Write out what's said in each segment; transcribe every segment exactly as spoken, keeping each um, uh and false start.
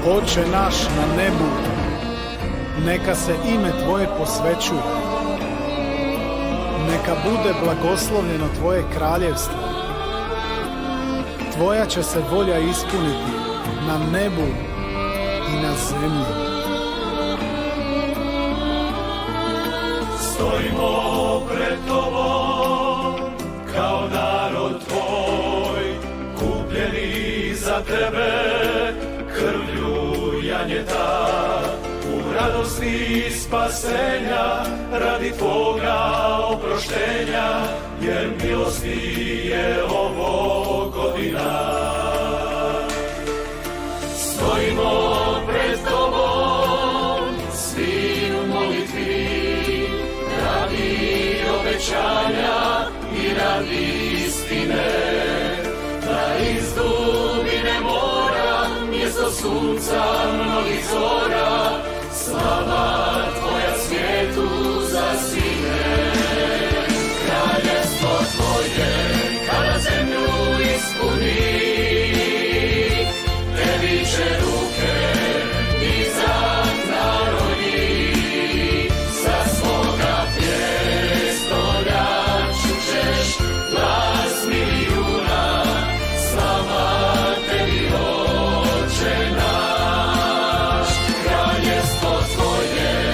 Oče naš na nebu, neka se ime Tvoje posvećuje. Neka bude blagoslovljeno Tvoje kraljevstvo. Tvoja će se volja ispuniti na nebu i na zemlji. Stojimo pred Tobom kao narod Tvoj, kupljeni za Tebe krvlju janjeta, u radosti spasenja radi Tvoga oproštenja, jer milosti je ovo godina. Stojimo pred Tobom svi u molitvi, radi obećanja i radi istine, da iz dubine mora mjesto sunca mnogih zora, slava Tvoja svijetu zasine. Kraljevstvo Tvoje kada zemlju ispuni, Tebi će ruke dizat narodi, sa svoga prijestolja čućeš glas milijuna, slava Tebi, Oče naš. Kraljevstvo Tvoje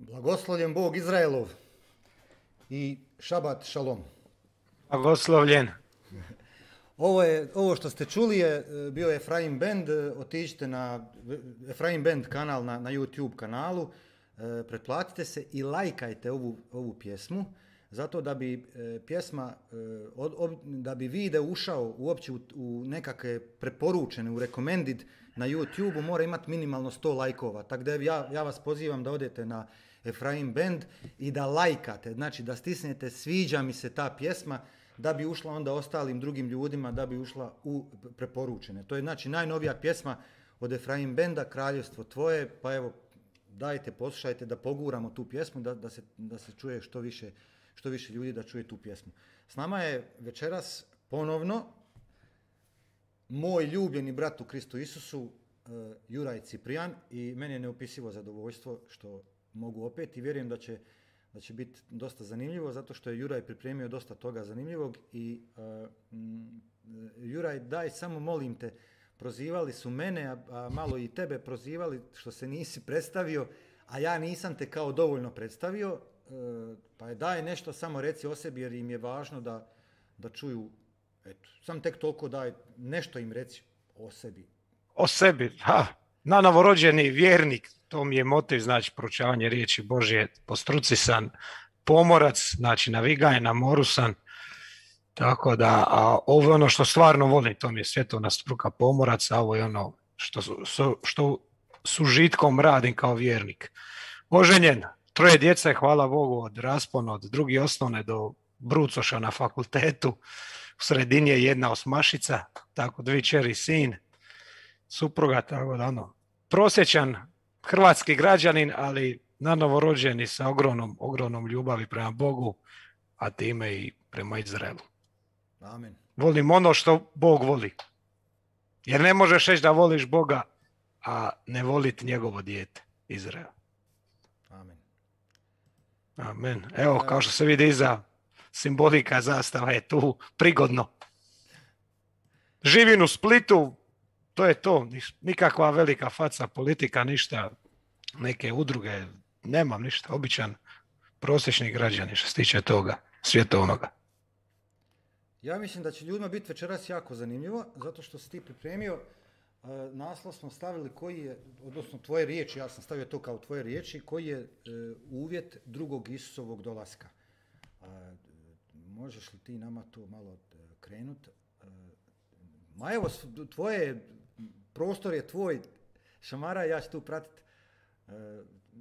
Blagoslovljen Bog Izraelov i šabat šalom. Blagoslovljen. Ovo, je, ovo što ste čuli je bio Efraim Band, otiđite na Efraim Band kanal na, na YouTube kanalu, pretplatite se i lajkajte ovu, ovu pjesmu, zato da bi pjesma, da bi video ušao uopće u, u nekakve preporučene, u recommended na YouTube-u, mora imati minimalno sto lajkova. Tako da ja, ja vas pozivam da odete na Efraim Band i da lajkate, znači da stisnete sviđa mi se ta pjesma, da bi ušla onda ostalim drugim ljudima, da bi ušla u preporučene. To je znači najnovija pjesma od Efraim Banda, Kraljevstvo tvoje, pa evo, dajte, poslušajte da poguramo tu pjesmu, da, da, se, da se čuje što više, što više ljudi da čuje tu pjesmu. S nama je večeras ponovno moj ljubljeni brat u Kristu Isusu, uh, Juraj Ciprijan, i meni je neopisivo zadovoljstvo što mogu opet i vjerujem da će, da će biti dosta zanimljivo, zato što je Juraj pripremio dosta toga zanimljivog i uh, m, Juraj, daj samo molim te, prozivali su mene, a, a malo i tebe prozivali što se nisi predstavio, a ja nisam te kao dovoljno predstavio, uh, pa je daj nešto samo reci o sebi jer im je važno da, da čuju, eto, sam tek toliko daj, nešto im reci o sebi. O sebi, ha, na novorođeni vjernik, to mi je motiv, znači proučavanje riječi Božje, po struci sam pomorac, znači navigaj na moru sam, tako da, a ovo je ono što stvarno volim, to mi je svjetovna struka pomorac, a ovo je ono što, što, što su žitkom radim kao vjernik. Oženjen, troje djece, hvala Bogu, od raspona, od drugi osnovne do brucoša na fakultetu, u sredini je jedna osmašica, tako dvi čeri sin, supruga, tako da ono, prosječan hrvatski građanin, ali na novorođeni sa ogromnom, ogromnom ljubavi prema Bogu, a time i prema Izraelu. Amen. Volim ono što Bog voli. Jer ne možeš reći da voliš Boga, a ne voliti njegovo dijete, Izrael. Amen. Amen. Evo, kao što se vidi iza simbolika zastava je tu prigodno. Živim u Splitu, to je to, nikakva velika faca, politika, ništa, neke udruge, nemam ništa, običan prosječni građani što se tiče toga, svjetovnoga. Ja mislim da će ljudima biti večeras jako zanimljivo, zato što si ti pripremio, uh, naslov smo stavili koji je, odnosno tvoje riječi, ja sam stavio to kao tvoje riječi, koji je uh, uvjet drugog Isusovog dolaska. Uh, možeš li ti nama to malo uh, krenuti? Uh, ma evo, tvoje, prostor je tvoj, Šamara, ja ću tu pratiti. Uh,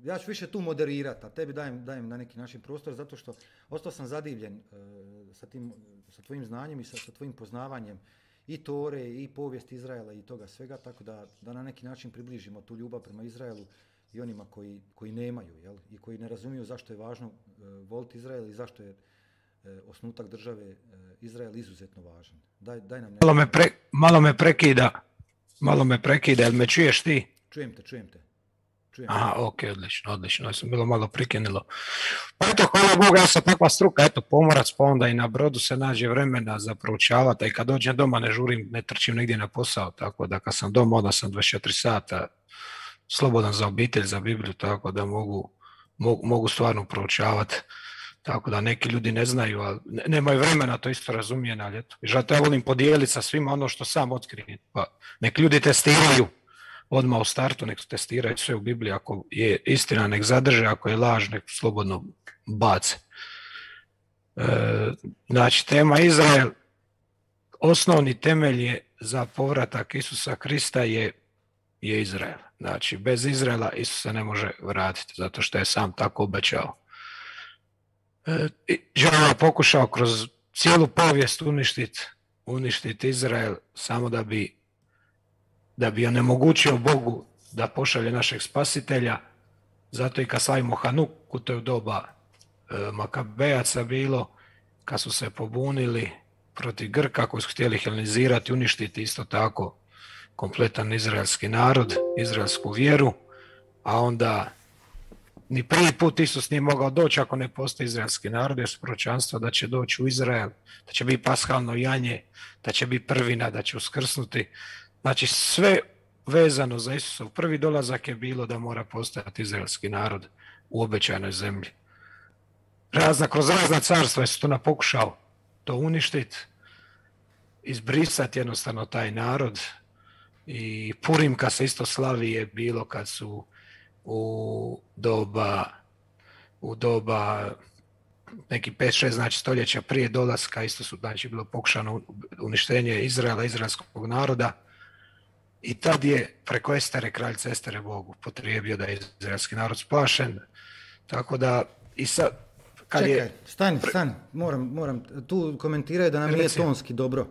ja ću više tu moderirati, a tebi dajem, dajem na neki način prostor, zato što ostao sam zadivljen uh, sa, tim, sa tvojim znanjem i sa, sa tvojim poznavanjem i Tore, i povijesti Izraela i toga svega, tako da, da na neki način približimo tu ljubav prema Izraelu i onima koji, koji nemaju, jel? I koji ne razumiju zašto je važno uh, voliti Izrael i zašto je uh, osnutak države uh, Izrael izuzetno važan. Daj, daj nam malo, me pre, malo me prekida, malo me prekida, jel me čuješ ti? Čujem te, čujem te. Čujem. Aha, ok, odlično, odlično, ja sam bilo malo prikenilo. Pa eto, hvala Bogu, ja sam takva struka, eto, pomorac, pa onda i na brodu se nađe vremena za proučavati, i kad dođem doma ne žurim, ne trčim negdje na posao, tako da kad sam doma, onda sam dvadeset četiri sata slobodan za obitelj, za Bibliju, tako da mogu, mogu, mogu stvarno proučavati. Tako da neki ljudi ne znaju, ali ne, nemaju vremena, to isto razumijem, ali eto. I zato ja volim podijeliti sa svima ono što sam otkrijem, pa nek ljudi testiraju. Odmah u startu nek testiraju sve u Bibliji, ako je istina nek zadrže, ako je laž nek slobodno bace. E, znači tema Izrael, osnovni temelj je za povratak Isusa Krista je, je Izrael. Znači bez Izraela Isusa ne može vratiti, zato što je sam tako obećao. E, Đavo je pokušao kroz cijelu povijest uništiti uništiti Izrael samo da bi da bi onemogućio Bogu da pošalje našeg spasitelja, zato i kad slavimo Hanuku, to je u doba e, Makabejaca bilo, kad su se pobunili protiv Grka koji su htjeli helenizirati, uništiti isto tako kompletan izraelski narod, izraelsku vjeru, a onda ni prvi put Isus nije mogao doći ako ne postoji izraelski narod, jer su proročanstva da će doći u Izrael, da će biti paskalno janje, da će biti prvina, da će uskrsnuti. Znači sve vezano za Isusov prvi dolazak je bilo da mora postojati izraelski narod u obećanoj zemlji. Razna, kroz razna carstva je Sotona pokušao to uništiti, izbrisati jednostavno taj narod. I Purim kad se isto slavi je bilo kad su u doba u doba neki pet šest znači stoljeća prije dolaska isto su znači bilo pokušano uništenje Izraela, izraelskog naroda. I tad je preko Estere, kraljice Estere, Bog upotrijebio da je izraelski narod spašen. Tako da i sad kad Čekaj, je... stani, stani, moram, moram, tu komentiraju da nam nije Reci. tonski dobro.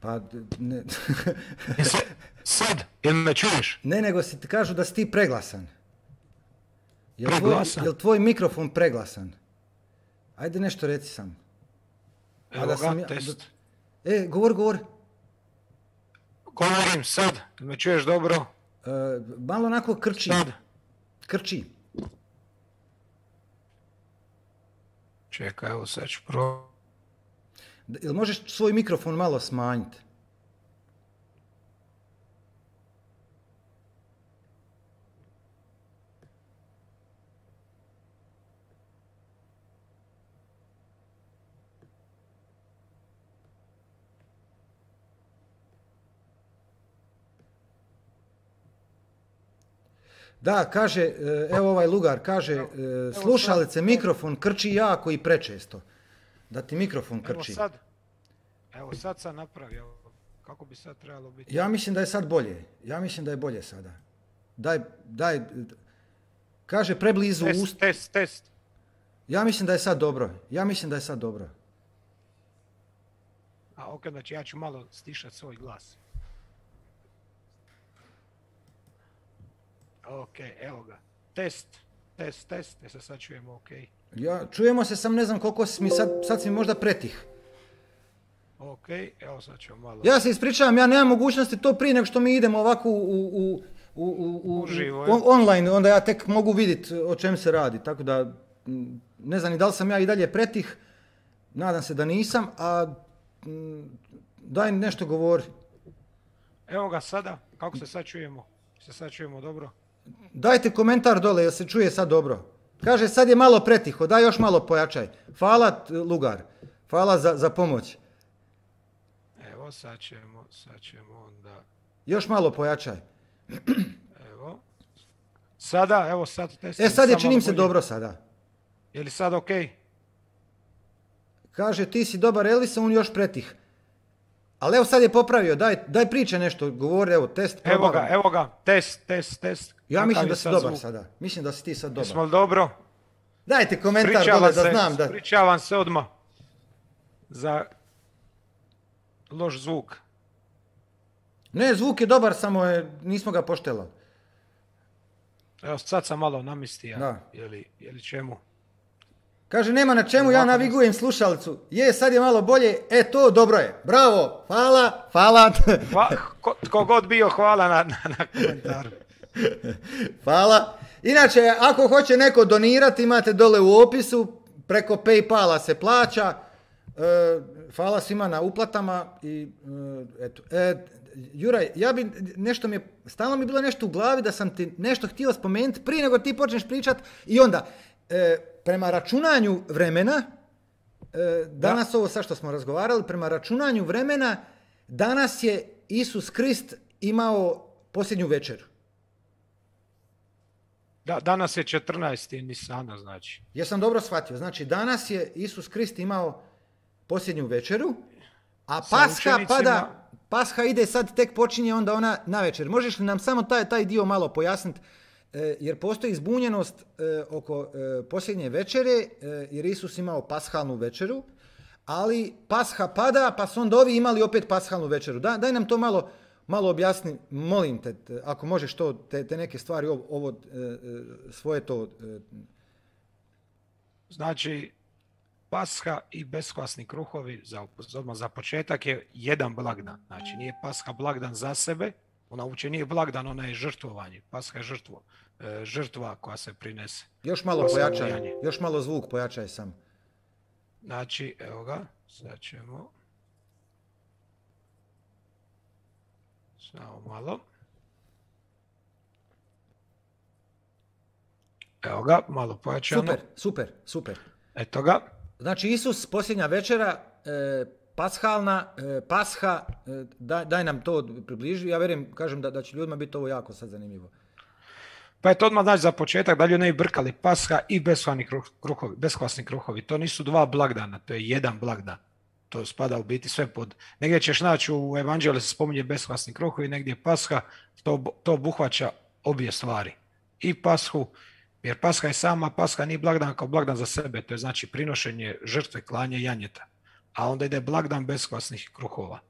Pa, ne, Sad, sad, jel me čuješ? ne nego si ti kažu da si ti preglasan. Jel tvoj, Preglasan? jel tvoj mikrofon preglasan? Ajde nešto reci sam. A Evo da ga, sam ja- test. E, govor, govor. Govorim sad, jel me čuješ dobro? E, malo onako krči. Sad. Krči. Čekaj, evo sad ću pro... D- Jel možeš svoj mikrofon malo smanjiti? Da, kaže, e, evo ovaj lugar, kaže, e, slušalice, mikrofon krči jako i prečesto. Da ti mikrofon Evo krči. sad, evo sad sam napravio, kako bi sad trebalo biti? Ja mislim da je sad bolje. Ja mislim da je bolje sada. Daj, daj, kaže preblizu Test, ust. test, test. Ja mislim da je sad dobro. Ja mislim da je sad dobro. A ok, znači ja ću malo stišati svoj glas. Ok, evo ga. Test, test, test, e se sad čujemo ok. Ja, čujemo se, sam ne znam koliko si mi sad, sad si mi možda pretih. Ok, evo sad ćemo malo. Ja se ispričavam, ja nemam mogućnosti to prije nego što mi idemo ovako u, u, u, u, u, u, Uživo, on- online, onda ja tek mogu vidjeti o čem se radi. Tako da, m, ne znam ni da li sam ja i dalje pretih, nadam se da nisam, a m, daj nešto govori. Evo ga sada, kako se sad čujemo? Se sad čujemo dobro? Dajte komentar dole, jel se čuje sad dobro. Kaže, sad je malo pretiho, daj još malo pojačaj. Hvala, t- Lugar, hvala za, za pomoć. Evo sad ćemo, sad ćemo onda, Još malo pojačaj. evo. Sada, evo sad test. E, sad je Samo činim malo se bolje. dobro sada. Je li sad ok? Kaže, ti si dobar Elvis, a on još pretih. Ali evo sad je popravio, daj, daj priče nešto, govori, evo, test. Evo probavam. ga, evo ga, test, test, test. Ja Kakav mislim je da si sad dobar zvuk? sada. Mislim da si ti sad dobar. Jesmo li dobro? Dajte komentar dole Pričavam da se, znam da... pričavam se odmah za loš zvuk. Ne, zvuk je dobar, samo je, nismo ga poštela. Evo sad sam malo namistija. Da. Je li, je li čemu? Kaže, nema na čemu, ja Ovako navigujem slušalicu. Je, sad je malo bolje, e to, dobro je. Bravo, hvala, hvala, Hva, ko, tko god bio, hvala na, na, na komentaru. hvala. Inače, ako hoće neko donirati, imate dole u opisu, preko Paypala se plaća. E, hvala svima na uplatama i e, eto. E, Juraj, ja bi nešto mi je, stalno mi je bilo nešto u glavi da sam ti nešto htio spomenuti prije nego ti počneš pričat i onda, e, prema računanju vremena, e, danas da. Ovo sad što smo razgovarali, prema računanju vremena, danas je Isus Krist imao posljednju večeru. Da, danas je četrnaesti Nisana, znači. Jesam dobro shvatio. Znači, danas je Isus Krist imao posljednju večeru, a Sa Pasha učenicima- pada, Pasha ide sad, tek počinje onda ona na večer. Možeš li nam samo taj, taj dio malo pojasniti? E, jer postoji zbunjenost e, oko e, posljednje večere, e, jer Isus imao pashalnu večeru, ali Pasha pada, pa su onda ovi imali opet pashalnu večeru. Da, daj nam to malo, malo objasni, molim te, te, ako možeš to, te, te neke stvari, ovo, ovo e, e, svoje to... E, Znači, Pasha i beskvasni kruhovi, za, odmah za početak, je jedan blagdan. Znači, nije Pasha blagdan za sebe, ona uopće nije blagdan, ona je žrtvovanje. Pasha je žrtvo, e, žrtva koja se prinese. Još malo Pasha pojačaj, ubijanje. još malo zvuk pojačaj sam. Znači, evo ga, sad ćemo. Samo malo. Evo ga, malo pojačano. Super, super, super. Eto ga. Znači, Isus, posljednja večera, e, pashalna, e, pasha, e, daj, daj nam to približi. Ja vjerujem, kažem da, da će ljudima biti ovo jako sad zanimljivo. Pa je to odmah znači za početak da ljudi ne bi brkali pasha i beskvasni kruhovi, beskvasni kruhovi. To nisu dva blagdana, to je jedan blagdan. To spada u biti sve pod... Negdje ćeš naći u evanđelju se spominje beskvasni kruhovi, negdje pasha, to, to obuhvaća obje stvari. I pashu, jer pasha je sama, pasha nije blagdan kao blagdan za sebe, to je znači prinošenje žrtve, klanje janjeta. A onda ide blagdan beskvasnih kruhova.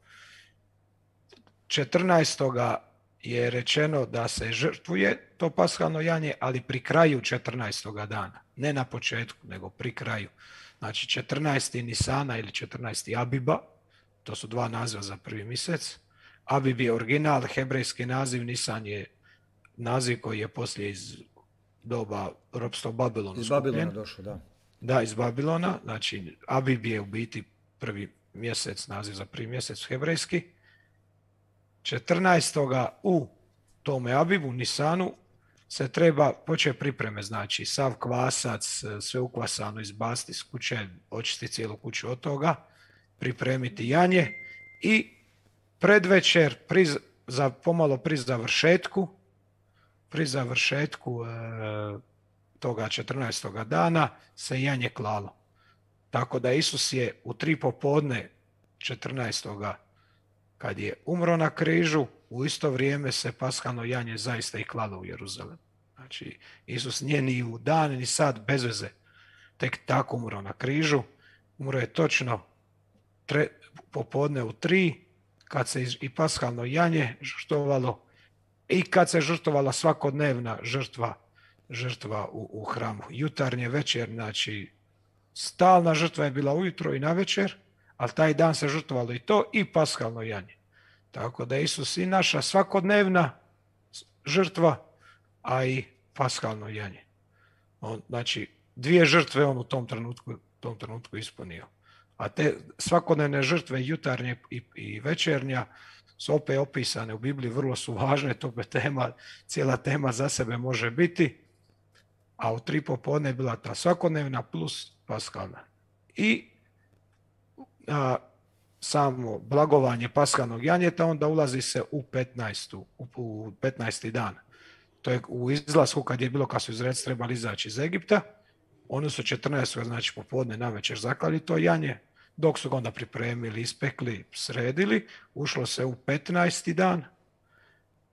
četrnaestoga je rečeno da se žrtvuje to pashalno janje, ali pri kraju četrnaestoga dana. Ne na početku, nego pri kraju. Znači četrnaesti Nisana ili četrnaesti Abiba, to su dva naziva za prvi mjesec. Abib je original, hebrejski naziv, Nisan je naziv koji je poslije iz doba ropstva u Babilonu. Iz Babilona došao, da. Da, iz Babilona. Znači Abib je u biti prvi mjesec, naziv za prvi mjesec hebrejski. četrnaestoga u tome Abibu, Nisanu, se treba početi pripreme, znači sav kvasac, sve ukvasano izbaciti iz kuće, očistiti cijelu kuću od toga, pripremiti janje i predvečer, pri, za, pomalo pri završetku, pri završetku e, toga četrnaestoga dana se janje klalo. Tako da Isus je u tri popodne četrnaestoga kad je umro na križu, u isto vrijeme se pashalno janje zaista i klalo u Jeruzalem. Znači, Isus nije ni u dan, ni sad bez veze tek tako umro na križu. Umro je točno tre, popodne u tri, kad se i pashalno janje žrtvovalo i kad se žrtvovala svakodnevna žrtva, žrtva u, u hramu. Jutarnje, večer, znači, stalna žrtva je bila ujutro i na večer, ali taj dan se žrtvovalo i to i pashalno janje. Tako da Isus i naša svakodnevna žrtva, a i pashalno janje. On, znači, dvije žrtve on u tom trenutku, tom trenutku ispunio. A te svakodnevne žrtve, jutarnje i, i večernja, su opet opisane u Bibliji, vrlo su važne, to je tema, cijela tema za sebe može biti, a u tri popodne je bila ta svakodnevna plus pashalna. I a, samo blagovanje pashalnog janjeta, onda ulazi se u petnaestu, u, u petnaesti dan. To je u izlasku kad je bilo, kad su Izraelci trebali izaći iz Egipta, oni su četrnaestog znači popodne na večer zaklali to janje, dok su ga onda pripremili, ispekli, sredili, ušlo se u petnaesti dan,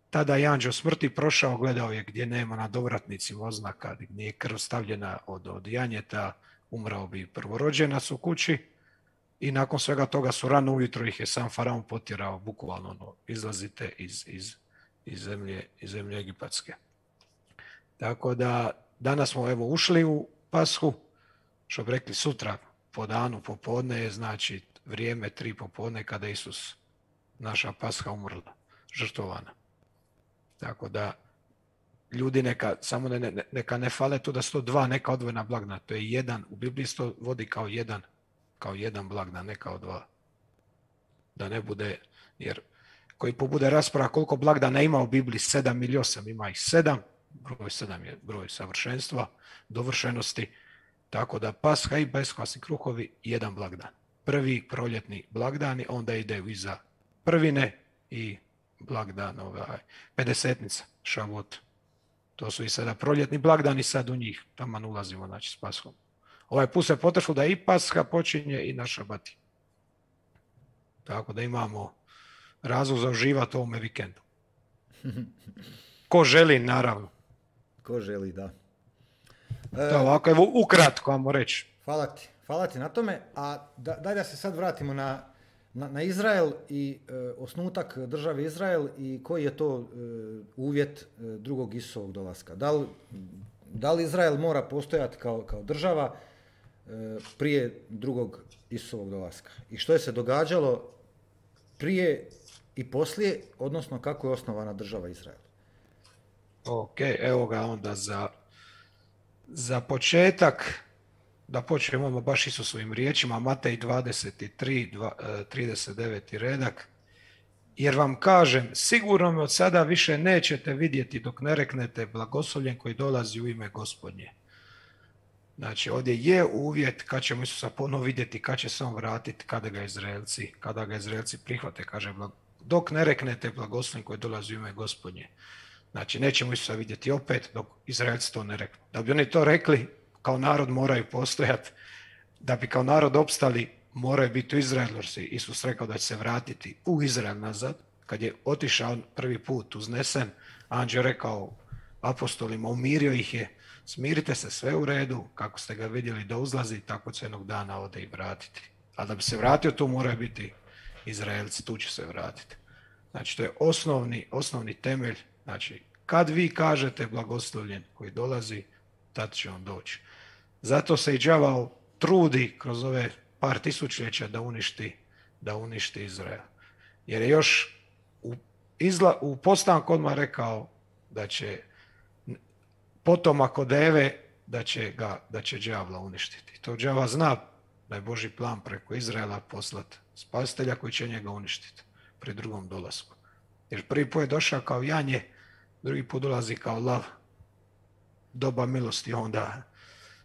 tada je anđeo smrti prošao, gledao je gdje nema na dovratnicima oznaka, gdje nije krv stavljena od, od janjeta, umrao bi prvorođenac u kući i nakon svega toga su rano ujutro ih je sam faraon potjerao, bukvalno ono, izlazite iz, iz, iz, zemlje, iz zemlje egipatske. Tako da danas smo evo ušli u Pashu, što bi rekli sutra po danu, popodne je znači vrijeme tri popodne kada Isus, naša Pasha, umrla, žrtvovana. Tako da ljudi neka, samo ne, ne, neka ne fale tu da su to dva neka odvojena blagdana. To je jedan, u Bibliji se to vodi kao jedan, kao jedan blagdan, ne kao dva. Da ne bude, jer koji pobude rasprava koliko blagdana ima u Bibliji, sedam ili osam, ima ih sedam, broj sedam je broj savršenstva, dovršenosti, tako da Pasha i beskvasni kruhovi jedan blagdan. Prvi proljetni blagdani, onda ide iza prvine i blagdan, ovaj, pedesetnica, Šavot. To su i sada proljetni blagdani, sad u njih, tamo ulazimo, znači, s Pashom. Ovaj put se potrefilo da i Pasha počinje i na Šabati. Tako da imamo razlog za uživati ovome vikendu. Ko želi, naravno. Ko želi, da. E, to ovako, evo, ukratko, vamo reći. Hvala ti, hvala ti na tome. A da, daj da se sad vratimo na, na, na Izrael i e, osnutak države Izrael i koji je to e, uvjet e, drugog Isusovog dolaska. Da li, da li Izrael mora postojati kao, kao država e, prije drugog Isusovog dolaska? I što je se događalo prije i poslije, odnosno kako je osnovana država Izrael? Ok, evo ga onda za, za početak, da počnemo baš Isusovim riječima, Matej dvadeset tri, trideset deveti redak. Jer vam kažem, sigurno me od sada više nećete vidjeti dok ne reknete blagoslovljen koji dolazi u ime Gospodnje. Znači, ovdje je uvjet kad ćemo Isusa ponovo vidjeti, kad će se on vratiti, kada ga Izraelci, kada ga Izraelci prihvate, kaže, dok ne reknete blagosloven koji dolazi u ime Gospodnje. Znači, nećemo Isusa vidjeti opet dok Izraelci to ne reknu. Da bi oni to rekli, kao narod moraju postojati, da bi kao narod opstali, moraju biti u Izraelu, jer se Isus rekao da će se vratiti u Izrael nazad. Kad je otišao prvi put uznesen, anđeo rekao apostolima, umirio ih je, smirite se, sve u redu, kako ste ga vidjeli da uzlazi, tako će jednog dana ode i vratiti. A da bi se vratio, tu moraju biti Izraelci, tu će se vratiti. Znači, to je osnovni, osnovni temelj. Znači, kad vi kažete blagoslovljen koji dolazi, tad će on doći. Zato se i đavao trudi kroz ove par tisućljeća da uništi, da uništi Izrael. Jer je još u, izla, u postanku odmah rekao da će potomak od Eve, da će ga, da će đavla uništiti. To đava zna da je Božji plan preko Izraela poslati spasitelja koji će njega uništiti pri drugom dolasku. Jer prvi put je došao kao janje, drugi put dolazi kao lav. Doba milosti, onda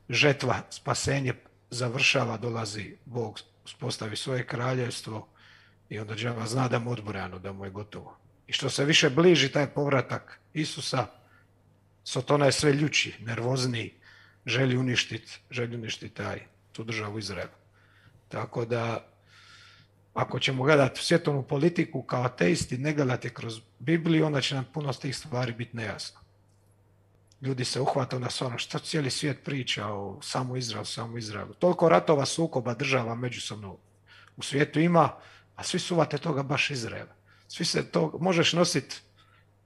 žetva, spasenje završava, dolazi Bog, uspostavi svoje kraljevstvo i onda đava zna da mu odbrano, da mu je gotovo. I što se više bliži taj povratak Isusa, Sotona je sve ljući, nervozniji, želi uništiti, želi uništiti taj, tu državu Izrael. Tako da, ako ćemo gledati svjetovnu politiku kao ateisti, ne gledati kroz Bibliju, onda će nam puno z tih stvari biti nejasno. Ljudi se uhvataju na ono što cijeli svijet priča o samo Izraelu, samo Izraelu. Toliko ratova, sukoba država međusobno u svijetu ima, a svi suvate toga baš Izraela. Svi se to, možeš nositi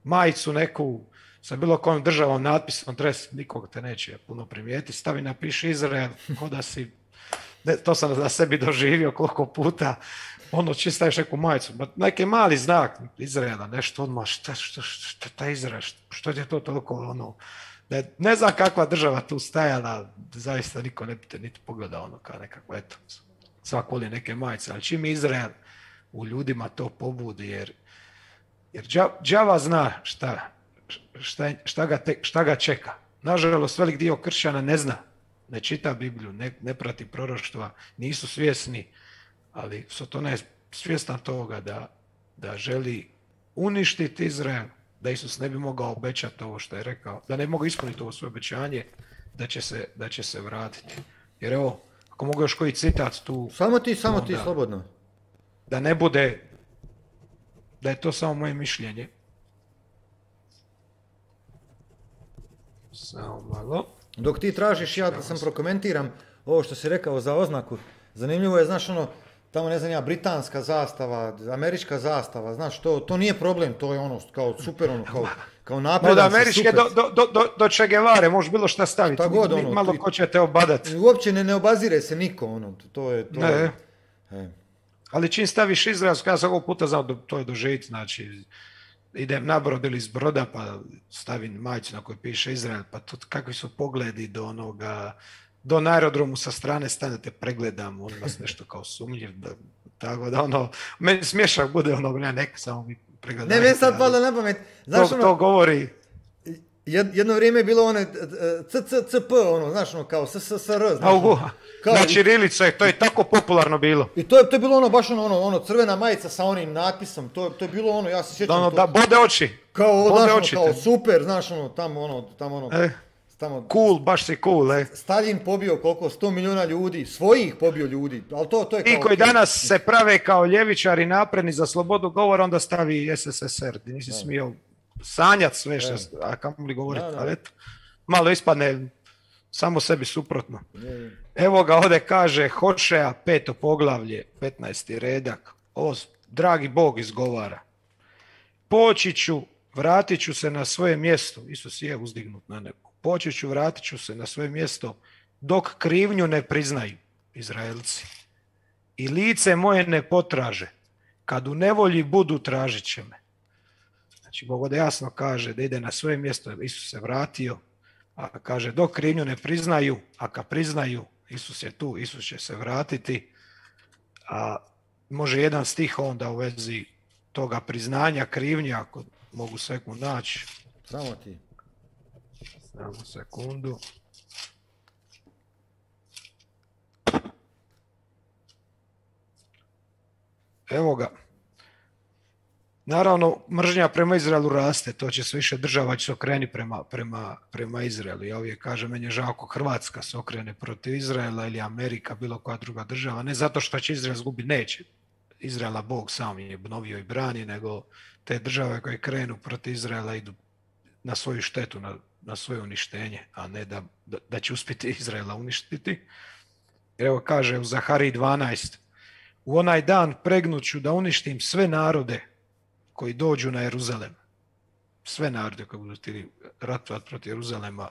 majicu neku sa bilo kojom državom natpisom, dres, nikog te neće puno primijeti, stavi, napiši Izrael, ko da si, ne, to sam na sebi doživio koliko puta, ono či staviš neku majicu, neki mali znak Izraela, nešto odmah, šta, šta, šta, šta Izrael, što je to toliko, ono, ne, ne znam kakva država tu stajala, zaista niko ne bi te niti pogledao, ono, kao nekako, eto, svak voli neke majice, ali čim Izrael u ljudima to pobudi, jer, jer đava zna šta, šta, šta, ga te, šta ga čeka. Nažalost, velik dio kršćana ne zna, ne čita Bibliju, ne, ne prati proroštva, nisu svjesni, ali Sotona je svjestan toga da, da želi uništiti Izrael, da Isus ne bi mogao obećati ovo što je rekao, da ne mogu ispuniti ovo svoje obećanje, da će se, da će se vratiti. Jer evo, ako mogu još koji citat tu... Samo ti, samo onda, ti, slobodno. Da ne bude, da je to samo moje mišljenje. Samo malo. Dok ti tražiš, ja da sam prokomentiram ovo što si rekao za oznaku. Zanimljivo je, znaš, ono, tamo ne znam ja, britanska zastava, američka zastava, znaš, to, to nije problem, to je ono, kao super, ono, kao, kao napredan, od američke do, do, do, do, do Che Guevare, možeš bilo šta staviti, šta god, ono, malo ti, ko će te obadati. Uopće ne, ne obazire se niko, ono, to je, to ne. je. E. Ali čim staviš izraelsku, ja sam ovog puta znao da to je doživjeti, znači, idem na brod ili iz broda, pa stavim majicu na kojoj piše Izrael, pa to kakvi su pogledi do onoga, do na aerodromu sa strane stanete, pregledam, on vas nešto kao sumnjiv, da, tako da ono, meni smješak bude ono, ne, neka samo mi pregledajte. Ne, meni sad palo na pamet, znaš to, ono, to govori. Jedno vrijeme je bilo one C C C P, ono, znaš, ono, kao S S S R, znaš, ono, kao, na ćirilicu, to je tako popularno bilo. I to je, to je bilo ono, baš ono, ono, ono, crvena majica sa onim natpisom, to, to je bilo ono, ja se sjećam ono, to. Da, bode oči. Kao, bode znaš, oči ono, kao super, znaš, ono, tamo, ono, tamo, ono, e, tamo. Cool, baš si cool, e. Stalin pobio koliko, sto milijuna ljudi, svojih pobio ljudi, ali to, to je kao... I koji okay. Danas se prave kao ljevičari napredni za slobodu govora, onda stavi S S S R, ti nisi da. Smio sanjati sve što, a kamo li govoriti, da, da. Ali eto, malo ispadne samo sebi suprotno. Je. Evo ga ovdje kaže Hošeja, peto poglavlje, petnaesti redak, ovo dragi Bog izgovara. Poći ću, vratit ću se na svoje mjesto, Isus je uzdignut na nebo, poći ću, vratit ću se na svoje mjesto, dok krivnju ne priznaju Izraelci i lice moje ne potraže, kad u nevolji budu tražit će me. Znači, Bog ovdje jasno kaže da ide na svoje mjesto, Isus se vratio, a kaže dok krivnju ne priznaju, a kad priznaju, Isus je tu, Isus će se vratiti, a može jedan stih onda u vezi toga priznanja krivnja, ako mogu sekund naći. Samo ti. Samo sekundu. evo ga. Naravno, mržnja prema Izraelu raste, to će se više država će se okreni prema, prema, prema Izraelu. Ja uvijek kažem, meni je žao ako Hrvatska se okrene protiv Izraela ili Amerika, bilo koja druga država, ne zato što će Izrael zgubiti, neće. Izraela Bog sam je obnovio i brani, nego te države koje krenu protiv Izraela idu na svoju štetu, na, na svoje uništenje, a ne da, da, da će uspjeti Izraela uništiti. Evo kaže u Zahariji dvanaest, u onaj dan pregnuću da uništim sve narode koji dođu na Jeruzalem. Sve narode koji budu htjeli ratovati protiv Jeruzalema.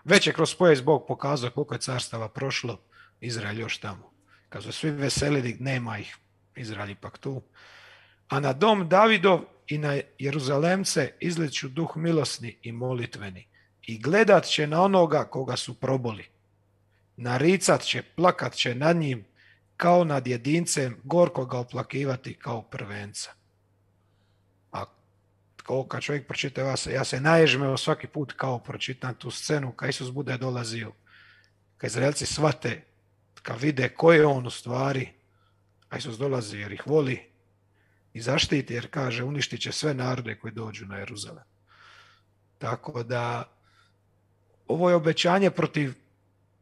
Već je kroz povijest Bog pokazao koliko je carstava prošlo, Izrael još tamo. Kad su svi veselili, nema ih, Izrael ipak tu. A na dom Davidov i na Jeruzalemce izliću duh milosni i molitveni. I gledat će na onoga koga su proboli. Naricat će, plakat će nad njim kao nad jedincem, gorko ga oplakivati kao prvenca. A kao kad čovjek pročita, ja se, ja se naježmeo svaki put kao pročitam tu scenu, kad Isus bude dolazio, kad Izraelci shvate, kad vide ko je on u stvari, a Isus dolazi jer ih voli i zaštiti, jer kaže uništit će sve narode koji dođu na Jeruzalem. Tako da ovo je obećanje protiv,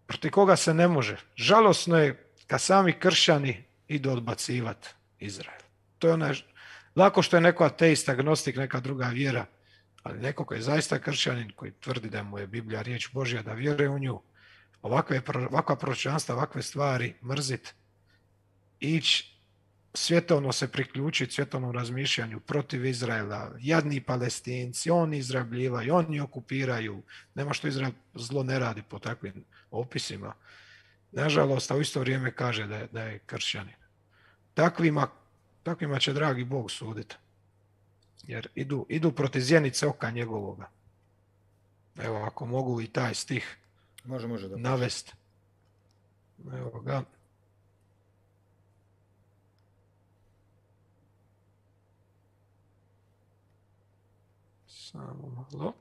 protiv koga se ne može. Žalosno je kad sami kršćani idu odbacivati Izrael. To je onaj, lako što je neko ateist, agnostik, neka druga vjera, ali neko koji je zaista kršćanin, koji tvrdi da mu je Biblija riječ Božja, da vjeruje u nju, ovakve, ovakva proročanstva, ovakve stvari mrzit, ići svjetovno se priključiti svjetovnom razmišljanju protiv Izraela, jadni Palestinci, oni izrabljivaju, oni okupiraju, nema što Izrael zlo ne radi po takvim opisima. Nažalost, a u isto vrijeme kaže da je, da je kršćanin. Takvima, takvima će dragi Bog suditi. Jer idu, idu protiv zjenice oka njegovoga. Evo, ako mogu i taj stih može, može da navesti. Evo ga. Samo malo.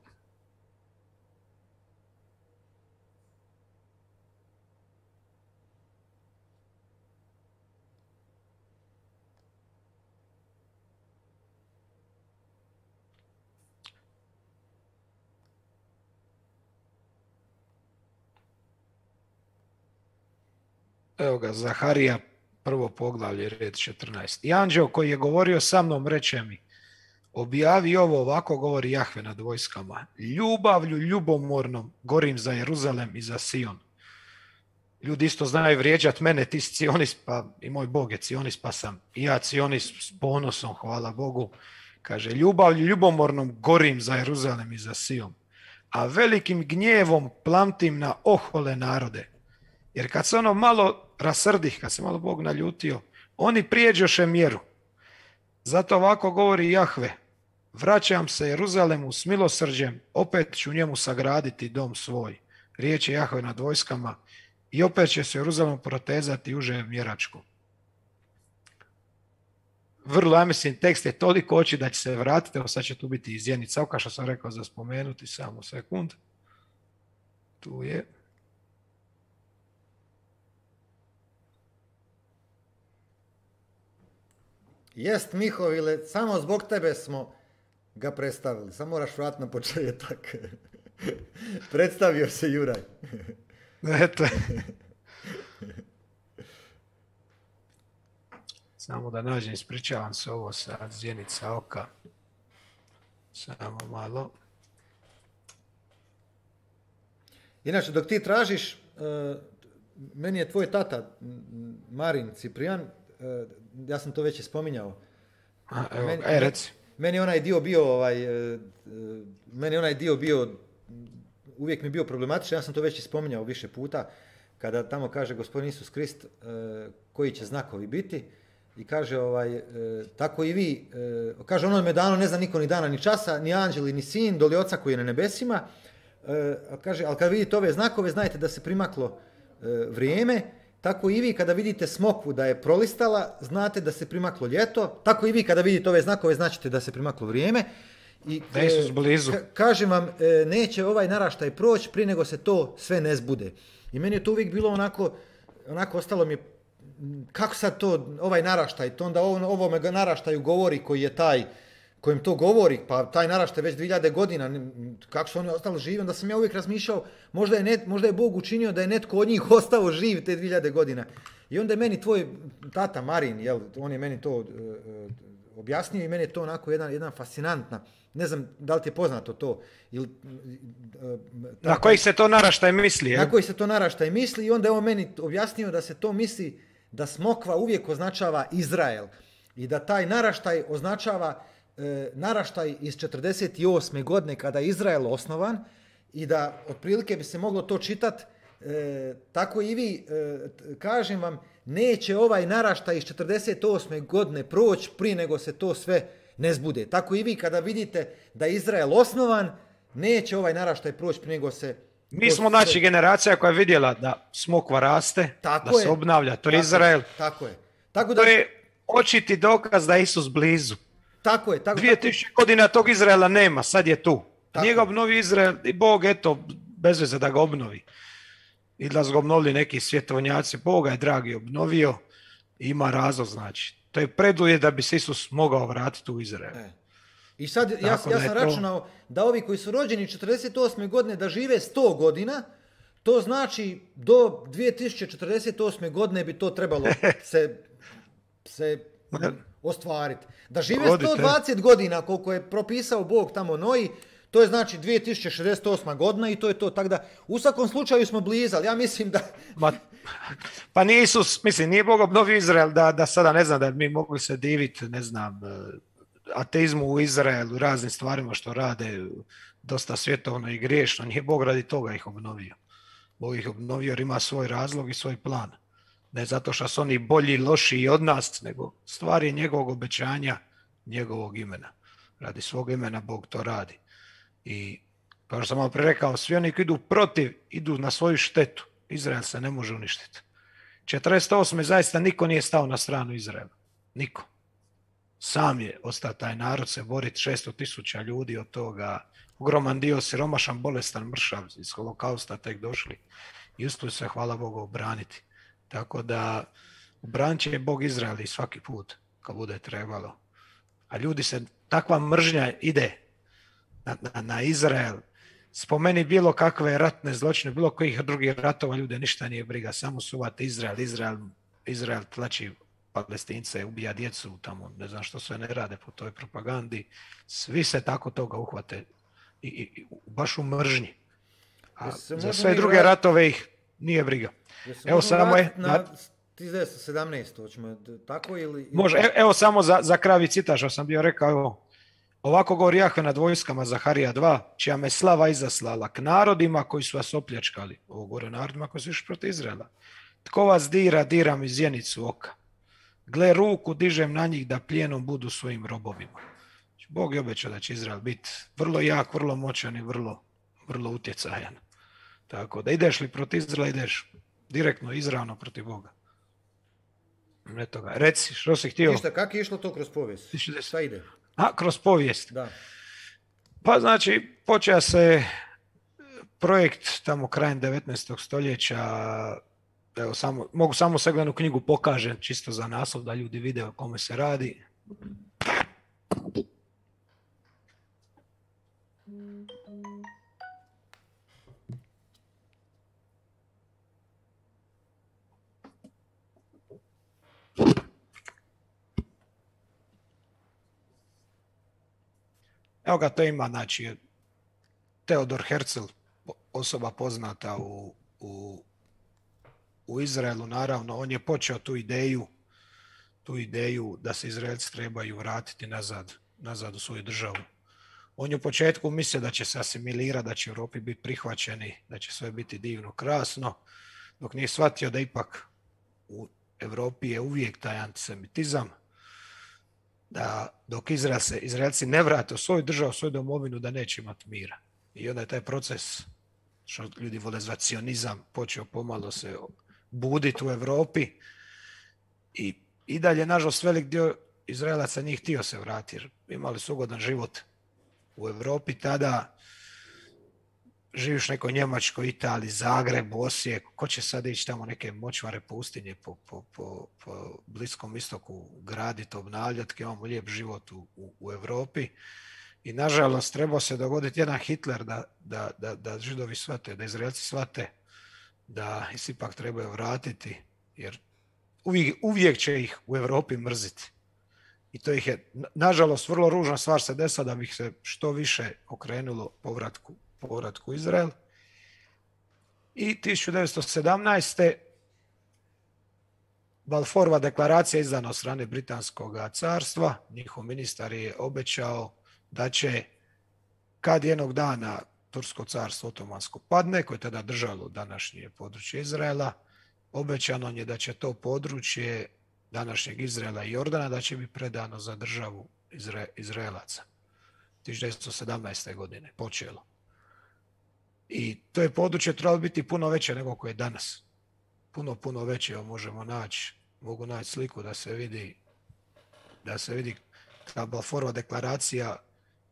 Evo ga, Zaharija, prvo poglavlje, red četrnaest. I anđeo koji je govorio sa mnom reče mi, objavi ovo, ovako govori Jahve nad vojskama. Ljubavlju ljubomornom gorim za Jeruzalem i za Sion. Ljudi isto znaju vrijeđat mene, ti si Cionist, pa i moj Bog je Cionist, pa sam i ja Cionist s ponosom, hvala Bogu. Kaže, ljubavlju ljubomornom gorim za Jeruzalem i za Sion, a velikim gnjevom plamtim na ohole narode. Jer kad se ono malo rasrdih, kad se malo Bog naljutio, oni prijeđoše mjeru. Zato ovako govori Jahve, vraćam se Jeruzalemu s milosrđem, opet ću njemu sagraditi dom svoj. Riječ je Jahve nad vojskama i opet će se Jeruzalemu protezati uže mjeračku. Vrlo, ja mislim, tekst je toliko oči da će se vratiti, evo sad će tu biti izjenica oka, što sam rekao za spomenuti, samo sekund. Tu je. Jest, Mihovile, samo zbog tebe smo ga predstavili. Samo moraš vratiti na početak. Predstavio se Juraj. Eto. Samo da nađem, ispričavam se ovo sad, zjenica oka. Samo malo. Inače, dok ti tražiš, meni je tvoj tata, Marin Ciprijan, ja sam to već i spominjao. A, evo, meni, e, reci. Meni onaj dio bio, ovaj, meni onaj dio bio, uvijek mi bio problematičan, ja sam to već i spominjao više puta, kada tamo kaže Gospodin Isus Krist koji će znakovi biti, i kaže, ovaj, tako i vi, kaže, ono me dano ne zna niko ni dana ni časa, ni anđeli, ni sin, doli oca koji je na nebesima, kaže, ali kad vidite ove znakove, znajte da se primaklo vrijeme. Tako i vi kada vidite smokvu da je prolistala, znate da se primaklo ljeto. Tako i vi kada vidite ove znakove, značite da se primaklo vrijeme. I da Isus blizu. Ka- kažem vam, neće ovaj naraštaj proći prije nego se to sve ne zbude. I meni je to uvijek bilo onako, onako ostalo mi je kako sad to, ovaj naraštaj, to onda ovo, ovome naraštaju govori koji je taj, kojem to govori, pa taj naraštaj već dvije hiljade godina, kako su oni ostali živi, onda sam ja uvijek razmišljao, možda je, net, možda je Bog učinio da je netko od njih ostao živ te dvije hiljade godina. I onda je meni tvoj tata Marin, jel, on je meni to uh, objasnio i meni je to onako jedan, jedan fascinantna, ne znam da li ti je poznato to. Ili, uh, na koji se to naraštaj misli? Je? Na koji se to naraštaj misli i onda je on meni objasnio da se to misli da smokva uvijek označava Izrael i da taj naraštaj označava e, naraštaj iz četrdeset osme godine kada je Izrael osnovan i da otprilike bi se moglo to čitati e, tako i vi, e, kažem vam, neće ovaj naraštaj iz četrdeset osme godine proći prije nego se to sve ne zbude. Tako i vi kada vidite da je Izrael osnovan, neće ovaj naraštaj proći prije nego se... Mi smo znači generacija koja je vidjela da smokva raste, tako da je. Se obnavlja, to je tako Izrael. Je, tako je. Tako da... To je očiti dokaz da je Isus blizu. Tako je. Tako, dvije tisuće tako... godina tog Izraela nema, sad je tu. Tako Nije ga obnovio Izrael i Bog, eto, bez veze da ga obnovi. I da su ga obnovili neki svjetovnjaci, Boga je dragi obnovio i ima razlog, znači. To je preduvjet da bi se Isus mogao vratiti u Izrael. E. I sad ja, ja sam to... računao da ovi koji su rođeni četrdeset osme godine da žive sto godina, to znači do dvije tisuće četrdeset osme godine bi to trebalo se, se ostvariti. Da žive sto dvadeset godina koliko je propisao Bog tamo Noji, to je znači dvije tisuće šezdeset osma godina i to je to. Tako da u svakom slučaju smo blizali. Ja mislim da... Ma, pa nije Isus, mislim, nije Bog obnovio Izrael da, da sada ne znam da mi mogli se diviti, ne znam, ateizmu u Izraelu, raznim stvarima što rade dosta svjetovno i griješno. Nije Bog radi toga ih obnovio. Bog ih obnovio jer ima svoj razlog i svoj plan. Ne zato što su oni bolji, lošiji od nas, nego stvari njegovog obećanja, njegovog imena. Radi svog imena Bog to radi. I kao što sam malo prije rekao, svi oni koji idu protiv, idu na svoju štetu. Izrael se ne može uništiti. četrdeset osme zaista niko nije stao na stranu Izraela. Niko. Sam je ostao taj narod se boriti, šesto tisuća ljudi od toga, ogroman dio siromašan, bolestan, mršav, iz holokausta tek došli i uspjeli se, hvala Bogu, obraniti. Tako da obranit će Bog Izrael i svaki put kad bude trebalo. A ljudi se, takva mržnja ide na, na, na Izrael, spomeni bilo kakve ratne zločine, bilo kojih drugih ratova, ljude ništa nije briga, samo suvate Izrael, Izrael, Izrael tlači Palestince, ubija djecu tamo, ne znam što sve ne rade po toj propagandi, svi se tako toga uhvate i, i baš u mržnji. A za sve druge vrat... ratove ih nije briga. Evo samo je... Na hiljadu sedamnaest. Hoćemo tako ili... Može, evo, evo samo za, za kravi cita što sam bio rekao, evo, ovako govori Jahve nad vojskama, Zaharija dva, čija me slava izaslala k narodima koji su vas opljačkali. Ovo govore narodima koji su išli protiv Izraela. Tko vas dira, diram iz zjenicu oka. Gle, ruku dižem na njih da plijenom budu svojim robovima. Bog je obećao da će Izrael biti vrlo jak, vrlo moćan i vrlo, vrlo utjecajan. Tako da ideš li protiv Izraela, ideš direktno, izravno protiv Boga. Ne toga. Reci, što si htio? Ništa, kako je išlo to kroz povijest? Šta ide? A, kroz povijest? Da. Pa znači, počeo se projekt tamo krajem devetnaestog stoljeća. Evo, samo, mogu samo seglednu knjigu pokažem, čisto za naslov, da ljudi vide o kome se radi. Evo ga, to ima, znači, Theodor Herzl, osoba poznata u, u u Izraelu, naravno, on je počeo tu ideju, tu ideju da se Izraelci trebaju vratiti nazad, nazad u svoju državu. On je u početku mislio da će se asimilirati, da će Europi biti prihvaćeni, da će sve biti divno, krasno, dok nije shvatio da ipak u Europi je uvijek taj antisemitizam, da dok Izrael se, Izraelci ne vrate u svoju državu, u svoju domovinu, da neće imati mira. I onda je taj proces, što ljudi vole zvati sionizam, počeo pomalo se buditi u Europi i, i dalje, nažalost, velik dio Izraelaca nije htio se vratiti, jer imali su ugodan život u Europi tada. živiš u nekoj Njemačkoj, Italiji, Zagrebu, Osijeku, ko će sad ići tamo neke močvare pustinje po, po, po, po Bliskom istoku graditi, obnavljati, imamo lijep život u, u, u Europi. I nažalost trebao se dogoditi jedan Hitler da, da, da, da Židovi shvate, da Izraelci shvate da ih ipak trebaju vratiti, jer uvijek, uvijek će ih u Europi mrziti. I to ih je, nažalost, vrlo ružna stvar se desila da bi se što više okrenulo povratku, povratku u Izrael. I tisuću devetsto sedamnaeste. Balfourova deklaracija izdana od strane Britanskog carstva. Njihov ministar je obećao da će, kad jednog dana Tursko carstvo otomansko padne, koje je tada držalo današnje područje Izraela, obećano je da će to područje današnjeg Izraela i Jordana da će biti predano za državu Izra- Izraelaca. tisuću devetsto sedamnaeste. godine počelo. I to je područje trebalo biti puno veće nego koje je danas. Puno, puno veće. Evo možemo naći, mogu naći sliku da se vidi, da se vidi ta Balfourova deklaracija,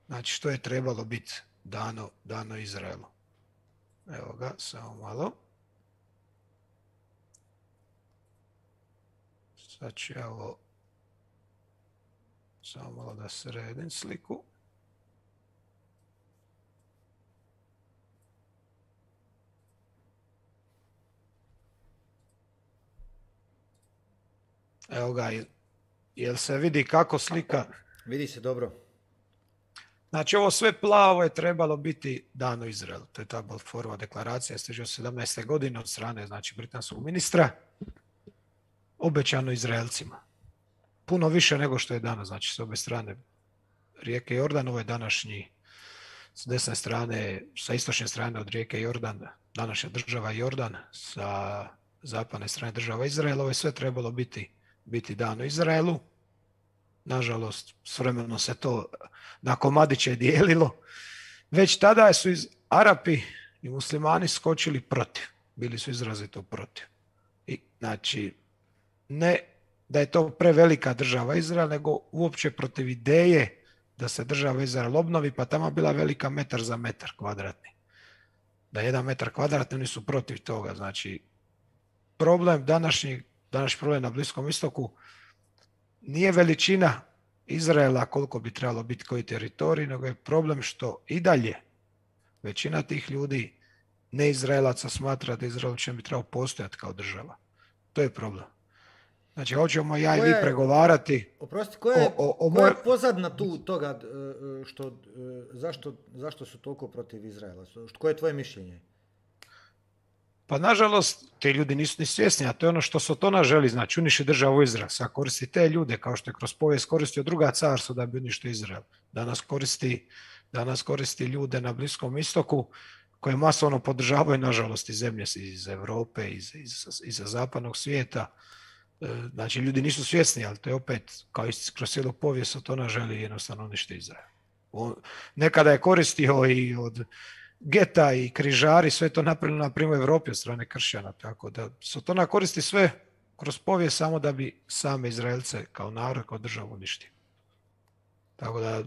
znači što je trebalo biti dano, dano Izraelu. Evo ga, samo malo. Sad ću ja ovo, samo malo da sredim sliku. Evo ga, jel se vidi kako slika? Vidi se dobro. Znači ovo sve plavo je trebalo biti dano Izraelu. To je ta Balfourova deklaracija iz tisuću devetsto sedamnaeste. godine od strane, znači, britanskog ministra. Obećano Izraelcima. Puno više nego što je danas, znači s obe strane rijeke Jordan, ovo je današnji, s desne strane, sa istočne strane od rijeke Jordan, današnja država Jordan, sa zapadne strane država Izrael, ovo je sve trebalo biti, biti dano Izraelu. Nažalost, s vremenom se to na komadiće dijelilo. Već tada su iz Arapi i muslimani skočili protiv. Bili su izrazito protiv. I, znači, ne da je to prevelika država Izrael, nego uopće protiv ideje da se država Izrael obnovi, pa tamo bila velika metar za metar kvadratni. Da jedan metar kvadratni, oni su protiv toga. Znači, problem današnji, današnji problem na Bliskom istoku nije veličina Izraela koliko bi trebalo biti koji teritorij, nego je problem što i dalje većina tih ljudi ne Izraelaca smatra da Izrael će bi trebao postojati kao država. To je problem. Znači, hoćemo ja i vi pregovarati. Oprosti, koja je, o, o, o koja je moj... pozadna tu toga, što, zašto, zašto su toliko protiv Izraela? Koje je tvoje mišljenje? Pa nažalost, ti ljudi nisu ni svjesni, a to je ono što Sotona želi, znači uniši državu Izrael. Sad koristi te ljude, kao što je kroz povijest koristio druga carstva da bi uništio Izrael. Danas koristi, danas koristi ljude na Bliskom istoku koje masovno podržavaju, nažalost, iz zemlje, iz Europe, iz, iz, iz zapadnog svijeta. Znači, ljudi nisu svjesni, ali to je opet, kao i kroz cijelu povijest, Sotona želi jednostavno uništiti Izrael. On, nekada je koristio i od geta i križari, sve to napravljeno na primjer u Europi od strane kršćana, tako da Sotona koristi sve kroz povijest samo da bi same Izraelce kao narod, kao državu uništio. Tako da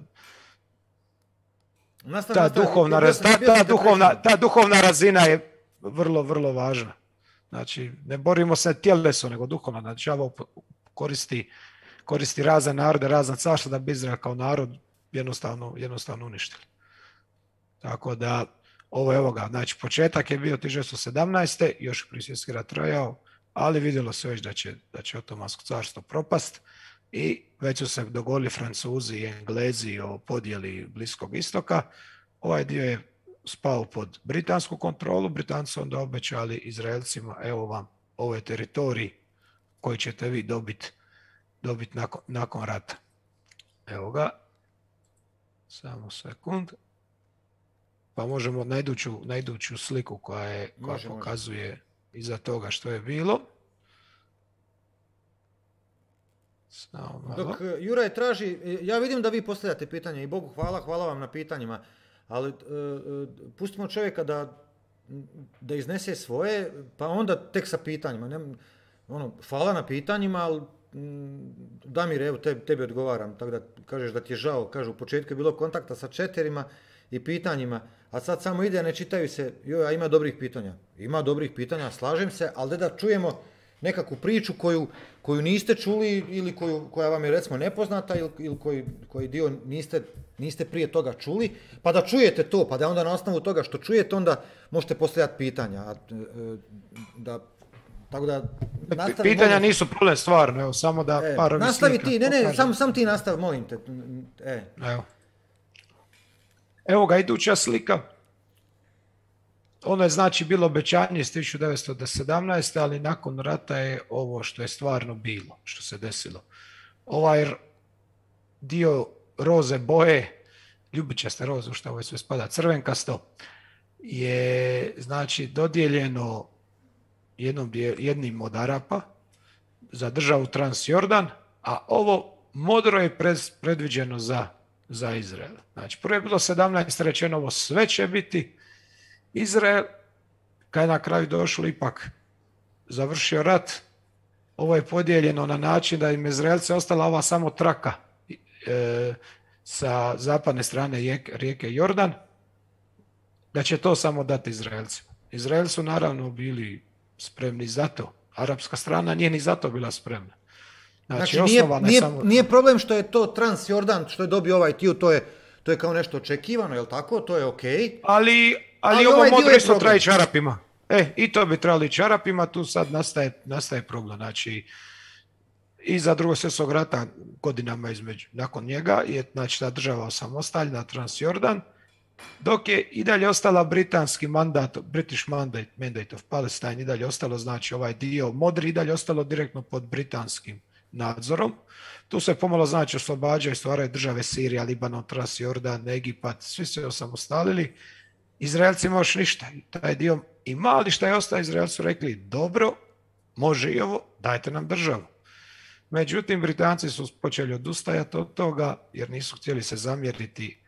Nastav, ta, nastav, duhovna, bio sam, ta, bio sam ta, duhovna, ta duhovna razina je vrlo, vrlo važna. Znači, ne borimo se tjelesno, nego duhovno. Znači, ovo koristi, koristi razne narode, razna carstva da bi Izrael kao narod jednostavno, jednostavno uništili. Tako da, ovo je evo ga, znači početak je bio tisuću devetsto sedamnaeste. još prvi svjetski rat trajao, ali vidjelo se već da će, da će Otomansko carstvo propast i već su se dogovorili Francuzi i Englezi o podjeli Bliskog istoka. Ovaj dio je spao pod britansku kontrolu, Britanci onda obećali Izraelcima, evo vam, ovo je teritorij koji ćete vi dobiti dobit nakon, nakon rata. Evo ga, samo sekund. Pa možemo na iduću, na iduću sliku koja, je, koja može, pokazuje može. iza toga što je bilo. Samo Dok Juraj traži, ja vidim da vi postavljate pitanje i Bogu hvala, hvala vam na pitanjima, ali uh, uh, pustimo čovjeka da, da iznese svoje, pa onda tek sa pitanjima. Ne, ono, hvala na pitanjima, ali mm, Damir, evo tebi, tebi odgovaram, tako da kažeš da ti je žao, kažu u početku je bilo kontakta sa četerima i pitanjima, a sad samo ide, ne čitaju se, joj, a ima dobrih pitanja. Ima dobrih pitanja, slažem se, ali da čujemo nekakvu priču koju, koju niste čuli ili koju, koja vam je recimo nepoznata ili, ili koji, koji dio niste, niste prije toga čuli, pa da čujete to, pa da onda na osnovu toga što čujete, onda možete postavljati pitanja. A, da, tako da, nastavi, pitanja molim, nisu problem stvarno, evo, samo da e, par ovih nastavi slika ti, ne, ne, pokažem. sam, sam ti nastavi, molim te. E. Evo. Evo ga iduća slika. Ono je znači bilo obećanje iz tisuću devetsto sedamnaeste. ali nakon rata je ovo što je stvarno bilo, što se desilo. Ovaj dio roze boje, ljubičaste roze, u što ovo sve spada, crvenkasto, je znači dodijeljeno jednom, jednim od Arapa za državu Transjordan, a ovo modro je pred, predviđeno za, za Izrael. Znači, prvo je bilo sedamnaest rečeno, ovo sve će biti Izrael, kad je na kraju došlo ipak završio rat, ovo je podijeljeno na način da im Izraelce ostala ova samo traka e, sa zapadne strane rijeke, rijeke Jordan, da će to samo dati Izraelcima. Izraelci su naravno bili spremni za to. Arapska strana nije ni za to bila spremna. Znači, Znači, nije, nije, samo... nije problem što je to Transjordan, što je dobio ovaj tiju, to je, to je kao nešto očekivano, je li tako? To je okej. Okay. Ali, ali, ali ovo ovaj modro isto treba ići Arapima. E, i to bi trebali ići Arapima, tu sad nastaje, nastaje problem. Znači, iza drugog svjetskog rata godinama između, nakon njega je znači, ta država osamostaljena, Transjordan, dok je i dalje ostala britanski mandat, British Mandate, Mandate of Palestine, i dalje ostalo, znači ovaj dio modri, i dalje ostalo direktno pod britanskim nadzorom. Tu se pomalo znači oslobađaju, stvaraju države Sirija, Libanon, Transjordan, Egipat, svi se osamostalili. Izraelcima još ništa. Taj dio i mali šta je ostao, Izraelci su rekli, dobro, može i ovo, dajte nam državu. Međutim, Britanci su počeli odustajati od toga, jer nisu htjeli se zamjeriti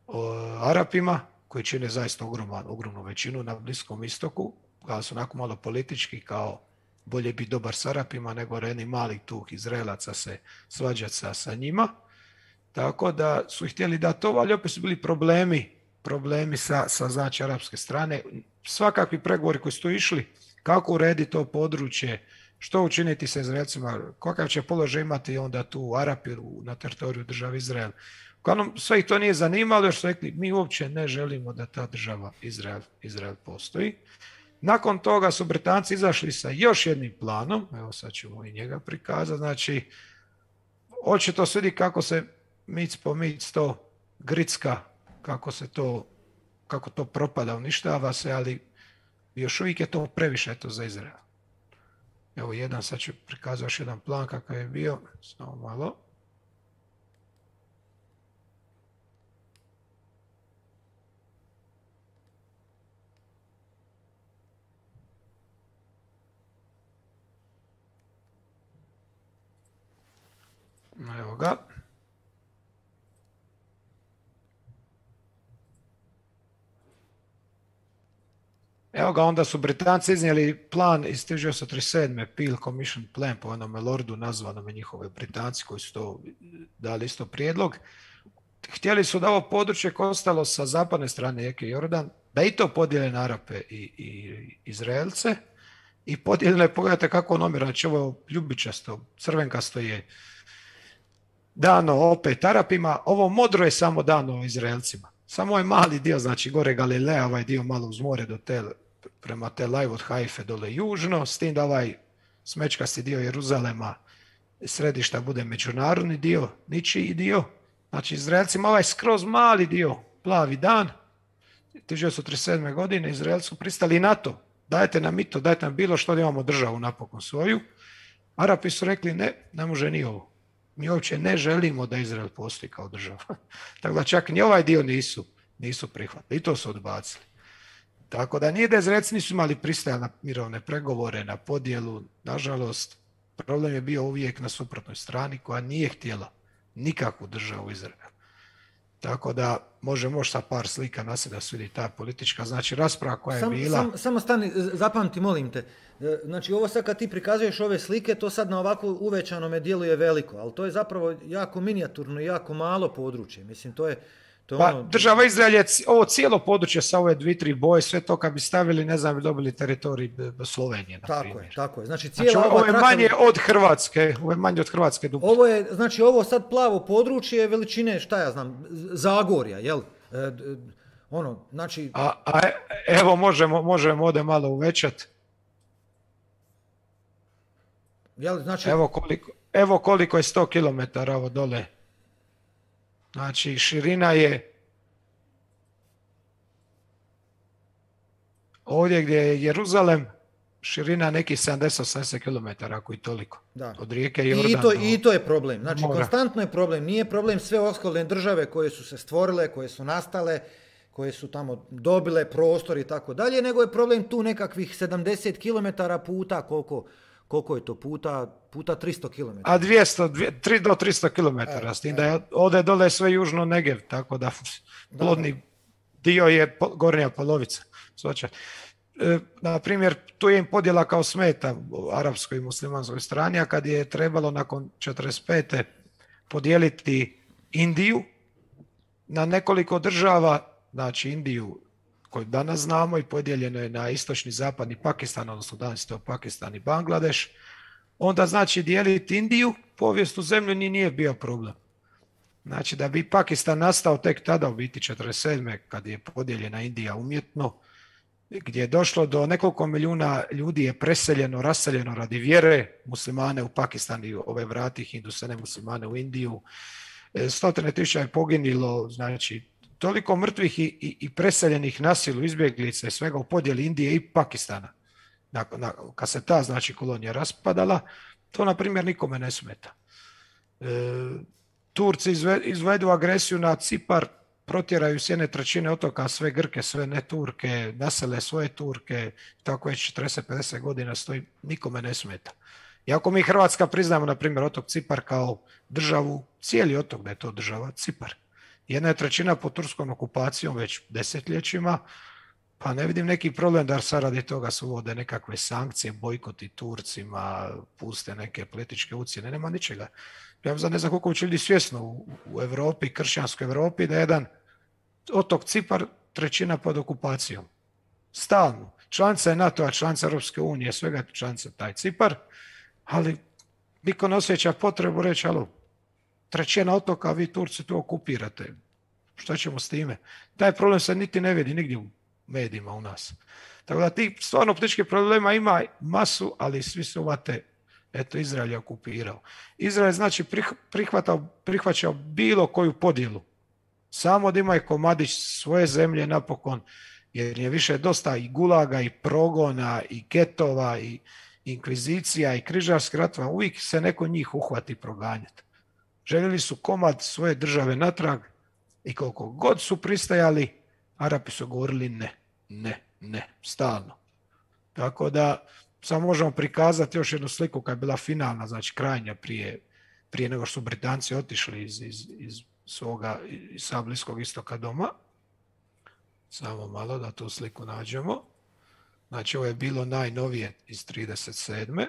o Arapima, koji čine zaista ogroman, ogromnu većinu na Bliskom istoku, kao su onako malo politički, kao bolje biti dobar s Arapima nego reni mali tuh Izraelaca se svađati sa, sa njima. Tako da su htjeli da to, ali opet su bili problemi, problemi sa, sa znači arapske strane. Svakakvi pregovori koji su tu išli, kako urediti to područje, što učiniti sa Izraelcima, kakav će položaj imati onda tu Arapi na teritoriju države Izrael. Uglavnom, sve ih to nije zanimalo, jer su rekli, mi uopće ne želimo da ta država Izrael, Izrael postoji. Nakon toga su Britanci izašli sa još jednim planom, evo sad ćemo i njega prikazati, znači, očito se vidi kako se mic po mic to gricka, kako se to, kako to propada, uništava se, ali još uvijek je to previše to za Izrael. Evo jedan, sad ću prikazati još jedan plan kakav je bio, samo malo. Evo ga. Evo ga, onda su Britanci iznijeli plan iz tisuću devetsto trideset sedme. Peel Commission Plan, po onome lordu nazvanome njihove Britanci koji su to dali isto prijedlog. Htjeli su da ovo područje koje ostalo sa zapadne strane rijeke Jordan, da i to podijele na Arape i, i Izraelce. I podijeljene, pogledajte kako on omjera, znači ovo ljubičasto, crvenkasto je dano opet Arapima, ovo modro je samo dano Izraelcima. Samo je mali dio, znači gore Galilea, ovaj dio malo uz more do tel, prema Tel Aviv od Haife dole južno, s tim da ovaj smečkasti dio Jeruzalema središta bude međunarodni dio, ničiji dio. Znači Izraelcima ovaj skroz mali dio, plavi dan, tisuću devetsto trideset sedme. godine Izraelci su pristali na to. Dajte nam i to, dajte nam bilo što da imamo državu napokon svoju. Arapi su rekli ne, ne može ni ovo. Mi uopće ne želimo da Izrael postoji kao država. Tako da čak ni ovaj dio nisu, nisu prihvatili. I to su odbacili. Tako da nije da Izraelci nisu imali pristaje na mirovne pregovore, na podjelu. Nažalost, problem je bio uvijek na suprotnoj strani koja nije htjela nikakvu državu Izraela. Tako da može možda sa par slika na se da se vidi ta politička, znači rasprava koja je sam, bila. Sam, samo stani, zapamti, molim te. Znači ovo sad kad ti prikazuješ ove slike, to sad na ovako uvećanome djeluje veliko, ali to je zapravo jako minijaturno i jako malo područje. Mislim, to je, To je Pa ono, država Izrael je c- ovo cijelo područje sa ove dvije, tri boje, sve to kad bi stavili, ne znam, bi dobili teritorij b- b- Slovenije, na tako primjer. je, tako je. Znači, Znači, cijela ovo ova je trasa- manje od Hrvatske, ovo je manje od Hrvatske duplo. Ovo je, znači, ovo sad plavo područje je veličine, šta ja znam, Z- Zagorja, jel? E, d- d- ono, znači, A, a e- evo možemo, možemo ovdje malo uvećati. jel, znači, Evo koliko, evo koliko je sto kilometara ovo dole. Znači, širina je ovdje gdje je Jeruzalem, širina nekih sedamdeset do osamdeset kilometara, ako i toliko. da. Od rijeke I Jordan to, do- I to je problem. Znači, mora. konstantno je problem. Nije problem sve okolne države koje su se stvorile, koje su nastale, koje su tamo dobile prostor i tako dalje, nego je problem tu nekakvih sedamdeset kilometara puta, koliko, koliko je to puta, puta tristo kilometara. A dvjesto, tri do tristo kilometara, Evo, s tim da je ovdje dole sve južno Negev, tako da plodni dio je po- gornja polovica. Soča. E, na primjer, tu je im podjela kao smeta u arapskoj i muslimanskoj strani, a kad je trebalo nakon četrdeset pete podijeliti Indiju na nekoliko država, znači Indiju koju danas znamo i podijeljeno je na istočni, zapadni Pakistan, odnosno danas je to Pakistan i Bangladeš, onda znači dijeliti Indiju, povijesnu zemlju ni nije bio problem. Znači da bi Pakistan nastao tek tada, u biti četrdeset sedme kad je podijeljena Indija umjetno, gdje je došlo do nekoliko milijuna ljudi je preseljeno, raseljeno radi vjere, muslimane u Pakistan i ove vrati Hindusane muslimane u Indiju, E, stotine tisuća je poginilo, znači toliko mrtvih i, i, i preseljenih na silu, izbjeglica i svega u podjeli Indije i Pakistana. Na, na, kad se ta znači kolonija raspadala, to na primjer nikome ne smeta. E, Turci izve, izvedu agresiju na Cipar, protjeraju s jedne trećine otoka sve Grke, sve ne Turke, nasele svoje Turke, tako već četrdeset pedeset godina stoji, nikome ne smeta. Iako mi Hrvatska priznamo, na primjer, otok Cipar kao državu, cijeli otok da je to država Cipar. Jedna je trećina pod turskom okupacijom već desetljećima, pa ne vidim neki problem da sad radi toga se uvode nekakve sankcije, bojkoti Turcima, puste neke političke ucjene, nema ničega. Ja znam, ne znam koliko će ljudi svjesno u, u Europi, kršćanskoj Europi, da je jedan otok Cipar trećina pod okupacijom. Stalno. Članica je NATO-a, članica Europske unije, svega je članica taj Cipar, ali niko ne osjeća potrebu reći, alo, trećina otoka, vi Turci tu okupirate. Šta ćemo s time? Taj problem se niti ne vidi nigdje u medijima u nas. Tako da ti stvarno političkih problema ima masu, ali svi su uvate, eto, Izrael je okupirao. Izrael znači prihvatao, prihvaćao bilo koju podjelu. Samo da imaju komadić svoje zemlje napokon, jer je više dosta i gulaga, i progona, i getova, i inkvizicija, i križarskih ratova. Uvijek se neko njih uhvati proganjati. Željeli su komad svoje države natrag i koliko god su pristajali, Arapi su govorili ne, ne, ne, stalno. Tako da samo možemo prikazati još jednu sliku kad je bila finalna, znači krajnja prije, prije nego što su Britanci otišli iz, iz, iz svoga, iz sa Bliskog istoka doma. Samo malo da tu sliku nađemo. Znači ovo je bilo najnovije iz trideset sedme.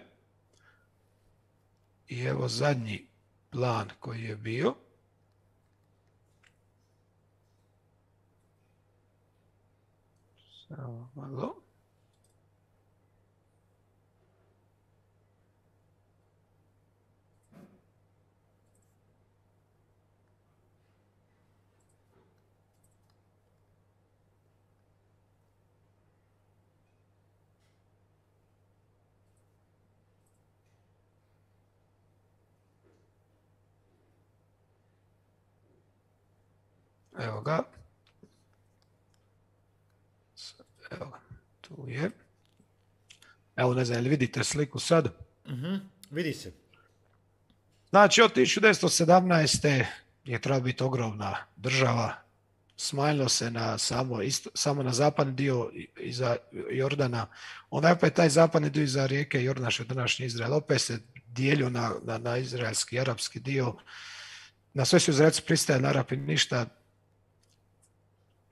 I evo zadnji plan koji je bio. Samo malo. Evo ga. Evo ga, tu je. Evo, ne znam, jel vidite sliku sad? Uh-huh. Vidi se. Znači, od tisuću devetsto sedamnaeste je trebala biti ogromna država. Smanjilo se na samo, isto, samo na zapadni dio iza Jordana. Onda je opet taj zapadni dio iza rijeke Jordan, što je današnji Izrael, opet se dijelio na, na, na izraelski i arapski dio. Na sve su Izraelci pristajali, na Arapi ništa.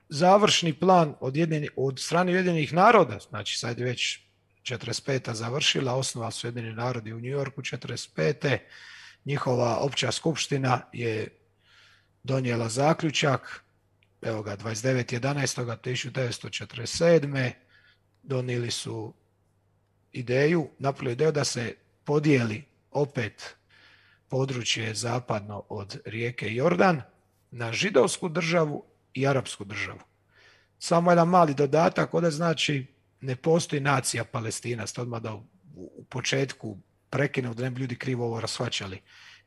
Završni plan od, jedini, od strane Ujedinjenih naroda, znači sad je već četrdeset peta završila, osnovali su Ujedinjeni narodi u New Yorku četrdeset pete Njihova opća skupština je donijela zaključak evo ga, dvadeset devetog jedanaestog tisuću devetsto četrdeset sedme donijeli su ideju, napravili ideju da se podijeli opet područje zapadno od rijeke Jordan na židovsku državu i arapsku državu. Samo jedan mali dodatak, ovdje znači ne postoji nacija Palestina, ste odmah da u, u početku prekinu da ne bi ljudi krivo ovo rasvaćali.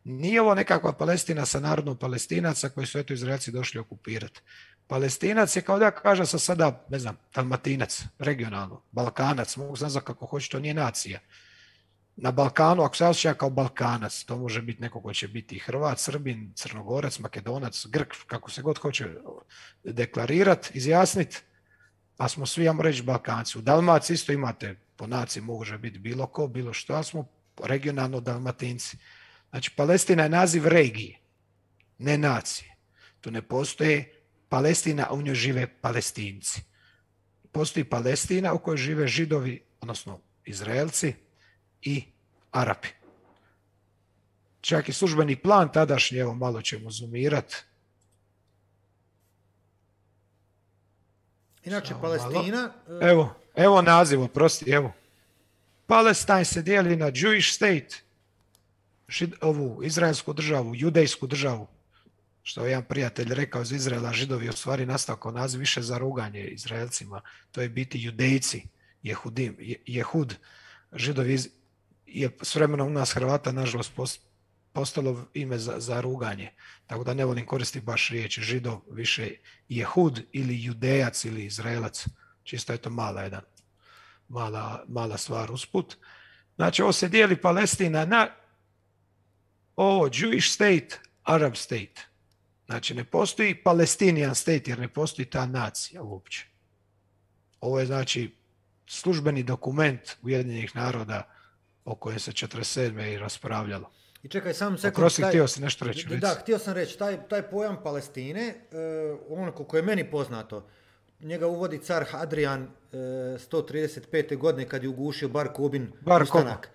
Nije ovo nekakva Palestina sa narodom Palestinaca koji su eto Izraelci došli okupirati. Palestinac je kao da kaže sa sada, ne znam, Dalmatinac, regionalno, Balkanac, mogu znati kako hoće, to nije nacija. Na Balkanu, ako se osjeća kao Balkanac, to može biti neko ko će biti Hrvat, Srbin, Crnogorac, Makedonac, Grk, kako se god hoće deklarirati, izjasniti, pa smo svi, ja reći, Balkanci. U Dalmaciji isto imate, po naciji može biti bilo ko, bilo što, a smo regionalno Dalmatinci. Znači, Palestina je naziv regije, ne nacije. Tu ne postoje Palestina, a u njoj žive Palestinci. Postoji Palestina u kojoj žive Židovi, odnosno Izraelci i Arapi. Čak i službeni plan tadašnji, evo malo ćemo zoomirati. Inače, Samo Palestina... malo. Evo, evo naziv, oprosti, evo. Palestine se dijeli na Jewish state, žid, ovu izraelsku državu, judejsku državu, što je jedan prijatelj rekao iz Izraela, Židovi u stvari nastao kao naziv više za ruganje Izraelcima, to je biti judejci, Jehudim, Jehud, Židovi iz, je s vremenom u nas Hrvata nažalost postalo ime za, za ruganje, tako da ne volim koristiti baš riječi Židov, više Jehud ili Judejac ili Izraelac, čisto je to mala jedan, mala, mala stvar usput. Znači ovo se dijeli Palestina na ovo Jewish state, Arab state. Znači ne postoji Palestinian state jer ne postoji ta nacija uopće. Ovo je znači službeni dokument Ujedinjenih naroda o kojem se četrdeset sedme i raspravljalo. I čekaj, sam sekund. Prosi, htio si nešto reći. Da, da, htio sam reći, taj, taj pojam Palestine, uh, ono koliko je meni poznato, njega uvodi car Hadrian uh, sto trideset pete godine kad je ugušio Bar Kobin Bar ustanak.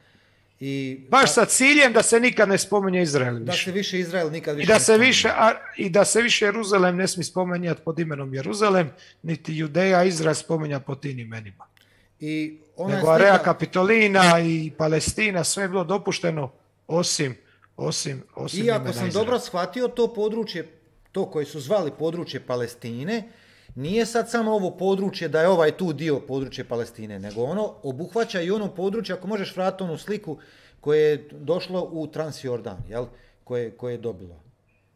I, baš sa ciljem da se nikad ne spominje Izrael više. Da se više Izrael nikad više I da se ne više, a, i da se više Jeruzalem ne smije spominjati pod imenom Jeruzalem, niti Judeja Izrael spominja pod tim imenima. I ona nego Area Kapitolina i Palestina, sve je bilo dopušteno osim, osim, osim Iako imena sam Izrael. dobro shvatio, to područje, to koje su zvali područje Palestine, nije sad samo ovo područje da je ovaj tu dio područje Palestine, nego ono obuhvaća i ono područje, ako možeš vratiti onu sliku koje je došlo u Transjordan, jel? Koje, koje je dobilo.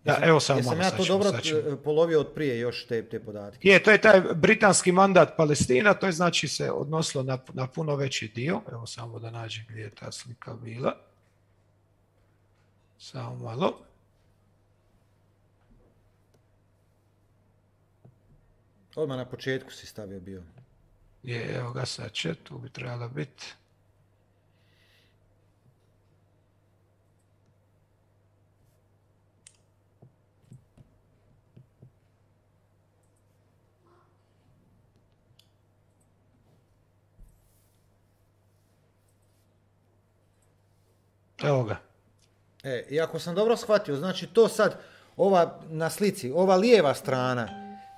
Da, Jesam, evo samo jesam malo, ja sad to ćemo, dobro sad ćemo. polovio od prije još te, te podatke? Je, to je taj britanski mandat Palestina, to je znači se odnosilo na, na puno veći dio. Evo samo da nađem gdje je ta slika bila. Samo malo. Odmah na početku si stavio bio. Je, evo ga sad će, tu bi trebala biti. Evo ga. E, i ako sam dobro shvatio, znači to sad, ova na slici, ova lijeva strana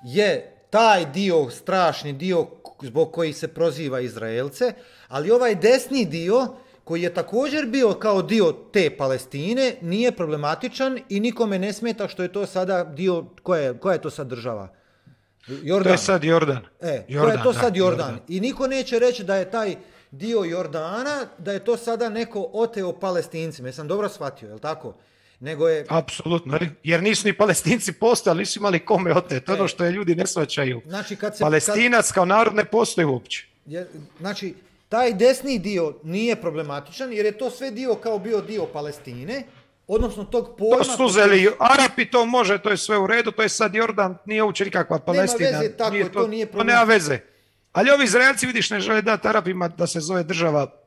je taj dio, strašni dio zbog koji se proziva Izraelce, ali ovaj desni dio koji je također bio kao dio te Palestine nije problematičan i nikome ne smeta što je to sada dio, koja je, koja je to sad država? Jordan. To je sad Jordan. E, Jordan, koja je to da, sad Jordan. Jordan. I niko neće reći da je taj dio Jordana, da je to sada neko oteo Palestincima. Jesam dobro shvatio, je li tako? Nego je... Apsolutno, jer nisu ni Palestinci postali, nisu imali kome oteti. Ono što je ljudi ne shvaćaju. Znači, kad se, Palestinac kad, kao narod ne postoji uopće. Je, znači, taj desni dio nije problematičan, jer je to sve dio kao bio dio Palestine, odnosno tog pojma... To su uzeli Arapi, to može, to je sve u redu, to je sad Jordan, nije uopće nikakva Palestina. Nema veze, tako nije to, to nije problem. To nema veze. Ali ovi Izraelci, vidiš, ne žele dati Arapima da se zove država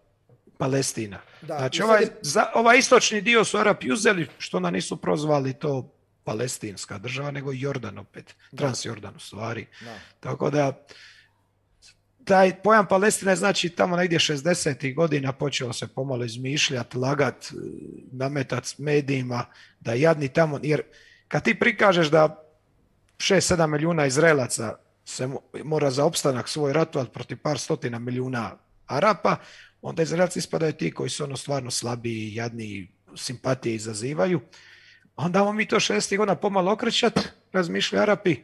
Palestina. Da, znači, ovaj, je... za, ovaj istočni dio su Arapi uzeli, što ona nisu prozvali to palestinska država, nego Jordan opet, da. Transjordan u stvari. Da. Tako da, taj pojam Palestina znači tamo negdje šezdesetih godina počeo se pomalo izmišljati, lagat, nametat medijima, da jadni tamo, jer kad ti prikažeš da šest sedam milijuna Izraelaca se mora za opstanak svoj ratovati protiv par stotina milijuna Arapa, onda Izraelci ispadaju ti koji su ono stvarno slabiji, jadni, simpatije izazivaju. Onda vam mi to šezdesetih godina pomalo okrećat, razmišljaju Arapi.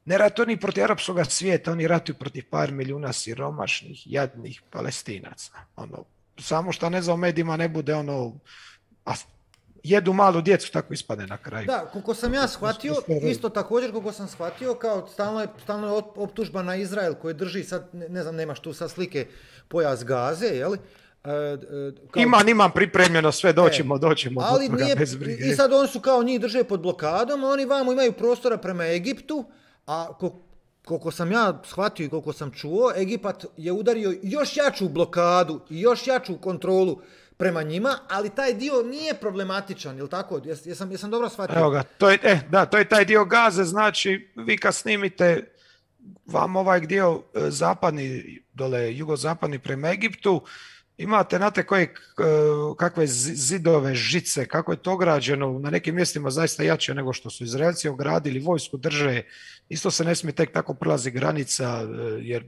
Ne ratuju oni protiv arapskog svijeta, oni ratuju protiv par milijuna siromašnih, jadnih Palestinaca. Ono, samo što ne znam, u medijima ne bude ono, a jedu malu djecu, tako ispade na kraju. Da, koliko sam ja shvatio, isto također koliko sam shvatio, kao stalno je, stalno je optužba na Izrael koji drži sad, ne znam, nemaš tu sad slike, pojas Gaze, jel? E, kao... Imam, imam pripremljeno sve, doćemo, e, doćemo. Ali nije, bez brige. I sad oni su kao njih drže pod blokadom, a oni vamo imaju prostora prema Egiptu, a koliko sam ja shvatio i koliko sam čuo, Egipat je udario još jaču blokadu i još jaču kontrolu prema njima, ali taj dio nije problematičan, jel tako? Jes, jesam, jesam dobro shvatio? Evo ga, to je, eh, da, to je taj dio Gaze, znači vi kad snimite vam ovaj dio zapadni, dole jugozapadni prema Egiptu, imate, znate, koje, kakve zidove, žice, kako je to ograđeno, na nekim mjestima zaista jače nego što su Izraelci ogradili, vojsku drže, isto se ne smije tek tako prelazi granica, jer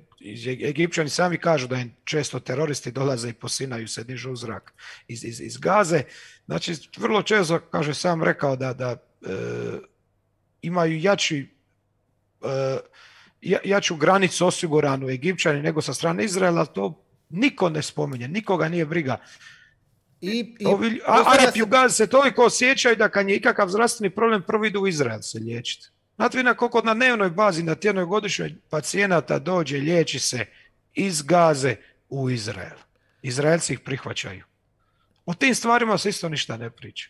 Egipćani sami kažu da im često teroristi dolaze i posinaju se, dižu u zrak iz, iz, iz Gaze. Znači, vrlo često, kaže sam rekao, da, da e, imaju jači, e, jaču granicu osiguranu Egipćani nego sa strane Izraela, to niko ne spominje, nikoga nije briga. I, i, Arapi u Gazi se toliko osjećaju da kad je ikakav zdravstveni problem prvo idu u Izrael se liječiti. Znate vi na koliko na dnevnoj bazi, na tjednoj godišnjoj pacijenata dođe, liječi se iz Gaze u Izrael. Izraelci ih prihvaćaju. O tim stvarima se isto ništa ne priča.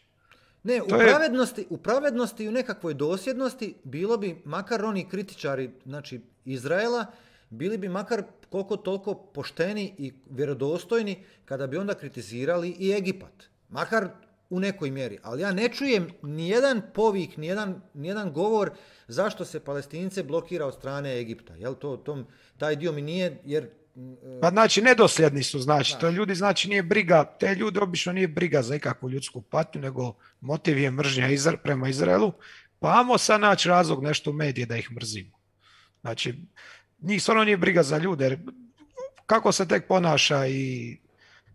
Ne, u pravednosti, u pravednosti i u nekakvoj dosljednosti bilo bi, makar oni kritičari, znači Izraela, bili bi makar koliko toliko pošteni i vjerodostojni kada bi onda kritizirali i Egipat. Makar u nekoj mjeri. Ali ja ne čujem nijedan povik, nijedan, nijedan govor zašto se Palestince blokira od strane Egipta. Jel to, tom, taj dio mi nije, jer... Pa znači, nedosljedni su, znači. znači. To ljudi, znači, nije briga, te ljudi obično nije briga za ikakvu ljudsku patnju, nego motiv je mržnja Izra, prema Izraelu, pa amo sad naći razlog nešto u medije da ih mrzimo. Znači, njih stvarno nije briga za ljude, jer kako se tek ponaša i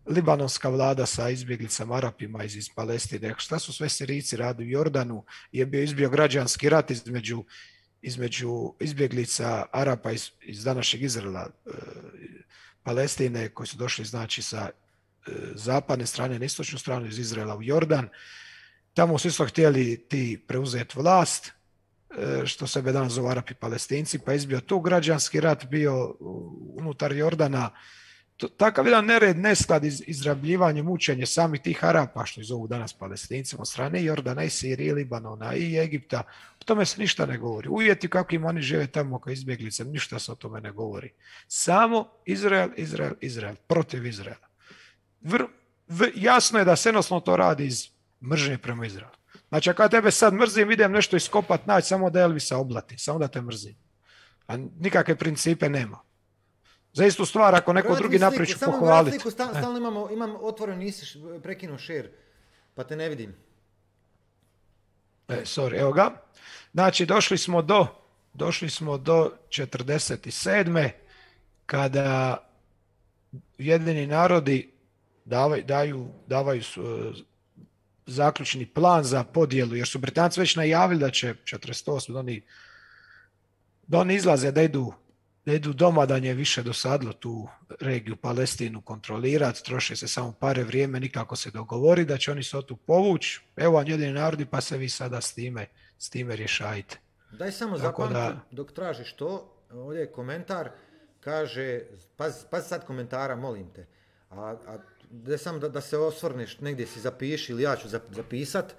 libanonska vlada sa izbjeglicama Arapima iz, iz Palestine, šta su sve Sirijci radili u Jordanu, je bio izbio građanski rat između, između izbjeglica Arapa iz, iz današnjeg Izraela, e, Palestine, koji su došli znači sa e, zapadne strane na istočnu stranu iz Izraela u Jordan. Tamo su isto htjeli ti preuzeti vlast, što sebe danas zove Arapi Palestinci, pa izbio tu građanski rat, bio unutar Jordana. Takav jedan nered, nesklad, iz, izrabljivanje, mučenje samih tih Arapa, što ih zovu danas Palestincima, od strane Jordana i Sirije, Libanona i Egipta. O tome se ništa ne govori. Uvjeti kakvim oni žive tamo kao izbjeglice, ništa se o tome ne govori. Samo Izrael, Izrael, Izrael, protiv Izraela. Vr, v, jasno je da se jednostavno to radi iz mržnje prema Izraelu. Znači, ako ja tebe sad mrzim, idem nešto iskopat, naći samo da Elvisa oblati, samo da te mrzim. A nikakve principe nema. Za istu stvar, ako neko drugi napravi ću pohvaliti. Samo stalno, stalno imamo, imam otvoren, nisi prekinuo share, pa te ne vidim. E, sorry, evo ga. Znači, došli smo do, došli smo do četrdeset sedme kada Ujedinjeni narodi davaju, daju, davaju zaključni plan za podjelu, jer su Britanci već najavili da će četrdeset osme da oni, da oni izlaze, da idu, da idu doma, da nje više dosadlo tu regiju Palestinu kontrolirati, troše se samo pare vrijeme, nikako se dogovori da će oni se tu povući. Evo vam Ujedinjeni narodi, pa se vi sada s time, s time rješajte. Daj samo zapamti, da... dok tražiš to, ovdje je komentar, kaže, pazi paz sad komentara, molim te, a, a da sam da, da se osvrneš, negdje si zapiši ili ja ću zapisat,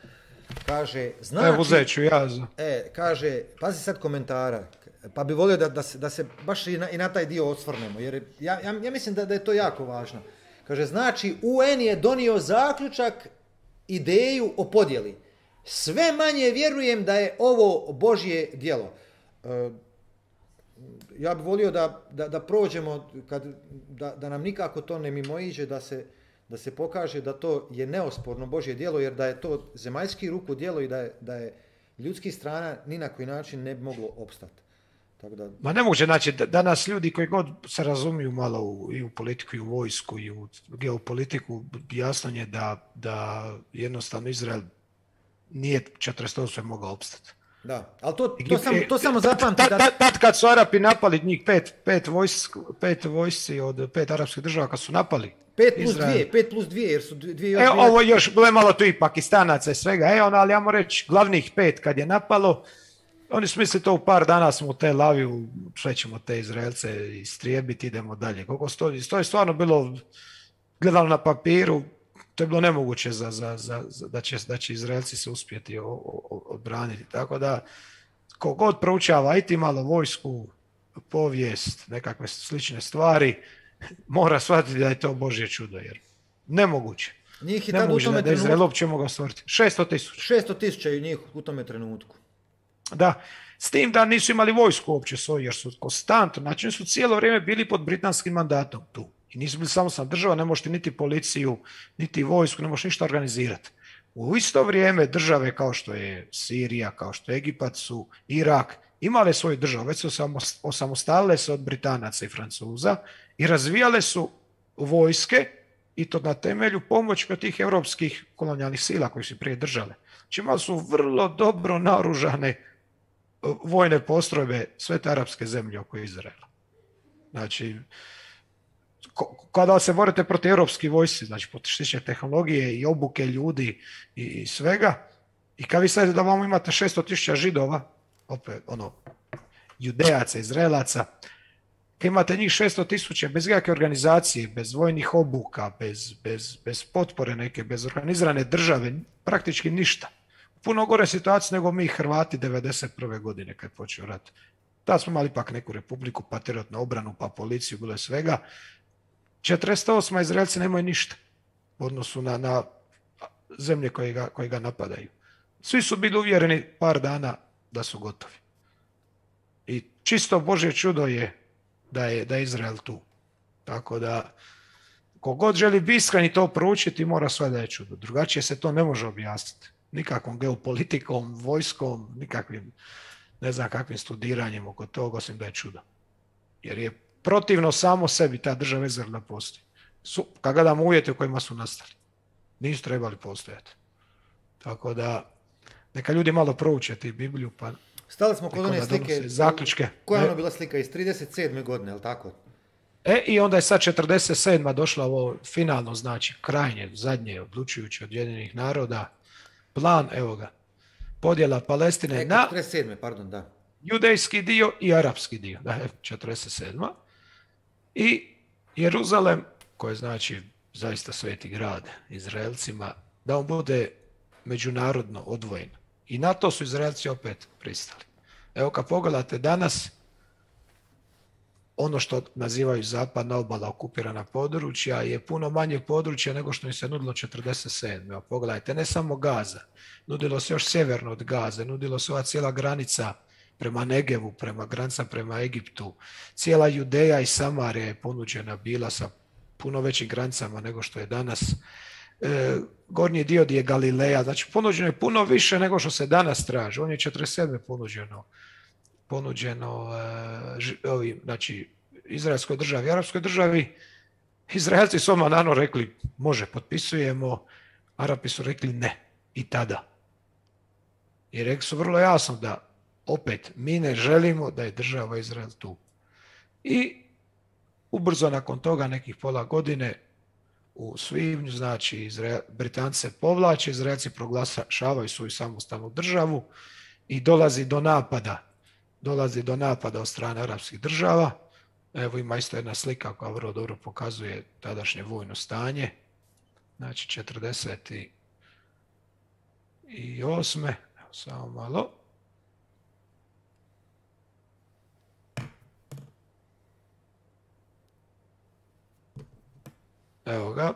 kaže, znači... Evo, uzet ću ja. E, kaže, pazi sad komentara, pa bi volio da, da, se, da se baš i na, i na taj dio osvrnemo, jer ja, ja, ja mislim da, da je to jako važno. Kaže, znači, U N je donio zaključak, ideju o podjeli. Sve manje vjerujem da je ovo Božje djelo. E, ja bih volio da, da, da prođemo, kad, da, da nam nikako to ne mimoiđe, da se, da se pokaže da to je neosporno Božje djelo, jer da je to zemaljski ruku djelo i da je, da je ljudskih strana ni na koji način ne bi moglo opstati. Tako da... Ma ne može, znači danas ljudi koji god se razumiju malo u, i u politiku i u vojsku i u geopolitiku, jasno je da, da jednostavno Izrael nije četrdeset osme mogao opstati. Da, ali to, to, sam, to samo zapamti da... Tad, tad kad su Arapi napali njih pet, pet, vojsk, pet vojsci od pet arapskih država, kad su napali pet plus Izrael. dvije, pet plus dvije, jer su dvije još... E, ovo još, bilo je malo tu i Pakistanaca i svega, e, ono, ali ja moram reći, glavnih pet kad je napalo, oni su mislili to u par dana smo u Tel Avivu, sve ćemo te Izraelce istrijebiti, idemo dalje. Koliko stoji, to je stvarno bilo, gledalo na papiru, to je bilo nemoguće za, za, za, za, da, će, da će Izraelci se uspjeti o, o, odbraniti. Tako da, kogod proučava, ajti malo vojsku, povijest, nekakve slične stvari, mora shvatiti da je to Božje čudo, jer nemoguće. Njih je nemoguće u tome da, da Izrael uopće mogao stvoriti. šesto tisuća. šesto tisuća je njih u tome trenutku. Da, s tim da nisu imali vojsku uopće svoju, jer su konstantno, znači su cijelo vrijeme bili pod britanskim mandatom tu. I nisu bili samostalna država, ne možete niti policiju, niti vojsku, ne možete ništa organizirati. U isto vrijeme države kao što je Sirija, kao što je Egipat su, Irak, imale svoju državu, već su osamostalile se od Britanaca i Francuza i razvijale su vojske i to na temelju pomoći od tih europskih kolonijalnih sila koji su prije držale. Znači imali su vrlo dobro naoružane vojne postrojbe sve te arapske zemlje oko Izraela. Znači, kada se borite protiv europskih vojsci, znači potištiće tehnologije i obuke ljudi i, i svega, i kad vi stavite da vam imate šesto tisuća židova, opet ono, judejaca, izraelaca, kad imate njih šesto tisuća bez kakve organizacije, bez vojnih obuka, bez, bez, bez potpore neke, bez organizirane države, praktički ništa. Puno gore situacija nego mi Hrvati devedeset prve godine kad je počeo rat. Tad smo imali ipak neku republiku, pa teretnu obranu, pa policiju, bilo je svega. četrdeset osma Izraelci nemaju ništa u odnosu na, na zemlje koje ga, koje ga napadaju. Svi su bili uvjereni par dana da su gotovi. I čisto Božje čudo je da je, da je Izrael tu. Tako da, kogod želi biti iskren i to proučiti, mora sve da je čudo. Drugačije se to ne može objasniti. Nikakvom geopolitikom, vojskom, nikakvim, ne znam kakvim studiranjem oko toga, osim da je čudo. Jer je protivno samo sebi ta država Izrael da postoji. Su, kad gledamo uvjete u kojima su nastali, nisu trebali postojati. Tako da, neka ljudi malo prouče ti Bibliju, pa stali smo kod one slike, zaključke. Koja je ono bila slika iz trideset sedme godine, je li tako? E, i onda je sad četrdeset sedma došla ovo finalno, znači krajnje, zadnje, odlučujuće od Ujedinjenih naroda, plan, evo ga, podjela Palestine e, na četrdeset sedme, pardon, da. judejski dio i arapski dio, da je četrdeset sedma I Jeruzalem, koji je znači zaista sveti grad Izraelcima, da on bude međunarodno odvojen. I na to su Izraelci opet pristali. Evo kad pogledate danas, ono što nazivaju zapadna obala, okupirana područja, je puno manje područja nego što im se nudilo četrdeset sedme Evo pogledajte, ne samo Gaza, nudilo se još sjeverno od Gaze, nudilo se ova cijela granica prema Negevu, prema granica prema Egiptu. Cijela Judeja i Samarija je ponuđena bila sa puno većim granicama nego što je danas. E, gornji dio je Galileja, znači ponuđeno je puno više nego što se danas traži. On je četrdeset sedme ponuđeno, ponuđeno e, ži, ovi, znači, izraelskoj državi, arapskoj državi. Izraelci su odmah nano rekli, može, potpisujemo, Arapi su rekli ne, i tada. I rekli su vrlo jasno da opet, mi ne želimo da je država Izrael tu. I ubrzo nakon toga, nekih pola godine, u svibnju, znači, Izrael, Britanci se povlače, Izraelci proglašavaju svoju samostalnu državu i dolazi do napada. Dolazi do napada od strane arapskih država. Evo ima isto jedna slika koja vrlo dobro pokazuje tadašnje vojno stanje. Znači, četrdeset osme Evo, samo malo. Evo ga.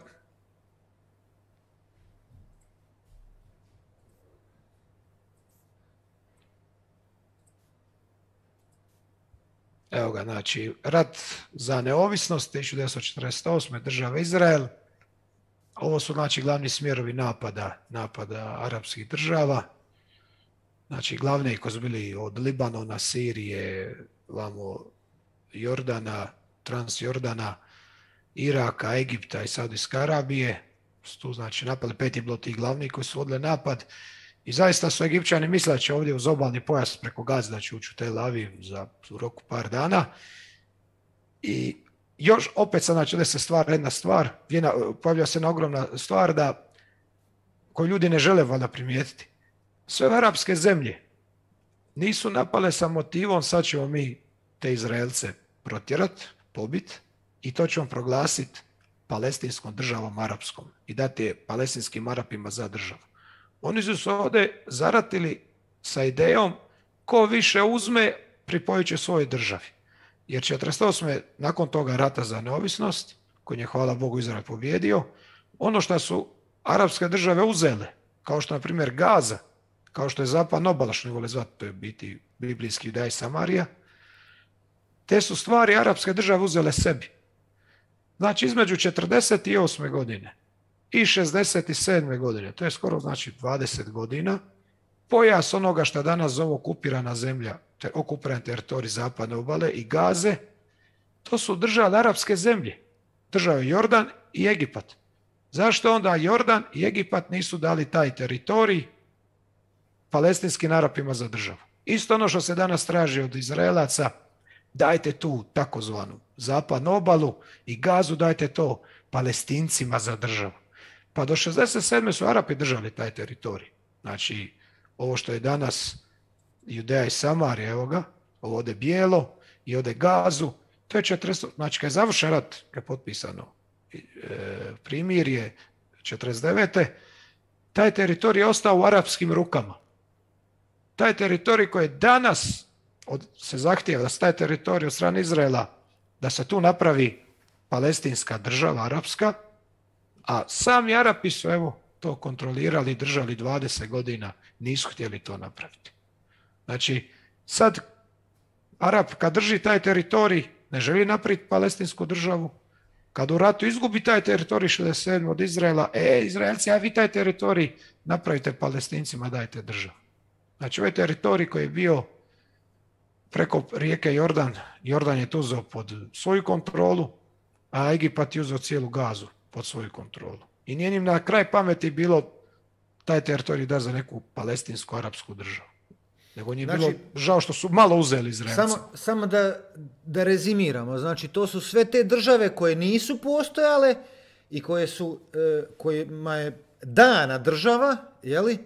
Evo ga, znači, rat za neovisnost tisuću devetsto četrdeset osme država Izrael. Ovo su, znači, glavni smjerovi napada, napada arapskih država. znači glavne koji su bili od Libanona, Sirije, vamo Jordana, Transjordana, Iraka, Egipta i Saudijske Arabije, su tu znači napali, pet je bilo tih glavnih koji su vodili napad i zaista su Egipćani mislili da će ovdje uz obalni pojas preko Gaze da će ući u Tel Aviv za u roku par dana i još opet sad znači da se stvara jedna stvar, jedna, pojavlja se jedna ogromna stvar da koju ljudi ne žele valjda primijetiti. Sve arapske zemlje nisu napale sa motivom sad ćemo mi te Izraelce protjerat, pobit i to ćemo proglasiti palestinskom državom arapskom i dati je palestinskim Arapima za državu. Oni su se ovdje zaratili sa idejom ko više uzme pripojit će svojoj državi. Jer četrdeset osme nakon toga rata za neovisnost, koji je hvala Bogu Izrael pobjedio, ono što su arapske države uzele, kao što na primjer Gaza, kao što je zapadna obala, što ne vole zvati, to je biti biblijski Judeja i Samarija, te su stvari arapske države uzele sebi. Znači između četrdeset osme godine i šezdeset sedme godine, to je skoro znači dvadeset godina, pojas onoga što danas zove okupirana zemlja, te okupiran teritorij zapadne obale i Gaze, to su države arapske zemlje, države Jordan i Egipat. Zašto onda Jordan i Egipat nisu dali taj teritorij palestinskim Arapima za državu? Isto ono što se danas traži od Izraelaca, dajte tu takozvanu zapadnu obalu i Gazu, dajte to Palestincima za državu. Pa do šezdeset sedme su Arapi držali taj teritorij. Znači, ovo što je danas Judeja i Samarija, evo ga, ovo ovdje bijelo i ovdje Gazu, to je četrdeset, znači kad je završen rat, kad je potpisano e, primirje četrdeset devete taj teritorij je ostao u arapskim rukama. Taj teritorij koji je danas od, se zahtijeva da se taj teritorij od strane Izraela, da se tu napravi palestinska država arapska, a sami Arapi su evo to kontrolirali i držali dvadeset godina, nisu htjeli to napraviti. Znači, sad Arap kad drži taj teritorij, ne želi napraviti palestinsku državu, kad u ratu izgubi taj teritorij šezdeset sedme od Izraela, e, Izraelci, a vi taj teritorij napravite Palestincima, dajte državu. Znači, ovaj teritorij koji je bio preko rijeke Jordan, Jordan je to uzeo pod svoju kontrolu, a Egipat je uzeo cijelu Gazu pod svoju kontrolu. I nije im na kraj pameti bilo taj teritorij da za neku palestinsku arapsku državu. Nego nije znači, bilo žao što su malo uzeli Izraelci. Samo, samo da, da rezimiramo, znači to su sve te države koje nisu postojale i koje su, e, kojima je dana država, jeli?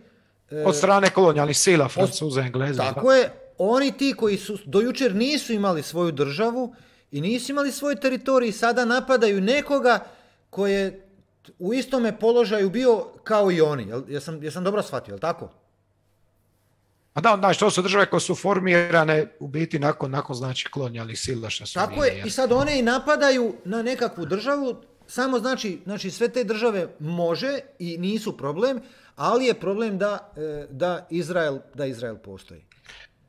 E, od strane kolonijalnih sila, Francuza, Engleza. Tako da. Je, oni ti koji su do jučer nisu imali svoju državu i nisu imali svoj teritorij, sada napadaju nekoga koji je u istome položaju bio kao i oni. Jel, jesam, jesam dobro shvatio, jel tako? A da, znači, to su države koje su formirane u biti nakon, nakon znači, kolonijalnih sila što su tako je, i sad one i napadaju na nekakvu državu, samo znači, znači sve te države može i nisu problem, ali je problem da, da, Izrael, da Izrael postoji.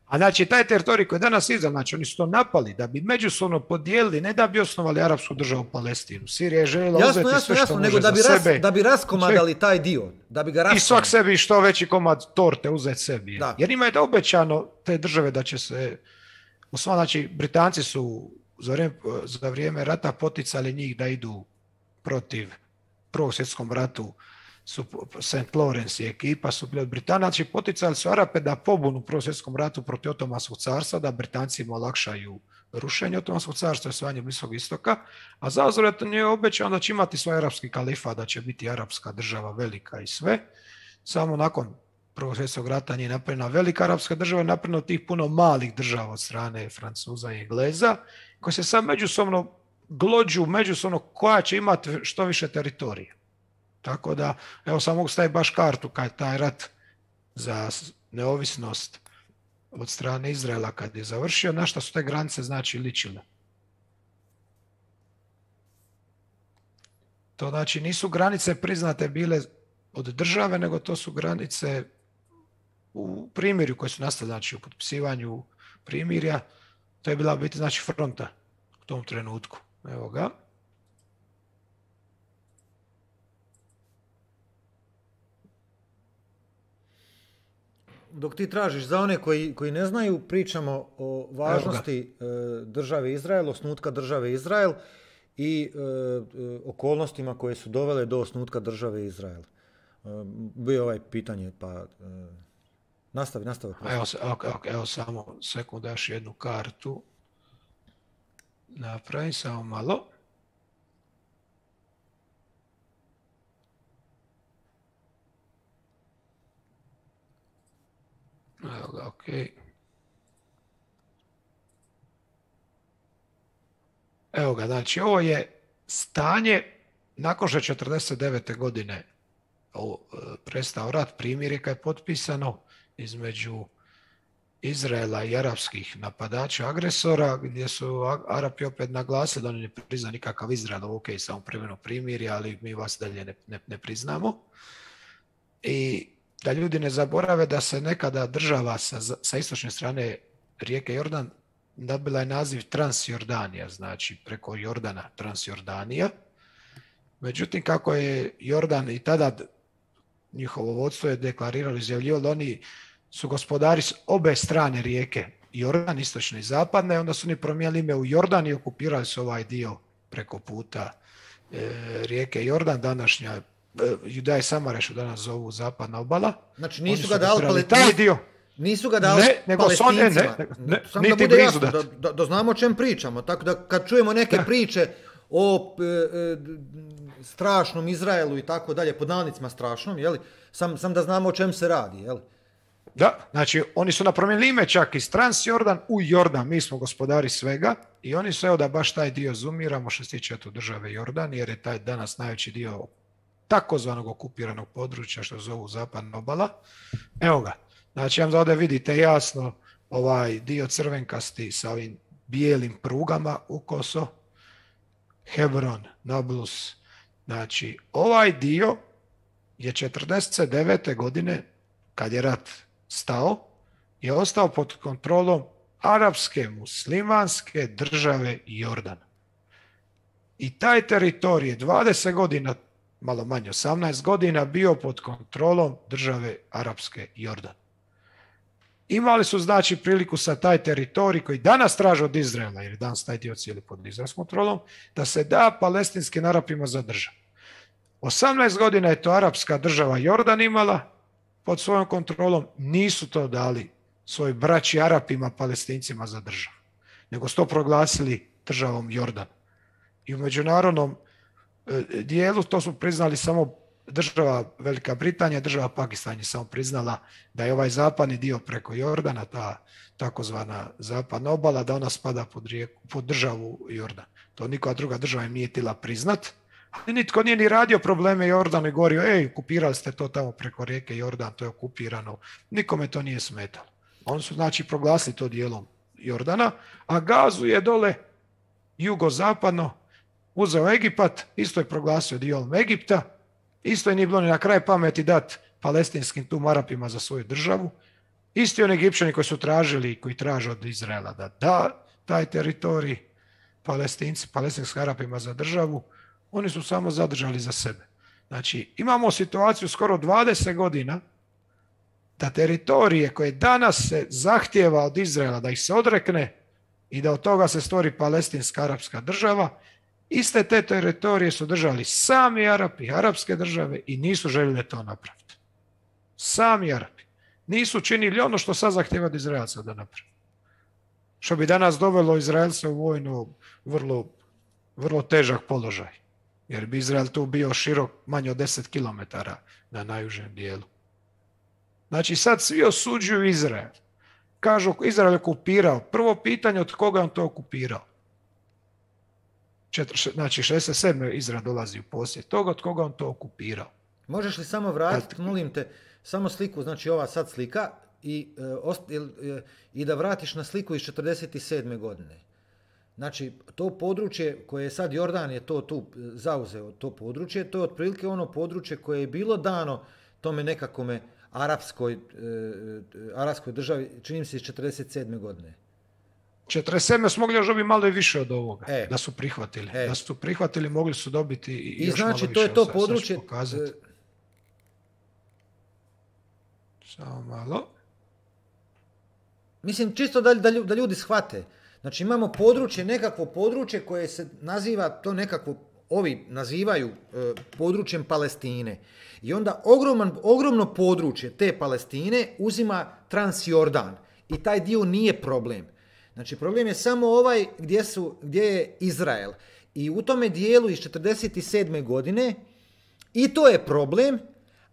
A znači, taj teritorij koji je danas Izrael, znači oni su to napali da bi međusobno podijelili, ne da bi osnovali arapsku državu Palestinu. Sirija je željela jasno, uzeti jasno, sve što jasno, može nego da bi za ras, sebe. Da bi raskomadali taj dio. Da bi ga raskomadali. I svak sebi što veći komad torte uzeti sebi. Da. Jer ima je da obećano te države da će se, u svom, znači, Britanci su za vrijeme, za vrijeme rata poticali njih da idu protiv Prvog svjetskom ratu, su Saint Lawrence i ekipa su bili od Britanaca, poticali su Arape da pobunu u Prvom svjetskom ratu protiv Otomanskog carstva, da Britancima olakšaju rušenje Otomanskog carstva i osvajanje Bliskog istoka, a zauzvrat je obećano da će imati svoj arapski kalifat, da će biti arapska država velika i sve. Samo nakon Prvog svjetskog rata nije napravljena velika arapska država, je napravljeno tih puno malih država od strane Francuza i Engleza, koji se sad međusobno glođu, međusobno koja će imati što više teritorija. Tako da, evo sam mogu staviti baš kartu kad taj rat za neovisnost od strane Izraela kad je završio, na šta su te granice znači ličile. To znači nisu granice priznate bile od države, nego to su granice u primirju koje su nastale, znači u potpisivanju primirja. To je bila biti znači fronta u tom trenutku. Evo ga. dok ti tražiš za one koji, koji ne znaju, pričamo o važnosti e, države Izrael, osnutka države Izrael i e, e, okolnostima koje su dovele do osnutka države Izrael. E, bio je ovaj pitanje, pa e, nastavi, nastavi. Evo, evo, evo samo sekund, daš jednu kartu. Napravi samo malo. Evo ga, okej. Okay. Evo ga, znači ovo je stanje nakon što je četrdeset devete godine prestao rat, primirje kad je potpisano između Izraela i arapskih napadača, agresora, gdje su Arapi opet naglasili da oni ne priznaju nikakav Izrael, ok, samo privremeno primirje, ali mi vas dalje ne, ne, ne priznamo. I da ljudi ne zaborave da se nekada država sa, sa istočne strane rijeke Jordan dobila je naziv Transjordanija, znači preko Jordana Transjordanija. Međutim, kako je Jordan i tada njihovo vodstvo je deklariralo, izjavljivalo, oni su gospodari s obe strane rijeke Jordan, istočne i zapadne, onda su oni promijenili ime u Jordan i okupirali su ovaj dio preko puta e, rijeke Jordan, današnja e, Judaja i Samara, što danas zovu zapadna obala. Znači nisu oni ga dali palestincima. Taj dio. Nisu ga dali ne, nego palestincima. Ne, ne, Samo niti da bude blizu jasno, da, da, da znamo o čem pričamo. Tako da kad čujemo neke da. priče o e, e, strašnom Izraelu i tako dalje, pod navodnicima strašnom, jeli? Sam, sam da znamo o čem se radi, jeli? Da, znači oni su napromijenili ime čak iz Transjordan u Jordan, mi smo gospodari svega i oni su, evo da baš taj dio zoomiramo što se tiče tu države Jordan, jer je taj danas najveći dio takozvanog okupiranog područja što zovu zapadna obala. Evo ga, znači vam da ovdje vidite jasno ovaj dio crvenkasti sa ovim bijelim prugama u koso, Hebron, Nablus, znači ovaj dio je četrdeset devete godine kad je rat stao, je ostao pod kontrolom arapske muslimanske države Jordan. I taj teritorij je dvadeset godina, malo manje, osamnaest godina bio pod kontrolom države arapske Jordan. Imali su znači priliku sa taj teritorij koji danas traže od Izraela, jer je danas taj dio cijeli pod izraelskom kontrolom, da se da palestinskim Arapima za državu. osamnaest godina je to arapska država Jordan imala pod svojom kontrolom, nisu to dali svoj braći Arapima, Palestincima za državu, nego su to proglasili državom Jordan. I u međunarodnom dijelu to su priznali samo država Velika Britanija, država Pakistan je samo priznala da je ovaj zapadni dio preko Jordana, ta takozvana zapadna obala, da ona spada pod, rijeku, pod državu Jordan. To nikoja druga država im nije htjela priznat. Ali nitko nije ni radio probleme Jordanu i govorio, ej, okupirali ste to tamo preko rijeke Jordan, to je okupirano. Nikome to nije smetalo. Oni su znači proglasili to dijelom Jordana, a Gazu je dole jugozapadno uzeo Egipat, isto je proglasio dijelom Egipta, isto je nije bilo ni na kraj pameti dat palestinskim tum Arapima za svoju državu. Isti oni Egipćani koji su tražili i koji traže od Izraela da da taj teritorij Palestinci, palestinskim Arapima za državu, oni su samo zadržali za sebe. Znači, imamo situaciju skoro dvadeset godina da teritorije koje danas se zahtijeva od Izraela da ih se odrekne i da od toga se stvori palestinska arapska država, iste te teritorije su držali sami Arapi, arapske države i nisu željeli to napraviti. Sami Arapi. Nisu činili ono što sad zahtijeva od Izraelca da napravi. Što bi danas dovelo Izraelca u vojnu vrlo, vrlo težak položaj. Jer bi Izrael tu bio širok manje od deset kilometara na najužem dijelu. Znači sad svi osuđuju Izrael. Kažu Izrael je okupirao. Prvo pitanje od koga on to okupirao. Četiri, znači šezdeset sedme Izrael dolazi u posjed toga od koga on to okupirao. Možeš li samo vratiti, molim te, samo sliku, znači ova sad slika i, e, i da vratiš na sliku iz četrdeset sedme godine. Znači, to područje koje je sad Jordan je to tu zauzeo, to područje, to je otprilike ono područje koje je bilo dano tome nekakome arapskoj, e, arapskoj državi, činim se iz četrdeset sedme godine. četrdeset sedme su mogli još dobiti malo i više od ovoga, e, da su prihvatili. E. Da su prihvatili, mogli su dobiti i, I još znači, malo to više. je to područje. Samo malo. mislim, čisto da, da, da ljudi shvate. Znači, imamo područje, nekakvo područje koje se naziva, to nekakvo, ovi nazivaju e, područjem Palestine. I onda ogroman, ogromno područje te Palestine uzima Transjordan. I taj dio nije problem. Znači, problem je samo ovaj gdje, su, gdje je Izrael. I u tome dijelu iz četrdeset sedme godine i to je problem,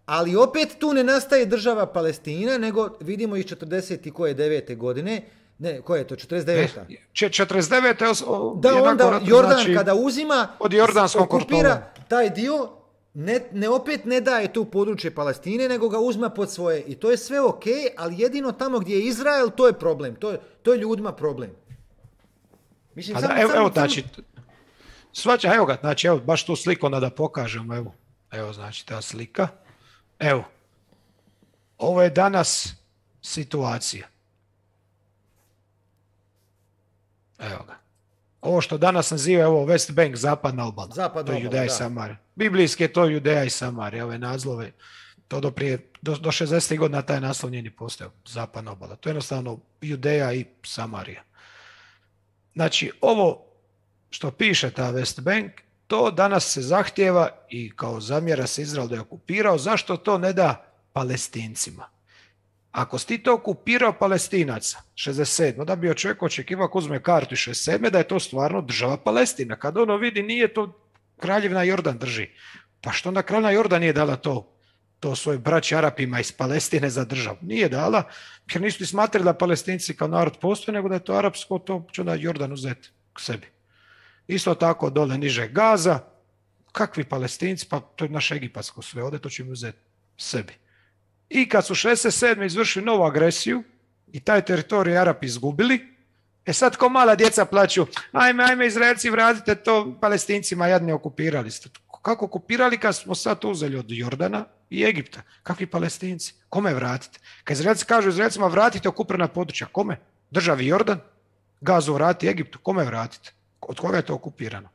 ali opet tu ne nastaje država Palestina, nego vidimo iz četrdeset devete godine, ne, koje je to, četrdeset deveta četrdeset devete O, da onda ratu, Jordan znači, kada uzima, od Jordanskom okupira taj dio, ne, ne opet ne daje tu područje Palestine, nego ga uzma pod svoje. I to je sve ok, ali jedino tamo gdje je Izrael, to je problem. To je, to je ljudima problem. Mislim, pa samo, da, evo, samo, evo, znači, svača, evo ga, znači, evo, baš tu sliku onda da pokažemo, evo, evo, znači, ta slika, evo, ovo je danas situacija, evo ga, ovo što danas naziva, evo, West Bank, zapadna obala, Zapadna to je obala, Judeja i da. Samarija, biblijski je to Judeja i Samarija, ove nazlove, to do prije, do, do šezdesetih godina taj naslov nije ni postao, zapadna obala, to je jednostavno Judeja i Samarija. Znači, ovo što piše ta West Bank, to danas se zahtjeva i kao zamjera se Izrael da je okupirao, zašto to ne da Palestincima? Ako si ti to okupirao Palestinaca, šezdeset sedme da bi od čovjeka očekivao ako uzme kartu iz šezdeset sedme da je to stvarno država Palestina. Kad ono vidi, nije to kraljevina Jordan drži. Pa što onda kraljevina Jordan nije dala to, to svoje braći Arapima iz Palestine za državu? Nije dala, jer nisu ti smatrali da Palestinci kao narod postoje, nego da je to arapsko, to će onda Jordan uzeti k sebi. Isto tako dole niže Gaza, kakvi Palestinci, pa to je naše egipatsko sve, ovdje to će mi uzeti sebi. I kad su šezdeset sedme izvršili novu agresiju i taj teritorij Arapi izgubili, e sad ko mala djeca plaću, ajme, ajme Izraelci vratite to Palestincima, jadni okupirali ste. Kako okupirali kad smo sad to uzeli od Jordana i Egipta? Kakvi Palestinci? Kome vratite? Kad Izraelci kažu Izraelcima vratite okupirana područja, kome? Državi Jordan? Gazu vrati Egiptu, kome vratite? Od koga je to okupirano?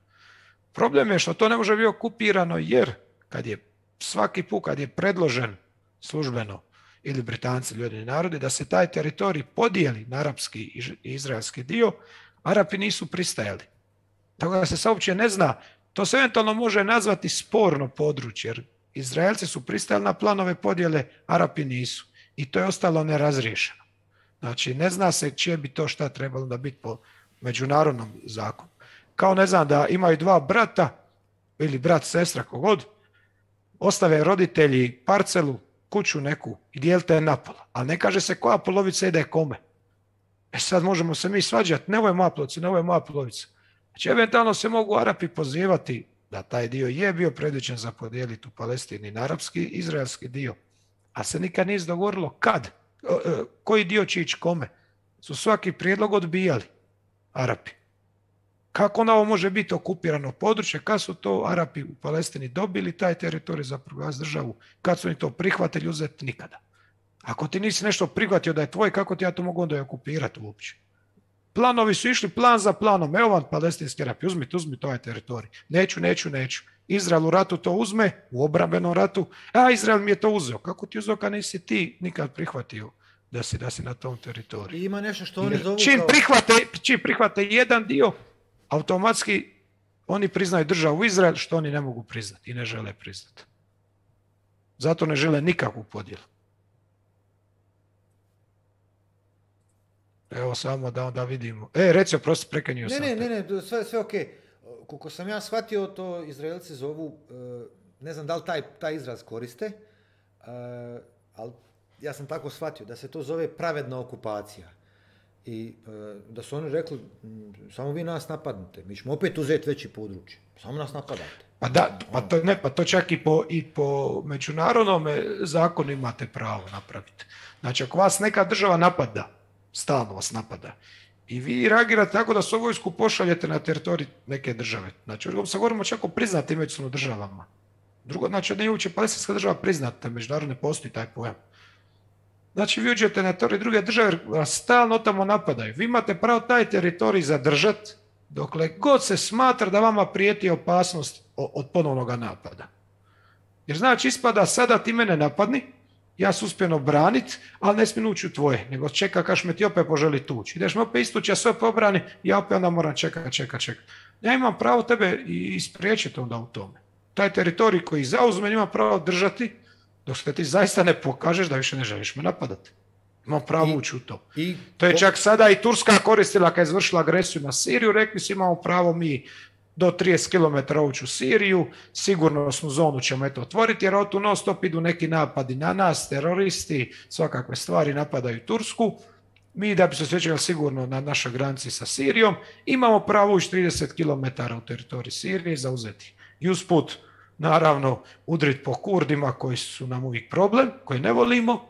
Problem je što to ne može biti okupirano jer kad je svaki put kad je predložen službeno ili Britanci ili Ujedinjeni narodi da se taj teritorij podijeli na arapski i izraelski dio, Arapi nisu pristajali. Tako da se uopće ne zna, to se eventualno može nazvati sporno područje, jer Izraelci su pristajali na planove podjele, Arapi nisu. I to je ostalo nerazriješeno. Znači, ne zna se čije bi to šta trebalo da biti po međunarodnom zakonu. Kao ne znam da imaju dva brata ili brat, sestra, kogod, ostave roditelji parcelu, kuću neku i dijelite na pola. Ali ne kaže se koja polovica ide kome. E sad možemo se mi svađati, ne ovo je moja polovica, ne ovo je moja polovica. Znači, eventualno se mogu Arapi pozivati da taj dio je bio predviđen za podijeliti u Palestini na arapski i izraelski dio. A se nikad nije dogovorilo kad, koji dio će ići kome. Su svaki prijedlog odbijali Arapi. Kako onda ovo može biti okupirano područje, kad su to Arapi u Palestini dobili taj teritorij za proglasiti državu, kad su oni to prihvatili uzeti, nikada. Ako ti nisi nešto prihvatio da je tvoj, kako ti ja to mogu onda je okupirati uopće? Planovi su išli plan za planom, evo vam palestinski Arapi, uzmite, uzmite ovaj teritorij. Neću, neću, neću. Izrael u ratu to uzme, u obrambenom ratu, a Izrael mi je to uzeo. Kako ti uzeo kad nisi ti nikad prihvatio da si, da si na tom teritoriju? I ima nešto što oni zovu čim kao... prihvate, čim prihvate jedan dio, automatski oni priznaju državu Izrael, što oni ne mogu priznati i ne žele priznati. Zato ne žele nikakvu podjelu. Evo samo da onda vidimo. E, reci, prosti, prekenio sam. Ne, ne, ne, ne, sve, sve ok. Koliko sam ja shvatio, to Izraelci zovu, ne znam da li taj, taj izraz koriste, ali ja sam tako shvatio, da se to zove pravedna okupacija. I da su oni rekli, samo vi nas napadnite, mi ćemo opet uzeti veći područje, samo nas napadate. Pa da, pa to, ne, pa to čak i po, i po međunarodnom zakonu imate pravo napraviti. Znači, ako vas neka država napada, stalno vas napada, i vi reagirate tako da svoju vojsku pošaljete na teritorij neke države. Znači, se govorimo čak o priznatim međusobno državama. Drugo, znači, da nije uopće palestinska država priznata, međunarodne postoji taj pojam. Znači, vi uđete na teritorij druge države, vas stalno tamo napadaju. Vi imate pravo taj teritorij zadržati dokle god se smatra da vama prijeti opasnost od ponovnog napada. Jer znači, ispada sada ti mene napadni, ja se uspijem obraniti, ali ne smijem ući u tvoje, nego čeka kaš me ti opet poželi tući. Ideš me opet istući, ja sve pobrani, ja opet onda moram čekati, čekati, čekati. Ja imam pravo tebe i spriječiti onda u tome. Taj teritorij koji zauzme ima pravo držati, dok se ti zaista ne pokažeš da više ne želiš me napadati. Imam pravo I, ući u to. I, to je čak sada i Turska koristila kad je izvršila agresiju na Siriju, rekli su imamo pravo mi do trideset kilometara ući u Siriju, sigurnosnu zonu ćemo eto otvoriti, jer od tu non stop idu neki napadi na nas, teroristi, svakakve stvari napadaju Tursku. Mi da bi se osjećali sigurno na našoj granici sa Sirijom, imamo pravo ući trideset kilometara u teritorij Sirije i zauzeti. I usput, naravno, udriti po Kurdima koji su nam uvijek problem, koji ne volimo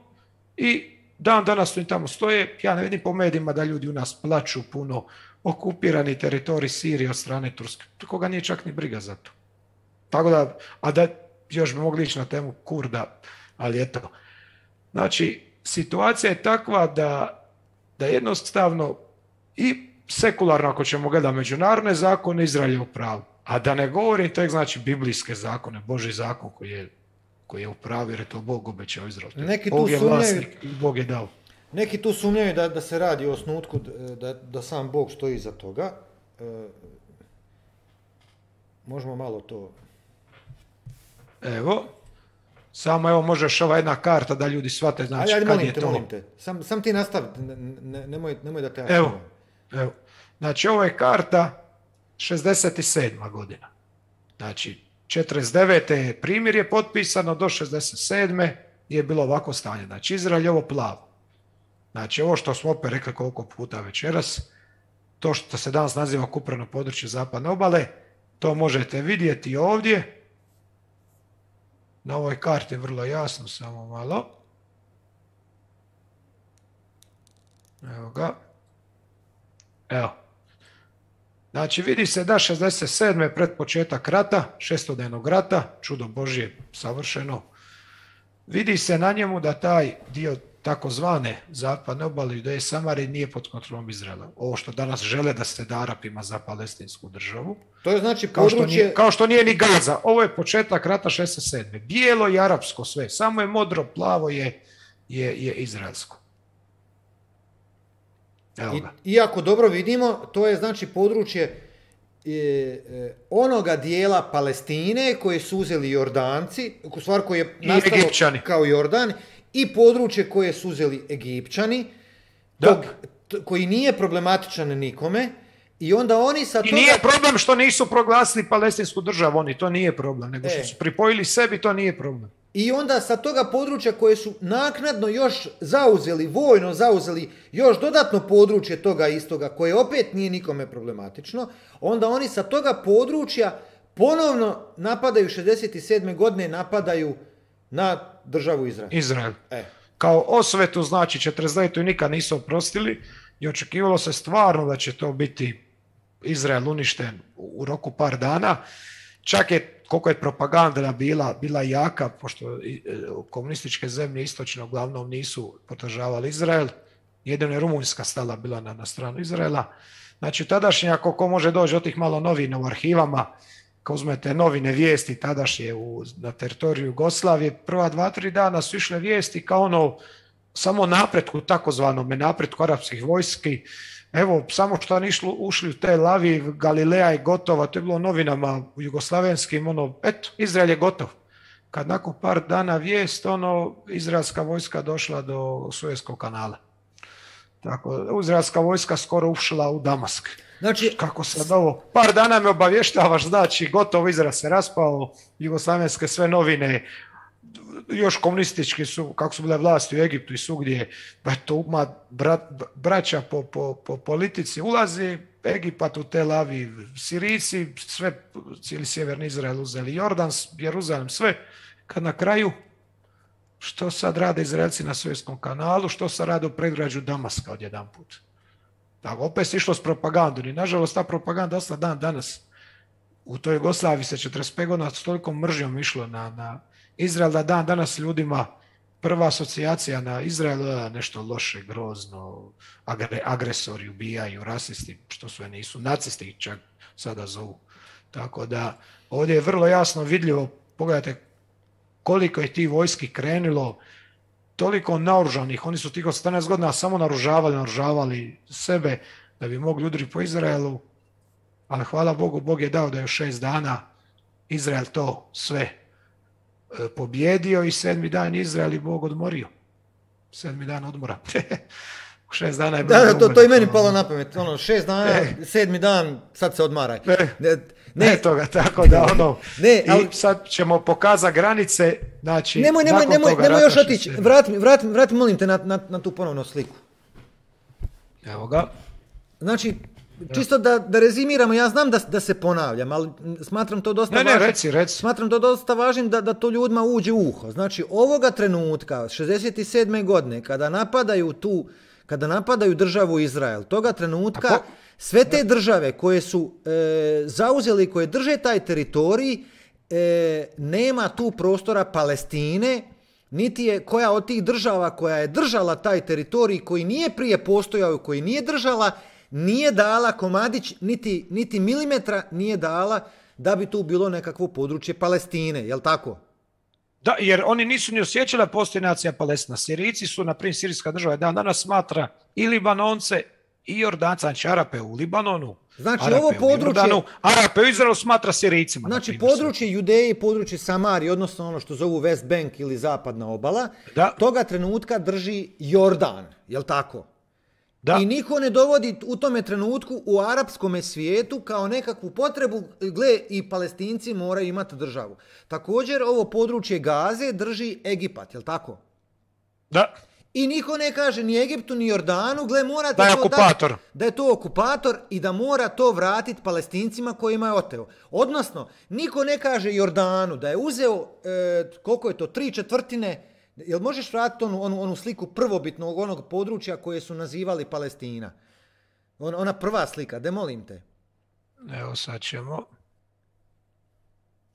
i dan danas oni tamo stoje. Ja ne vidim po medijima da ljudi u nas plaču puno okupirani teritorij Sirije od strane Turske. Koga nije čak ni briga za to. Tako da, a da još bi mogli ići na temu Kurda, ali eto. Znači, situacija je takva da, da jednostavno i sekularno, ako ćemo gledati međunarodne zakone, Izrael je u pravu. A da ne govorim, to je znači biblijske zakone, Božji zakon koji je, koji je u pravu, jer je to Bog obećao Izrael. Neki tu Bog je sumnjaju, vlasnik i Bog je dao. Neki tu sumnjaju da, da se radi o osnutku, da, da sam Bog stoji iza toga. E, možemo malo to... Evo, samo evo možeš ova jedna karta da ljudi shvate, znači ajde, kad molim je te, to. Molim te, sam, sam ti nastavi, ne, ne, nemoj, nemoj da te... Evo, evo, znači ovo je karta šezdeset sedma godina. Znači, četrdeset devete je primjer je potpisano, do šezdeset sedme je bilo ovako stanje. Znači, Izrael je ovo plavo. Znači, ovo što smo opet rekli koliko puta večeras, to što se danas naziva okupirano područje zapadne obale, to možete vidjeti ovdje. Na ovoj karti je vrlo jasno, samo malo. Evo ga. Evo. Znači, vidi se da šezdeset sedme pred početak rata, šestodnevnog rata, čudo Božje savršeno, vidi se na njemu da taj dio takozvane zapadne obale Judeje i Samarije nije pod kontrolom Izraela. Ovo što danas žele da se da Arapima za palestinsku državu. To je znači kao područje... Što nije, kao što nije ni Gaza. Ovo je početak rata šezdeset sedme. Bijelo i arapsko sve. Samo je modro, plavo je, je, je izraelsko. I, iako dobro vidimo, to je znači područje e, e, onoga dijela Palestine koje su uzeli Jordanci, u stvari koje je nastalo kao Jordan, i područje koje su uzeli Egipćani, tog, t, koji nije problematičan nikome, i onda oni sa toga... I nije problem što nisu proglasili palestinsku državu, oni, to nije problem, nego što e. su pripojili sebi, to nije problem. I onda sa toga područja koje su naknadno još zauzeli, vojno zauzeli još dodatno područje toga istoga, koje opet nije nikome problematično, onda oni sa toga područja ponovno napadaju šezdeset sedme godine, napadaju na državu Izrael. Izrael. E. Kao osvetu, znači četrdeset devete nikad nisu oprostili i očekivalo se stvarno da će to biti Izrael uništen u roku par dana. Čak je, koliko je propaganda bila, bila jaka, pošto komunističke zemlje istočno uglavnom nisu podržavali Izrael, jedino je Rumunjska stala bila na, na stranu Izraela. Znači, tadašnje, ako ko može doći od tih malo novina u arhivama, kao uzmete novine vijesti tadašnje u, na teritoriju Jugoslavije, prva dva, tri dana su išle vijesti kao ono, samo napretku, takozvanome napretku arapskih vojski. Evo, samo što oni ušli u Tel Aviv, Galileja je gotova, to je bilo novinama u jugoslavenskim, ono, eto, Izrael je gotov. Kad nakon par dana vijest, ono, izraelska vojska došla do Suezskog kanala. Tako, izraelska vojska skoro ušla u Damask. Znači, kako sad ovo, par dana me obavještavaš, znači, gotovo, Izrael se raspao, jugoslavenske sve novine, još komunistički su, kako su bile vlasti u Egiptu i svugdje, pa to ima brat, braća po, po, po politici, ulazi Egipat u Tel Aviv, Sirijci, sve, cijeli sjeverni Izrael uzeli, Jordan, Jeruzalem, sve, kad na kraju, što sad rade Izraelci na Suezskom kanalu, što sad rade u predgrađu Damaska odjedan put. Tako, opet se išlo s propagandom i nažalost ta propaganda ostala dan danas. U toj Jugoslaviji se četrdeset pet godina s tolikom mržnjom išlo na, na Izrael, da dan danas ljudima prva asocijacija na Izrael je nešto loše, grozno, agre, agresori, ubijaju, rasisti, što sve nisu, nacisti čak sada zovu. Tako da ovdje je vrlo jasno vidljivo, pogledajte koliko je ti vojski krenulo toliko naoružanih, oni su tih osamnaest godina samo naoružavali, naoružavali sebe da bi mogli udariti po Izraelu, ali hvala Bogu, Bog je dao da je u šest dana Izrael to sve e, pobjedio i sedmi dan Izrael i Bog odmorio. Sedmi dan odmora. U šest dana je bilo da, da, to, to i meni ono, palo na pamet. Ono, šest dana, e, sedmi dan, sad se odmaraj. Ne, ne, ne, ne toga, tako da ono, ne, ali, i sad ćemo pokazati granice, znači, nemoj, nemoj, nakon nemoj, toga nemoj još rata otići, šest- vrati mi, vrati, vrati, molim te na, na, na tu ponovnu sliku. Evo ga. Znači, čisto da, da rezimiramo, ja znam da, da se ponavljam, ali smatram to dosta Ne, ne, važnim. reci, reci. Smatram to dosta važnim da, da to ljudima uđe u uho. Znači, ovoga trenutka, šezdeset sedme godine, kada napadaju tu, kada napadaju državu Izrael, toga trenutka, Ako? sve te države koje su e, zauzeli, koje drže taj teritorij, e, nema tu prostora Palestine, niti je koja od tih država koja je držala taj teritorij, koji nije prije postojao, koji nije držala, nije dala komadić, niti, niti milimetra nije dala da bi tu bilo nekakvo područje Palestine, jel tako? Da, jer oni nisu ni osjećali da postoji nacija Palestina. Sirijci su, na primjer, sirijska država dan danas smatra i Libanonce i Jordanca, znači Arape u Libanonu, Znači, Arape ovo u područje- Jordanu, Arape u Izraelu smatra Sirijcima. na Znači, primjer, područje Judeje i područje Samarije, odnosno ono što zovu West Bank ili zapadna obala, Da. toga trenutka drži Jordan, jel tako? Da. I niko ne dovodi u tome trenutku u arapskom svijetu kao nekakvu potrebu, gle, i Palestinci moraju imati državu. Također, ovo područje Gaze drži Egipat, jel tako? Da. I niko ne kaže ni Egiptu ni Jordanu, gle, morate Da je to okupator. dati- da je to okupator i da mora to vratiti Palestincima kojima je oteo. Odnosno, niko ne kaže Jordanu da je uzeo, e, koliko je to, tri četvrtine, jel možeš vratiti onu, onu, onu sliku prvobitnog onog područja koje su nazivali Palestina? On, ona prva slika, de molim te. Evo sad ćemo.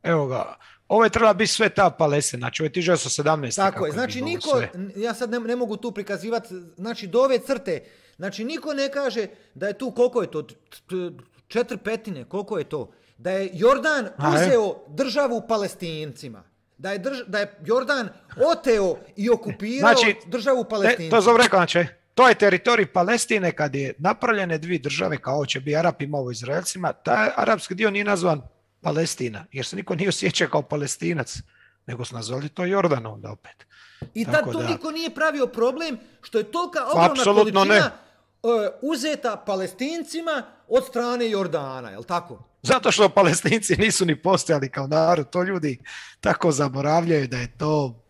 Evo ga. Ovo je trebala biti sve ta Palestina, znači ovo je tisuću devetsto sedamnaeste. Tako kako je, znači bilo niko, sve. ja sad ne, ne mogu tu prikazivati, znači do ove crte, znači niko ne kaže da je tu, koliko je to, t- t- četiri petine, koliko je to, da je Jordan A, je? uzeo državu Palestincima, da je, drž, da je Jordan oteo i okupirao Znači, državu E, Palestincima. to zove rekao, znači, to je teritorij Palestine kad je napravljene dvije države, kao će bi Arapima ovo Izraelcima, taj arapski dio nije nazvan Palestina, jer se niko nije osjećao kao Palestinac, nego su nazvali to Jordan onda opet. I tad Tako to da- niko nije pravio problem što je tolika ogromna Apsolutno količina ne. e, uzeta Palestincima od strane Jordana, jel tako? Zato što Palestinci nisu ni postojali kao narod, to ljudi tako zaboravljaju da je to,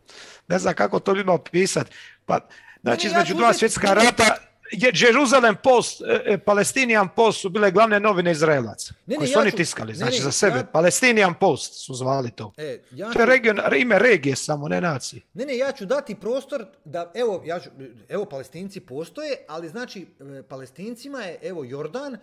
ne znam kako to ljudima opisati. Pa, znači, Ne, ne, ja između ću dva uzeti- svjetska rata, je Jerusalem Post, e, Palestinian Post su bile glavne novine Izraelaca, Ne, ne, koji su ja oni ću- tiskali, ne, znači ne, za sebe. ja- Palestinian Post su zvali to. E, ja To je ću- region, ime regije samo, ne nacije. Ne, ne, ja ću dati prostor da, evo, ja ću, evo, Palestinci postoje, ali znači, e, Palestincima je, evo, Jordan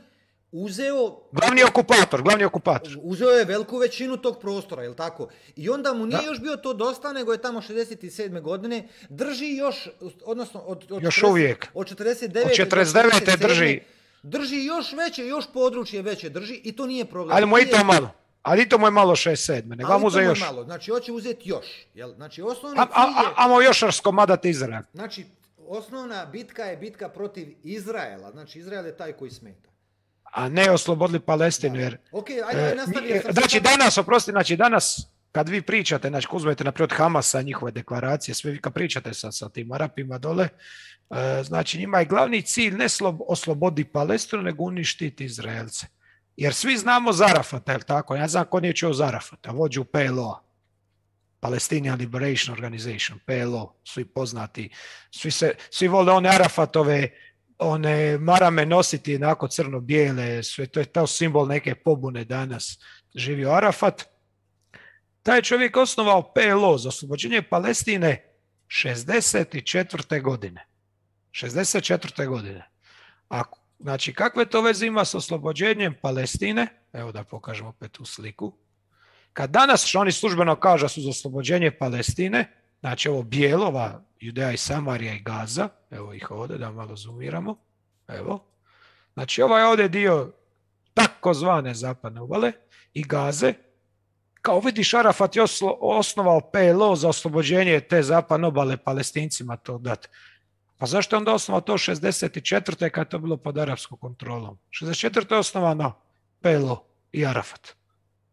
uzeo, Glavni okupator, glavni okupator. uzeo je veliku većinu tog prostora, jel tako? I onda mu nije Da. još bio to dosta, nego je tamo šezdeset sedme godine, drži još, odnosno, od, od, Još četrdeset uvijek. od četrdeset devete Od četrdeset devete do četrdeset sedme drži. Drži još veće, još područje veće drži i to nije problem. Ali mu je i Nije- to malo. Ali i to mu je malo šest sedme, nego ali vam to uze mu je još. malo, znači, hoće uzeti još, jel? Znači, osnovni A, cilj a, je... a, amo još raskomadati Izrael. Znači, osnovna bitka je bitka protiv Izraela. Znači, Izrael je taj koji smeta. A ne oslobodili Palestinu, jer... Ok, ajde, ajde, nastavi. E, jer sam Znači sad- danas, oprosti, znači danas kad vi pričate, znači uzmete naprijed Hamasa, njihove deklaracije, sve vi kad pričate sa, sa tim Arapima dole, e, znači njima je glavni cilj ne slob, oslobodi Palestinu, nego uništiti Izraelce. Jer svi znamo Zarafata, je li tako? Ja znam ko nije čuo Zarafata, vođu P L O-a. Palestinian Liberation Organization, P L O, svi poznati. Svi, se, svi vole one Arafatove, one marame nositi onako crno-bijele, sve to je to simbol neke pobune danas. Živio Arafat. Taj čovjek osnovao P L O za oslobođenje Palestine šezdeset četvrte godine. šezdeset četvrte godine. A, znači, kakve to veze ima s oslobođenjem Palestine? Evo da pokažem opet tu sliku. Kad danas što oni službeno kažu da su za oslobođenje Palestine, znači ovo bijelova, Judeja i Samarija i Gaza, evo ih ovdje da malo zoomiramo, evo. Znači ovaj ovdje dio takozvane zapadne obale i Gaze, kao vidiš, Arafat je oslo, osnovao P L O za oslobođenje te zapadne obale Palestincima to dati. Pa zašto je onda osnovao to šezdeset četvrte kad je to bilo pod arapskom kontrolom? šezdeset četvrte je osnovano P L O i Arafat.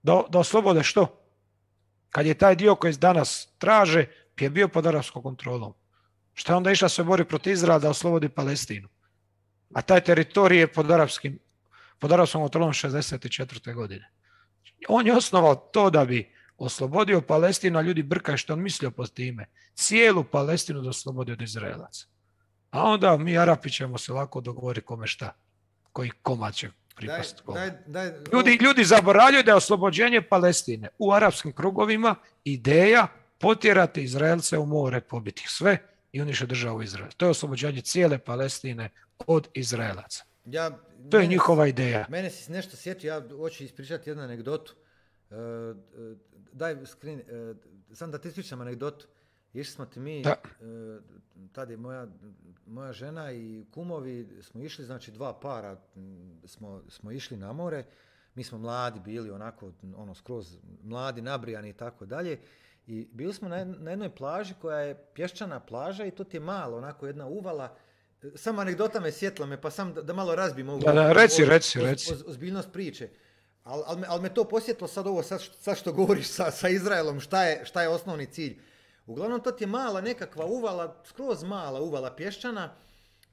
Da, da oslobode što? Kad je taj dio koji danas traže, je bio pod arapskom kontrolom. Šta je onda išla se bori protiv Izraela da oslobodi Palestinu? A taj teritorij je pod arapskim, pod arapskom kontrolom šezdeset četvrte godine. On je osnovao to da bi oslobodio Palestinu, a ljudi brkaju što on mislio pod time. Cijelu Palestinu da oslobodi od Izraelaca. A onda mi Arapi ćemo se lako dogovoriti kome šta. Koji komad će pripasti. Daj, daj, daj, ljudi, ljudi zaboravljaju da je oslobođenje Palestine u arapskim krugovima ideja potjerati Izraelce u more, pobiti ih sve i unište državu Izrael. To je oslobođenje cijele Palestine od Izraelaca. Ja, to je mene, njihova ideja. Mene si nešto sjetio, ja hoću ispričati jednu anegdotu. Uh, uh, daj screen, uh, sam da ti ispričam anegdotu. Išli smo ti mi, uh, tada je moja, moja žena i kumovi, smo išli, znači dva para smo, smo išli na more. Mi smo mladi bili, onako, ono, skroz mladi, nabrijani i tako dalje. I bili smo na, na jednoj plaži koja je pješčana plaža i to ti je malo, onako jedna uvala. Samo anegdota me sjetla me, pa sam da, da malo razbim ovu, da, da, reci, ovu, reci, oz, reci. Oz, ozbiljnost priče. Ali al me, al me to posjetilo sad ovo, sad, sad što govoriš sa, sa Izraelom, šta je, šta je osnovni cilj. Uglavnom to ti je mala nekakva uvala, skroz mala uvala pješčana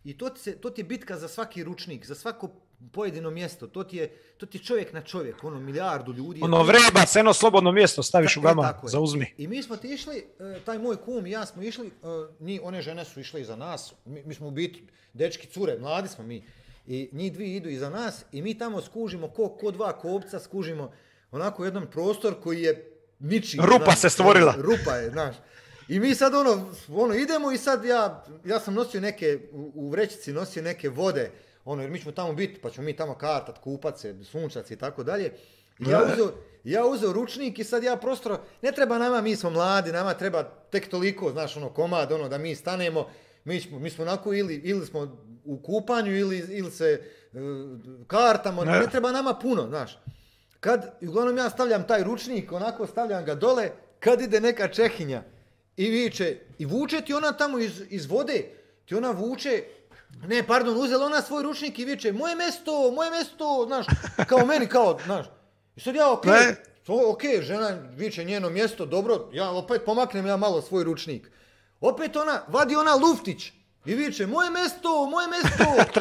i to ti, se, to ti je bitka za svaki ručnik, za svako pojedino mjesto. To ti je, to ti je čovjek na čovjek, ono milijardu ljudi. Ono vreba, se jedno slobodno mjesto staviš Ta, u gama, zauzmi. I mi smo ti išli, taj moj kum i ja smo išli, ni one žene su išle iza nas, mi, mi smo u biti dečki, cure, mladi smo mi. I njih dvije idu iza nas i mi tamo skužimo ko, ko dva kopca, skužimo onako jedan prostor koji je ničiji. Rupa znaš, se stvorila. Rupa je, znaš. I mi sad ono, ono idemo i sad ja, ja sam nosio neke, u, u vrećici nosio neke vode, ono, jer mi ćemo tamo biti, pa ćemo mi tamo kartat, kupat se, sunčac i tako dalje. I ja uzeo, ja uzeo ručnik i sad ja prostro, ne treba nama, mi smo mladi, nama treba tek toliko, znaš, ono, komad, ono, da mi stanemo, mi smo, mi smo onako ili, ili smo u kupanju ili, ili se uh, kartamo, ne. ne treba nama puno, znaš. Kad, uglavnom ja stavljam taj ručnik, onako stavljam ga dole, kad ide neka Čehinja i viče, i vuče ti ona tamo iz, iz vode, ti ona vuče, ne, pardon, uzela ona svoj ručnik i viče, moje mesto, moje mesto, znaš, kao meni, kao, znaš. I sad ja, okej, okay, okej, okay, žena viče njeno mjesto, dobro, ja opet pomaknem ja malo svoj ručnik. Opet ona, vadi ona luftić i viče, moje mesto, moje mesto.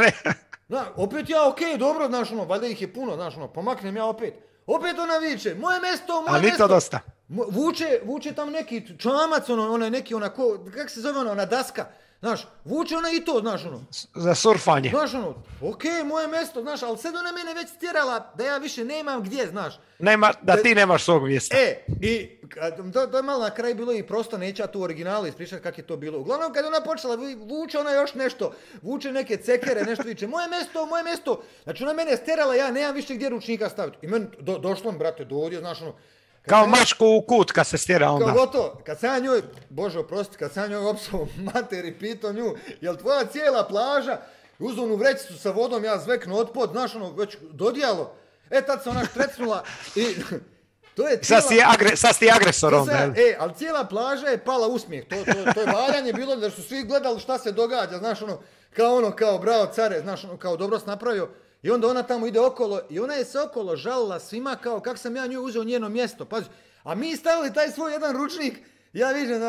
Na, opet ja, okej, okay, dobro, znaš, ono, valjda ih je puno, znaš, ono, pomaknem ja opet. Opet ona viče, moje mesto, moje Ali mesto. Ali to dosta. Vuče, vuče tam neki čamac, ono, ona neki, ona, ko, kak se zove ona, ona daska. Znaš, vuče ona i to, znaš, ono. Za surfanje. Znaš, ono, okej, okay, moje mesto, znaš, ali sad ona mene već stjerala da ja više nemam gdje, znaš. Nema, da ti nemaš svog mjesta. E, i to, to je malo na kraju bilo i prosto, neće ja tu originalu ispričati kako je to bilo. Uglavnom, kad ona počela, vuče ona još nešto, vuče neke cekere, nešto viče, moje mesto, moje mesto. Znači, ona mene stjerala, ja nemam više gdje ručnika staviti. I meni do, došlo, brate, do ovdje, znaš, ono, kao mačku u kut kad se stjera onda. Kao gotovo, kad sam ja njoj, Bože oprosti, kad sam ja njoj opsao mater i pitao nju, jel tvoja cijela plaža, uzeo onu vrećicu sa vodom, ja zveknu otpod, znaš ono, već dodijalo, e tad se ona štrecnula i to je cijela... Sad si, agre, sad si agresor onda. Sam, e, ali cijela plaža je pala usmijeh, to, to, to je valjanje bilo da su svi gledali šta se događa, znaš ono, kao ono, kao bravo care, znaš ono, kao dobro si napravio. I onda ona tamo ide okolo i ona je se okolo žalila svima kao kako sam ja njoj uzeo njeno mjesto. Pazi, a mi stavili taj svoj jedan ručnik, ja vidim,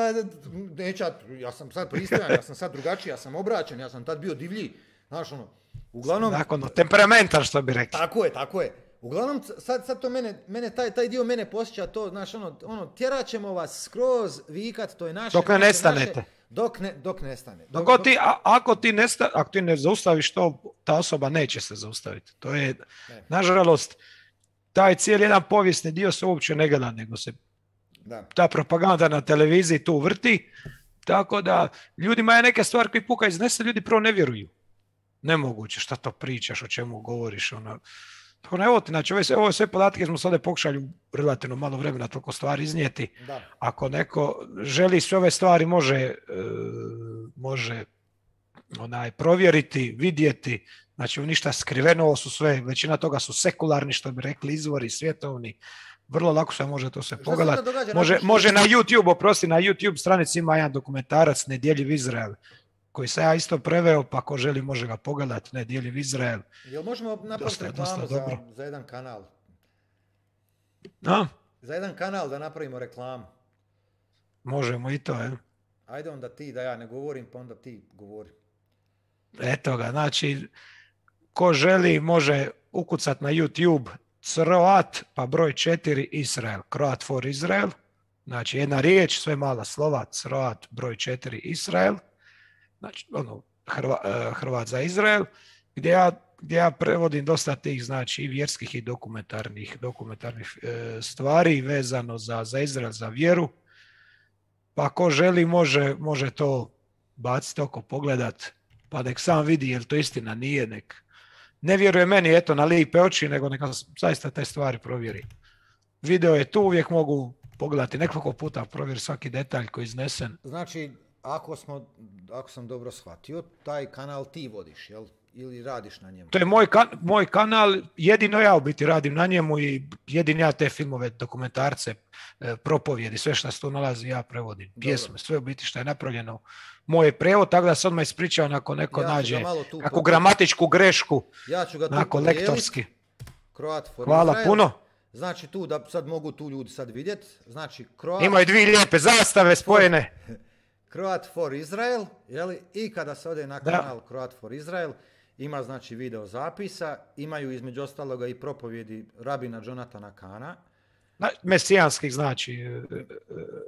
neću, ja sam sad pristojan, ja sam sad drugačiji, ja sam obraćen, ja sam tad bio divlji. Znaš ono, uglavnom... Nakon, temperamentan što bi rekli. Tako je, tako je. Uglavnom, sad, sad to mene, mene taj, taj dio mene posjeća to, znaš ono, ono, tjerat ćemo vas skroz vikat, to je naše... Dok ne naše, nestanete. Naše, Dok ne, dok nestane. Dok, dok, ti, a, ako, ti nesta, ako ti ne zaustaviš to, ta osoba neće se zaustaviti. To je, ne. Nažalost, taj cijeli jedan povijesni dio se uopće ne gleda, nego se da. Ta propaganda na televiziji tu vrti, tako da ljudima je neke stvari koji puka iznese, ljudi prvo ne vjeruju. Nemoguće, šta to pričaš, o čemu govoriš, ono... Tako ne, evo ti, znači, ove, ove sve podatke smo sada pokušali relativno malo vremena toliko stvari iznijeti. Da. Ako neko želi sve ove stvari može, e, može onaj, provjeriti, vidjeti, znači ništa skriveno, ovo su sve, većina toga su sekularni, što bi rekli, izvori svjetovni, vrlo lako se može to se Šta pogledati. se to događa? Može, Napiši- može na YouTube, oprosti, na YouTube stranici ima jedan dokumentarac Nedjeljiv Izrael, koji se ja isto preveo, pa ko želi može ga pogledati, Nedjeljiv Izrael. Jel možemo napraviti Dosta je, dosta reklamu za, dobro. za jedan kanal? A, Za jedan kanal da napravimo reklamu. možemo i to, je. Ajde onda ti, da ja ne govorim, pa onda ti govori. Eto ga, znači, ko želi može ukucat na YouTube Croat, pa broj četiri Israel, Croat for Israel, znači jedna riječ, sve mala slova, Croat, broj četiri Israel, znači ono, Hrva, eh, Hrvat za Izrael, gdje ja, gdje ja prevodim dosta tih, znači i vjerskih i dokumentarnih, dokumentarnih eh, stvari vezano za, za Izrael, za vjeru, pa ko želi može, može to baciti oko, pogledat, pa nek sam vidi je li to istina, nije, nek ne vjeruje meni eto na lipe oči, nego neka zaista te stvari provjeri. Video je tu, uvijek mogu pogledati nekoliko puta, provjeri svaki detalj koji je iznesen. Znači, ako, smo, ako sam dobro shvatio, taj kanal ti vodiš, jel? Ili radiš na njemu? To je moj, kan, moj kanal, jedino ja u biti radim na njemu i jedino ja te filmove, dokumentarce, e, propovjedi, sve što se tu nalazi ja prevodim. Dobro. Pjesme, sve u biti što je napravljeno. Moj prevod, tako da se odmah ispričao ako neko Ja ću ga nađe malo tu kakvu pokupiti. gramatičku grešku, Ja ću ga tu onako podijelit. lektorski. Croat for Hvala Israel. puno. Znači tu, da sad mogu tu ljudi sad vidjeti, znači Croat, Imaju dvije lijepe zastave spojene. Croat for Israel, jeli? I kada se ode na Da. kanal Croat for Israel, ima znači video zapisa, imaju između ostaloga i propovjedi rabina Jonathana Kahna. Na- Mesijanskih znači e, e,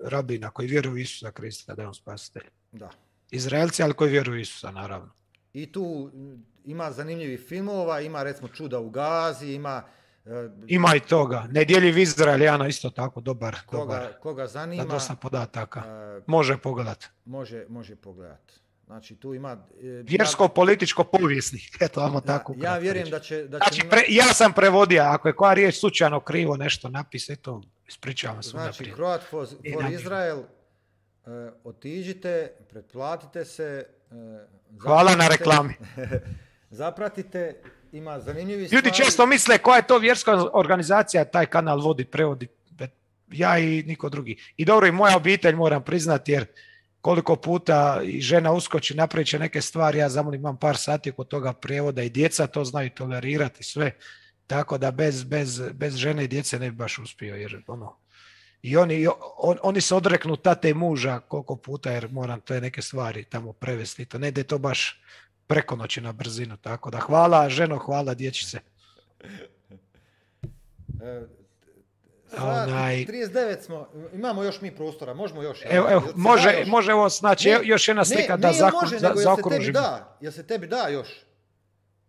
rabina koji vjeruju u Isusa Krista da je on spasitelj. Da. Izraelci, ali koji vjeruju u Isusa, naravno. I tu m, ima zanimljivih filmova, ima recimo Čuda u Gazi, ima e, Ima i toga. Nedjeljiv Izrael, Jana, isto tako dobar. koga, dobar. koga Da, zanima, dosta podataka. e, Može pogledat. može, može pogledati. Znači tu ima... e, Vjersko, političko, povijesni. Eto, ajmo ja, tako. ja ukratko vjerujem reći. da će... Da će Znači, njima- pre, ja sam prevodio, ako je koja riječ slučajno krivo nešto napise, to ispričavam se Znači, unaprijed. Croat for, I for namjerno. Israel, e, otiđite, pretplatite se. e, Hvala na zapratite- reklami. Zapratite, ima zanimljivi Ljudi stvari. često misle koja je to vjerska organizacija, taj kanal vodi, prevodi. Ja i niko drugi. I dobro, i moja obitelj moram priznati, jer koliko puta i žena uskoči, napravit će neke stvari, ja zamolim, imam par sati oko toga prijevoda i djeca to znaju tolerirati sve. Tako da bez, bez, bez žene i djece ne bi baš uspio, jer ono, i oni, on, oni se odreknu tate i muža koliko puta, jer moram te neke stvari tamo prevesti. To ne ide to baš preko noći na brzinu, tako da hvala ženo, hvala dječice. E, sat Onaj- trideset devet smo, imamo još mi prostora, možemo još. Evo, evo, Jel se može, da još? može ovo, znači, Ne, evo još jedna slika ne, da ne, jel zakru, može, za, nego jel se tebi zaokružimo. da, jel se tebi da još?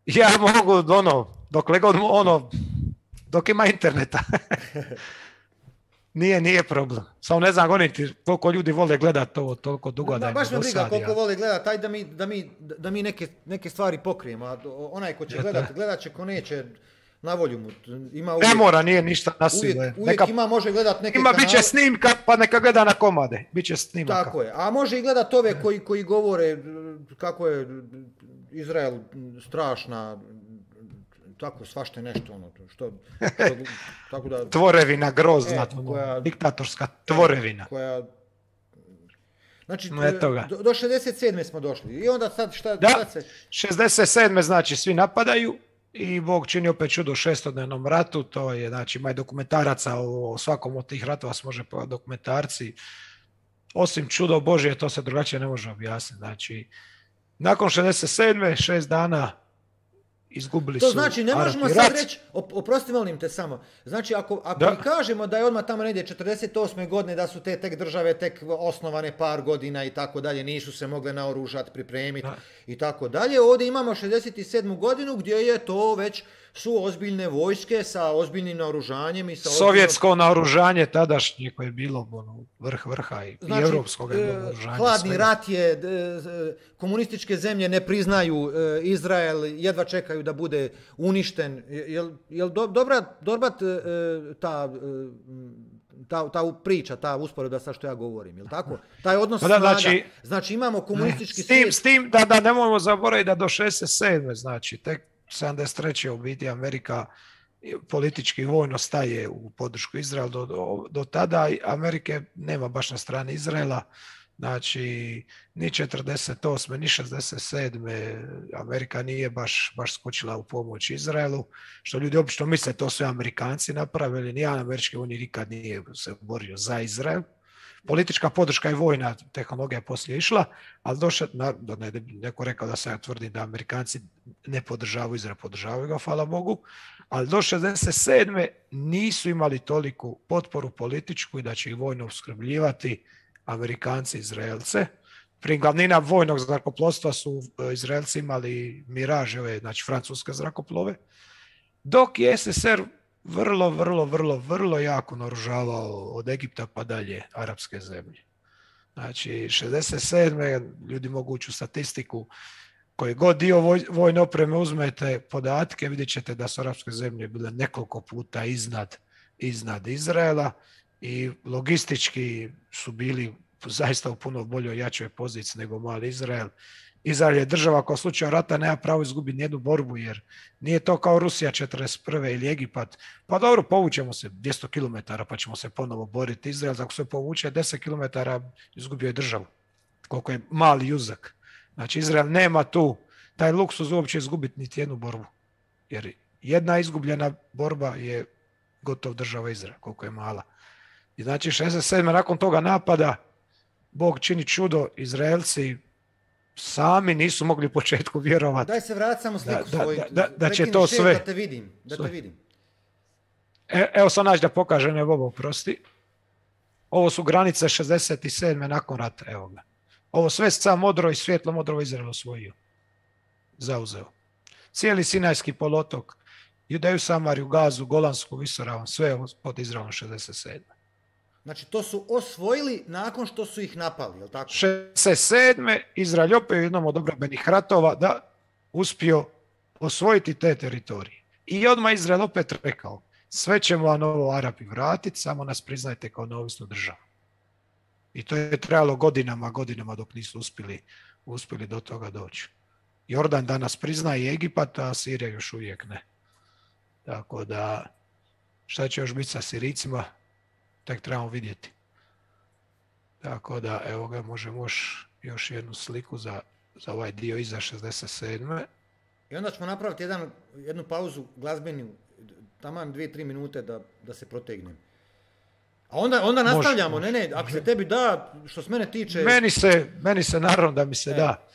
Ja mogu, ono, dokle god, ono, dok ima interneta. Nije, nije problem. Samo ne znam, goniti koliko ljudi vole gledati ovo toliko dugo da Da, im baš me briga dosadi, koliko ja. vole gledati, aj da mi, da mi, da mi neke, neke stvari pokrijemo, a onaj ko će Eto. gledat, gledat će, ko neće, na volju mu. Ima Ne uvijek, mora, nije ništa nasilno. uvijek, je. uvijek Neka, ima, može gledat neke ima, kanale. bit će snimka, pa neka gleda na komade. Biće snimaka. Tako je, a može i gledat ove koji, koji govore kako je Izrael strašna, tako svašta nešto ono, što, što tako da... Tvorevina grozna, E, ono, koja- diktatorska tvorevina. Koja, znači, No, eto ga. do, do šezdeset sedme smo došli i onda sad šta, Da. šta se... šezdeset sedme znači svi napadaju i Bog čini opet čudo u šestodnevnom ratu, to je, znači, ima i dokumentaraca o, o svakom od tih ratova se može pogledati dokumentarci. Osim čudo Božje, to se drugačije ne može objasniti. Znači, nakon šezdeset sedme, šest dana izgubili To su znači, ne Arapi možemo rat. sad reći, op- oprosti molim te samo, znači ako, ako Da. i kažemo da je odmah tamo negdje četrdeset osme godine da su te tek države tek osnovane par godina i tako dalje, nisu se mogle naoružati, pripremiti Da. i tako dalje, ovdje imamo šezdeset sedmu godinu gdje je to već su ozbiljne vojske sa ozbiljnim naoružanjem i sa ozbiljnom- Sovjetsko naoružanje tadašnje koje je bilo ono, vrh vrha i, Znači, i europskog je bilo e, naoružanje. hladni svega. rat je, e, e, komunističke zemlje ne priznaju e, Izrael, jedva čekaju da bude uništen. Jel, jel do, dobra, dobra t, e, ta, e, ta, ta priča, ta usporedba sa što ja govorim, jel tako? Taj odnos Pa da, snaga. znači- Znači imamo komunistički S tim, svijet. s tim da, da nemojmo zaboraviti da do šezdeset sedme znači tek sedamdeset treće u biti Amerika politički i vojno staje u podršku Izraela do, do, do tada. Amerike nema baš na strani Izraela. Znači, ni četrdeset osme ni šezdeset sedme Amerika nije baš, baš skočila u pomoć Izraelu, što ljudi obično misle to su Amerikanci napravili, nijedan američki vojnik nikad nije se borio za Izrael. Politička podrška i vojna tehnologija je poslije išla, ali došlo, da ne, neko rekao da se ja tvrdim da Amerikanci ne podržavaju Izrael, podržavaju ga, hvala Bogu, ali do šezdeset sedme nisu imali toliku potporu političku i da će ih vojno opskrbljivati Amerikanci, Izraelce. Prije glavnina vojnog zrakoplovstva su Izraelci imali Miraže, znači francuske zrakoplove, dok je es es er vrlo, vrlo, vrlo, vrlo jako naoružavao od Egipta pa dalje arapske zemlje. Znači, šezdeset sedme ljudi mogu ući u statistiku, koji god dio voj, vojne opreme uzmete podatke, vidjet ćete da su arapske zemlje bile nekoliko puta iznad, iznad Izraela i logistički su bili zaista u puno boljoj, jačoj poziciji nego mali Izrael. Izrael je država koja u slučaju rata nema pravo izgubiti nijednu borbu, jer nije to kao Rusija četrdeset prve ili Egipat. Pa dobro, povučemo se dvjesto kilometara pa ćemo se ponovo boriti. Izrael, ako se povuče deset kilometara, izgubio je državu. Koliko je mali uzak. Znači, Izrael nema tu taj luksuz uopće izgubiti niti jednu borbu. Jer jedna izgubljena borba je gotov država Izrael, koliko je mala. I znači, šezdeset sedme nakon toga napada, Bog čini čudo, Izraelci sami nisu mogli u početku vjerovati. Daj se vrati samo sliku da, svoju. Da, da, da će to sve... Da te vidim, da te vidim. E, evo sad naći da pokaže, ne Bobo, prosti. Ovo su granice šezdeset sedme nakon rata, evo ga. Ovo sve sa modro i svjetlo modro Izrael osvojio. Zauzeo. Cijeli Sinajski poluotok, Judeju, Samariju, Gazu, Golansku visoravan, sve pod Izraelom šezdeset sedme. Znači, to su osvojili nakon što su ih napali, je li tako? šezdeset sedme Izrael opet u jednom od obrambenih ratova da uspio osvojiti te teritorije. I odmah Izrael opet rekao, sve ćemo vam ovo Arapi vratiti, samo nas priznajte kao neovisnu državu. I to je trajalo godinama, godinama dok nisu uspjeli, uspjeli do toga doći. Jordan danas priznaje Egipat, a Sirija još uvijek ne. Tako da, šta će još biti sa Sirijcima, tek trebamo vidjeti. Tako da, evo ga, možemo još, još jednu sliku za, za ovaj dio iza šezdeset sedme. I onda ćemo napraviti jedan, jednu pauzu glazbenu, taman dvije, tri minute da, da se protegnem. A onda, onda nastavljamo, može, ne, ne, ako se tebi da, što s mene tiče... Meni se, meni se naravno da mi se e. da.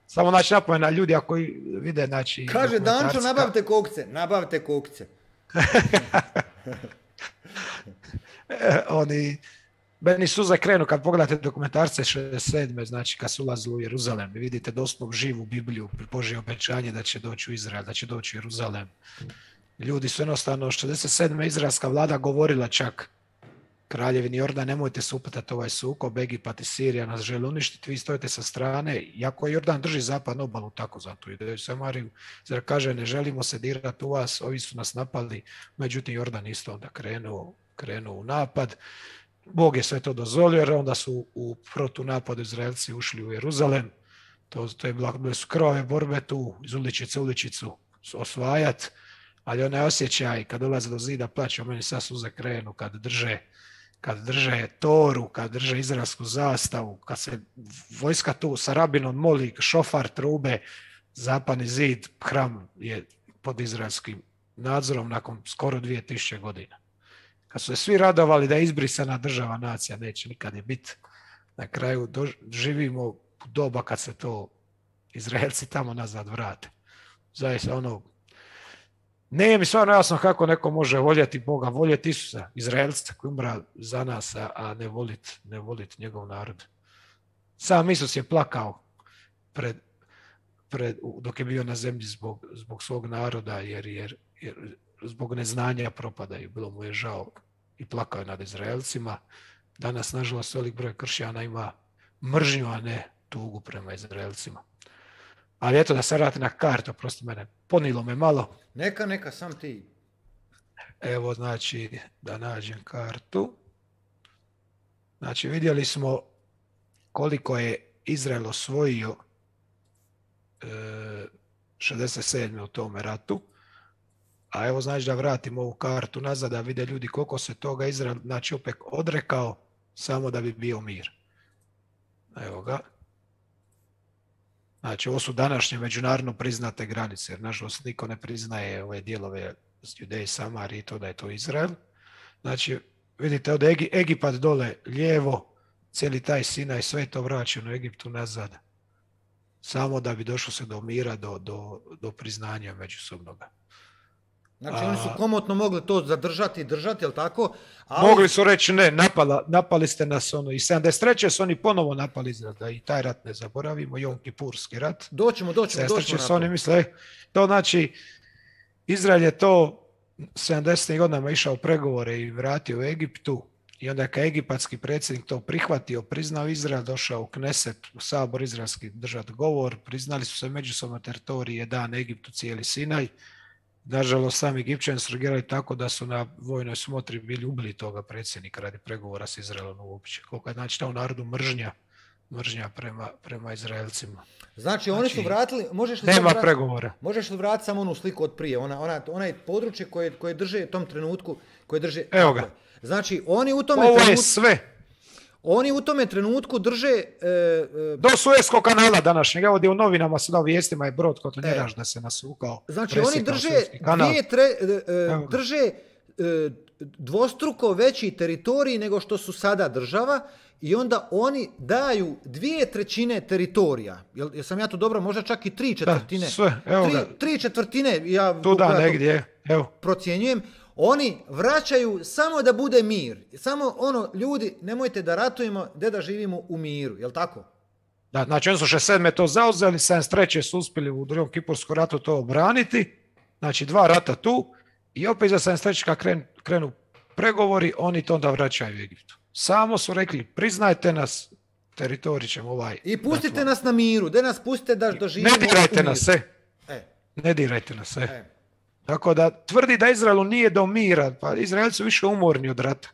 Samo znači napomena ljudi ako vide, znači... Kaže Dančo, nabavite kokce, nabavite kokce. e, oni, meni suze krenu kad pogledate dokumentarce šezdeset sedme, znači kad su ulazili u Jeruzalem i vidite doslovno živu Bibliju, Božje obećanje da će doći u Izrael, da će doći u Jeruzalem. Ljudi su jednostavno, šezdeset sedme izraelska vlada govorila čak Kraljevini Jordan, nemojte se upetati ovaj sukob, Egipat i Sirija nas žele uništiti, vi stojite sa strane, iako Jordan drži zapadnu obalu tako zato ide Samariju, jer kaže ne želimo se dirati u vas, ovi su nas napali, međutim Jordan isto onda krenuo, krenuo u napad, Bog je sve to dozvolio jer onda su u protunapadu Izraelci ušli u Jeruzalem, to, to je bile su krvave borbe tu, iz uličice uličicu osvajati, ali onaj osjećaj kad dolaze do zida plaća, meni sad suze krenu kad drže kad drže toru, kad drže izraelsku zastavu, kad se vojska tu sa rabinom moli, šofar, trube, zapadni zid, hram je pod izraelskim nadzorom nakon skoro dvije tisuće godina. Kad su se svi radovali da je izbrisana država, nacija, neće nikad je biti. Na kraju živimo u doba kad se to Izraelci tamo nazad vrate. Zaista ono, nije mi stvarno jasno kako neko može voljeti Boga, voljeti Isusa, Izraelca koji umra za nas, a ne voliti ne volit njegov narod. Sam Isus je plakao pred, pred, dok je bio na zemlji zbog, zbog svog naroda, jer, jer, jer zbog neznanja propadaju. Bilo mu je žao i plakao je nad Izraelcima. Danas, nažalost, velik broj kršćana ima mržnju, a ne tugu prema Izraelcima. Ali eto da se vrati na kartu, prosto mene, ponilo me malo. Neka, neka, sam ti. Evo, znači, da nađem kartu. Znači, vidjeli smo koliko je Izrael osvojio e, šezdeset sedme u tome ratu, A evo znači da vratimo ovu kartu nazad, da vide ljudi koliko se toga Izrael, znači opet odrekao samo da bi bio mir. Evo ga. Znači ovo su današnje međunarodno priznate granice, jer nažalost niko ne priznaje ove dijelove Judeje i Samarije i to da je to Izrael. Znači vidite od Egi, Egipat dole lijevo, cijeli taj Sinaj, sve je to vraćeno Egiptu nazad. Samo da bi došlo se do mira, do, do, do priznanja međusobnoga. Znači oni su komotno mogli to zadržati i držati, jel tako? Ali... Mogli su reći ne, napala, napali ste nas ono, i sedamdeset treće su oni ponovo napali Izrael, da i taj rat ne zaboravimo, Jom Kipurski rat. Doćemo, doćemo, doćemo su oni misle, to znači, Izrael je to sedamdesetih godinama išao u pregovore i vratio u Egiptu, i onda kad egipatski predsjednik to prihvatio, priznao Izrael, došao u Kneset, u sabor izraelski držati govor, priznali su se međusobno teritorije, dan Egiptu, cijeli Sinaj. Nažalost, sami Egipćani su reagirali tako da su na vojnoj smotri bili ubili toga predsjednika radi pregovora s Izraelom uopće. Koliko je znači ta u narodu mržnja, mržnja prema, prema Izraelcima. Znači, oni su vratili, možeš li nema vratiti, pregovora. Možeš li vratiti samo onu sliku od prije, ona, ona, onaj područje koje, koje drže u tom trenutku, koje drže... Evo ga. Znači, oni u tome Ovo trenutku... je sve. Oni u tome trenutku drže... E, e, do Suezkog kanala današnjeg, evo gdje u novinama sada vijestima je brod kotonjeraš e, da se nasukao. Znači oni drže, dvije tre, e, drže e, dvostruko veći teritorij nego što su sada država i onda oni daju dvije trećine teritorija. Jel, jel sam ja to dobro, možda čak i tri četvrtine. Da, sve, evo tri, ga. Tri četvrtine, ja, tu da, ja negdje, evo. procjenjujem. Oni vraćaju samo da bude mir. Samo ono, ljudi, nemojte da ratujemo, gdje da živimo u miru, jel tako? Da, znači oni su šezdeset sedme to zauzeli, sedamdeset treće su uspjeli u drugom Kipurskom ratu to obraniti, znači dva rata tu i opet za sedamdeset treće kad krenu, krenu pregovori, oni to onda vraćaju u Egiptu. Samo su rekli, priznajte nas, teritorij ćemo ovaj... I pustite da nas na miru, gdje nas pustite da doživimo u miru. Ne dirajte nas, se. E. Ne dirajte nas, se. E. Tako da tvrdi da Izraelu nije do mira, pa Izraelci su više umorni od rata.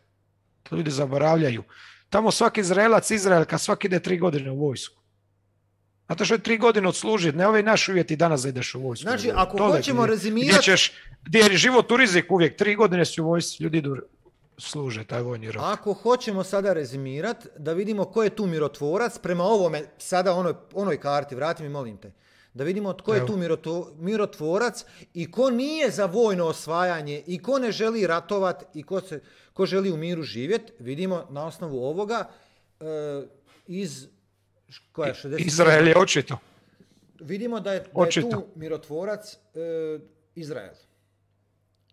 To ljudi zaboravljaju. Tamo svaki Izraelac, Izraelka, svaki ide tri godine u vojsku. Zato što je tri godine odslužiti, ne ovaj naš uvjeti danas da ideš u vojsku. Znači, ako Tole, hoćemo gdje, rezimirati... Gdje, ćeš, gdje je život u riziku uvijek, tri godine si u vojsku, ljudi idu služe taj vojni rok. Ako hoćemo sada rezimirati, da vidimo ko je tu mirotvorac, prema ovome, sada onoj, onoj karti, vrati mi molim te, da vidimo tko je tu mirotvorac i ko nije za vojno osvajanje i ko ne želi ratovat i ko, se, ko želi u miru živjeti, vidimo na osnovu ovoga e, iz koja šezdeset Izrael je očito. Vidimo da je, da je tu mirotvorac e, Izrael.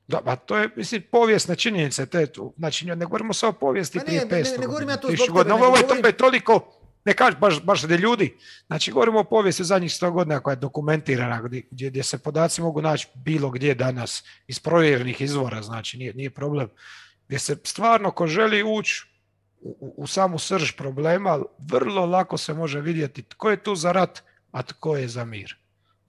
Da, pa to je, mislim, povijesne činjenice, te tu. Znači, ne govorimo samo o povijesti prije petsto. Ne, ne, ne govorim ja to zbog tebe. Ovo je govorim... toliko, ne kaži baš, baš da ljudi. Znači, govorimo o povijesti zadnjih sto godina koja je dokumentirana, gdje, gdje se podaci mogu naći bilo gdje danas, iz provjerenih izvora, znači, nije, nije problem. Gdje se stvarno, ko želi ući u, u, u samu srž problema, vrlo lako se može vidjeti tko je tu za rat, a tko je za mir.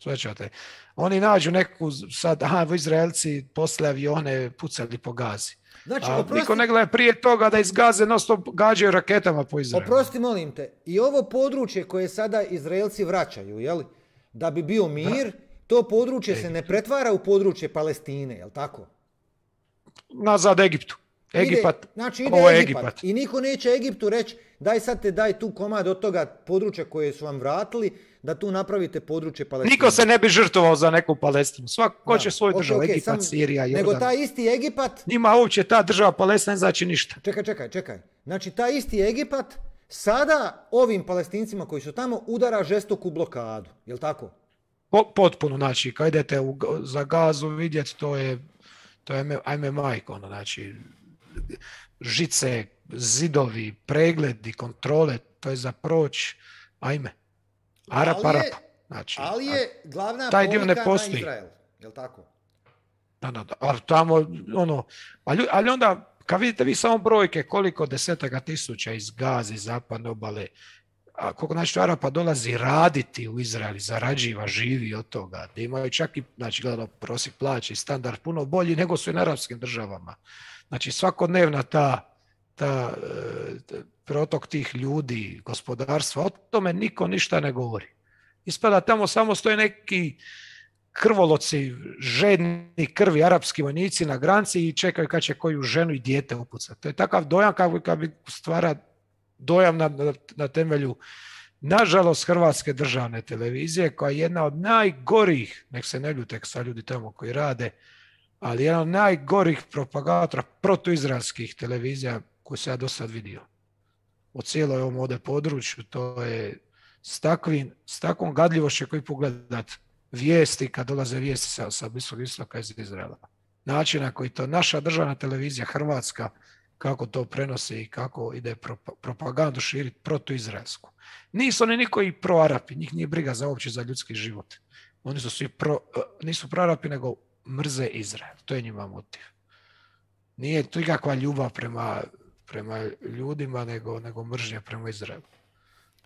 Svećate. Oni nađu neku, sad, aha, Izraelci posle avione pucali po Gazi. Znači, a oprosti, niko ne gleda prije toga da iz Gaze non stop gađaju raketama po Izraelu. Oprosti, molim te, i ovo područje koje sada Izraelci vraćaju, jel, da bi bio mir, da. To područje Egipt. Se ne pretvara u područje Palestine, jel tako? Nazad Egiptu. Egipat, ide, znači ide ovo je Egipat. Egipat. I niko neće Egiptu reći, daj sad te daj tu komad od toga područja koje su vam vratili, da tu napravite područje Palestine. Niko se ne bi žrtvovao za neku Palestinu. Svako će svoju okay, državu, okay, Egipat, sam, Sirija, Jordan. Nego taj isti Egipat... Njima uopće ta država Palestina ne znači ništa. Čekaj, čekaj, čekaj. Znači taj isti Egipat sada ovim Palestincima koji su tamo udara žestoku blokadu. Jel tako? Po, potpuno, znači, kad idete u, za Gazu vidjeti, to je, to je ajme majko, ono, znači, žice, zidovi, pregledi, kontrole, to je za proć, ajme. Arap, ali je, Arap. Znači, ali je glavna taj dio ne postoji. Na Izrael, jel tako? Da, da, da, ali tamo, ono, ali, ali onda, kad vidite vi samo brojke, koliko desetaka tisuća iz Gaze, iz zapadne obale, a koliko znači Arapa dolazi raditi u Izrael, zarađiva, živi od toga, da imaju čak i, znači, gledano prosjek plaće i standard puno bolji nego su i na arapskim državama. Znači, svakodnevna ta, ta, ta protok tih ljudi, gospodarstva, o tome niko ništa ne govori. Ispada tamo samo stoje neki krvoloci, žedni krvi arapski vojnici na granici i čekaju kad će koju ženu i dijete upucati. To je takav dojam kako kad bi stvara dojam na, na, na temelju, nažalost, Hrvatske državne televizije, koja je jedna od najgorih, nek se ne ljute sa ljudi tamo koji rade, ali jedna od najgorih propagatora protuizraelskih televizija koju se ja do sad vidio. U cijeloj ovom ovdje području, to je s, takvim, s takvom gadljivošću koji pogledat vijesti kad dolaze vijesti sa, sa Bliskog istoka iz Izraela. Način na koji to naša državna televizija, Hrvatska, kako to prenosi i kako ide propagandu širiti protuizraelsku. Nisu oni niko i pro-Arapi, njih nije briga za uopće za ljudski život. Oni su svi pro, nisu pro-Arapi, nego mrze Izrael. To je njima motiv. Nije to nikakva ljubav prema, prema ljudima, nego, nego mržnja prema Izraelu.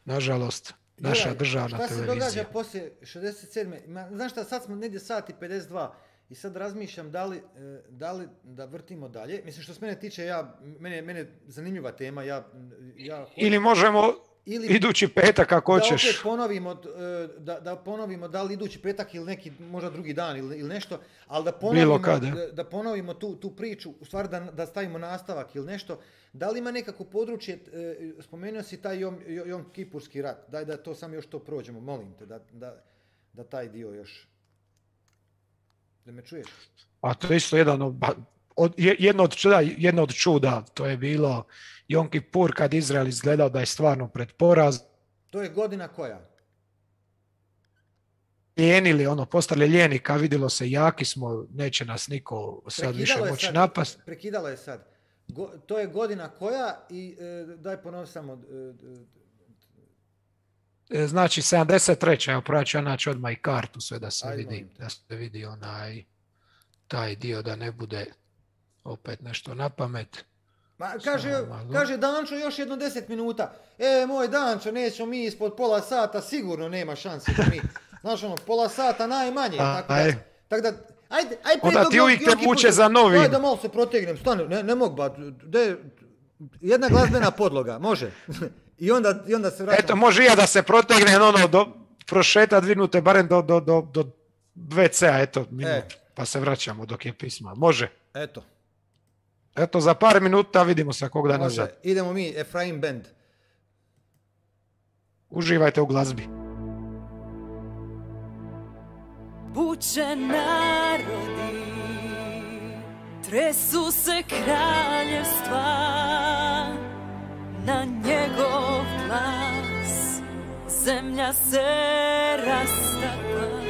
Nažalost, naša Juraj, državna šta televizija. Šta se događa poslije šezdeset sedme. Znaš šta, sad smo negdje sat i pedeset dva i sad razmišljam da li, da li da vrtimo dalje. Mislim, što se mene tiče, ja, mene, mene zanimljiva tema. Ja, ja hoću... Ili možemo ili idući petak kako da hoćeš. Opet ponovimo, da, da ponovimo da li idući petak ili neki možda drugi dan ili, ili nešto, ali da ponovimo, kad, da, da ponovimo tu, tu priču, u stvari da, da stavimo nastavak ili nešto. Da li ima nekako područje, spomenuo si taj Jom, Jom Kipurski rat, daj da to sam još to prođemo, molim te, da, da, da taj dio još, da me čuješ? A to je isto jedan od, od, jedno, od čuda, jedno od čuda, to je bilo Jom Kipur kad Izrael izgledao da je stvarno pred poraz. To je godina koja? Lijenili, ono, postali lijeni, kad vidjelo se jaki smo, neće nas niko sad više moći napast. Prekidalo je sad. Go, to je godina koja i e, daj ponovi samo... E, znači sedamdeset treća Evo proći ja naći odmah i kartu sve da se Ajde, vidi, da se vidi onaj taj dio da ne bude opet nešto na pamet. Ma, kaže, kaže Dančo još jedno deset minuta. E, moj Dančo, nećemo mi ispod pola sata, sigurno nema šanse da mi... Znaš ono, pola sata najmanje. A, tako da, tak da, ajde, ajde, onda ti uvijek te muče za novin. Ajde da malo se protegnem, stani, ne, ne mogu ba, de, jedna glazbena podloga, može. I onda, i onda se vraćam. Eto, može ja da se protegnem, ono, do, prošeta dvije minute, barem do, do, do, do ve ce a, eto, minut, e. Pa se vraćamo dok je pisma. Može. Eto. Eto, za par minuta vidimo se kog da nazad. Idemo mi, Efraim Band. Uživajte u glazbi. Buče narodi, tresu se kraljevstva, na njegov glas zemlja se rastapa.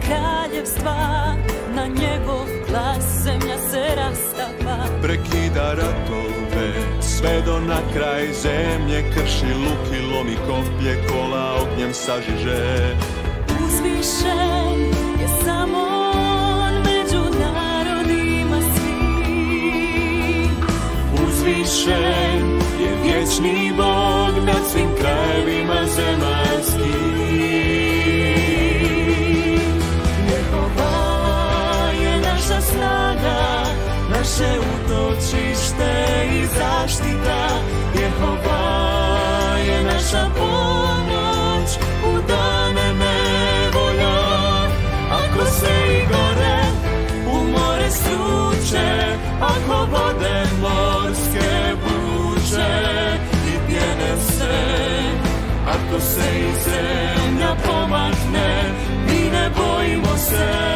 Kraljevstva, na njegov glas zemlja se rastapa. Prekida ratove, sve do na kraj zemlje, krši luk i lomi koplje, kola ognjem sažiže. Uzvišen je samo on među narodima svim. Uzvišen je vječni Bog nad svim krajevima zemaljskim. Snaga, naše utočište i zaštita, Jehova je naša pomoć u dane nevolja. Ako se i gore u more struče, ako vode morske buče i pjene se, ako se i zemlja pomakne, mi ne bojimo se.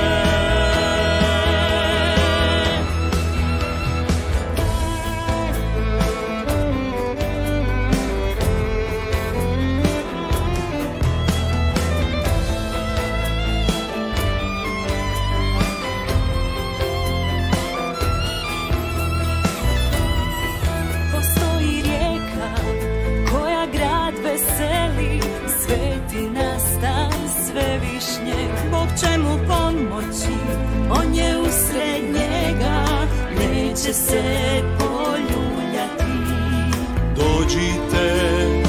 Bog će mu pomoći, on je usred njega, neće se poljuljati. Dođite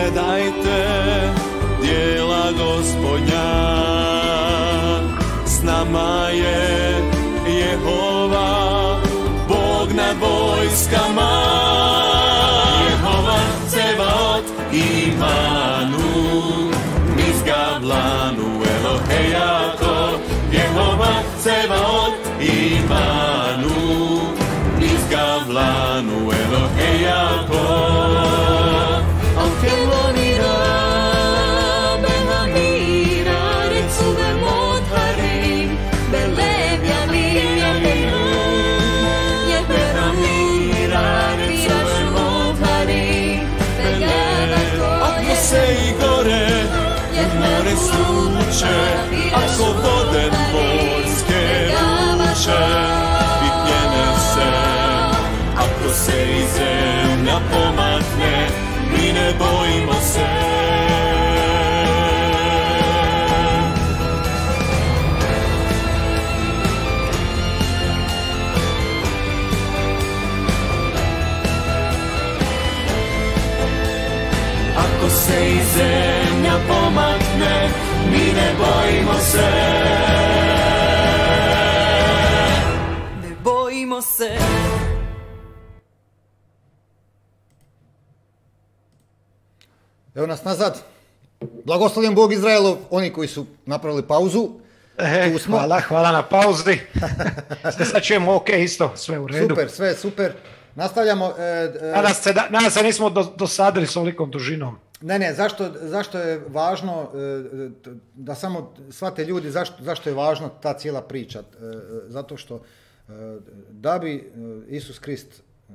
gledajte djela Gospodnja, s nama je Jehova, Bog nad vojskama. Jehova Cevaot Imanu, Mizgavlanu Elohejako. Jehova Cevaot Imanu, Mizgavlanu Elohejako. Alkelonira, Benamira, Recuve Modhari, Belevjamira, Jeberamira, Recuve Modhari, Ako se i gore more suče, ako vode dvorske ruče, bitnjene se. Ako se i zemlja pomakne, mi ne bojimo se. Ako se i zemlja pomakne, mi ne bojimo se. ne bojimo se. Evo nas nazad. Blagoslovljen Bog Izraelov, oni koji su napravili pauzu. E, Tu smo. hvala, hvala na pauzi. Sve sad čujemo ok, isto, sve u redu. Super, sve super. Nastavljamo. E, e, Nadam se, da, nadam se nismo do, dosadili s ovolikom dužinom. Ne, ne, zašto, zašto je važno, e, t- da samo shvate ljudi zašto, zašto je važna ta cijela priča. E, zato što e, da bi e, Isus Krist, e,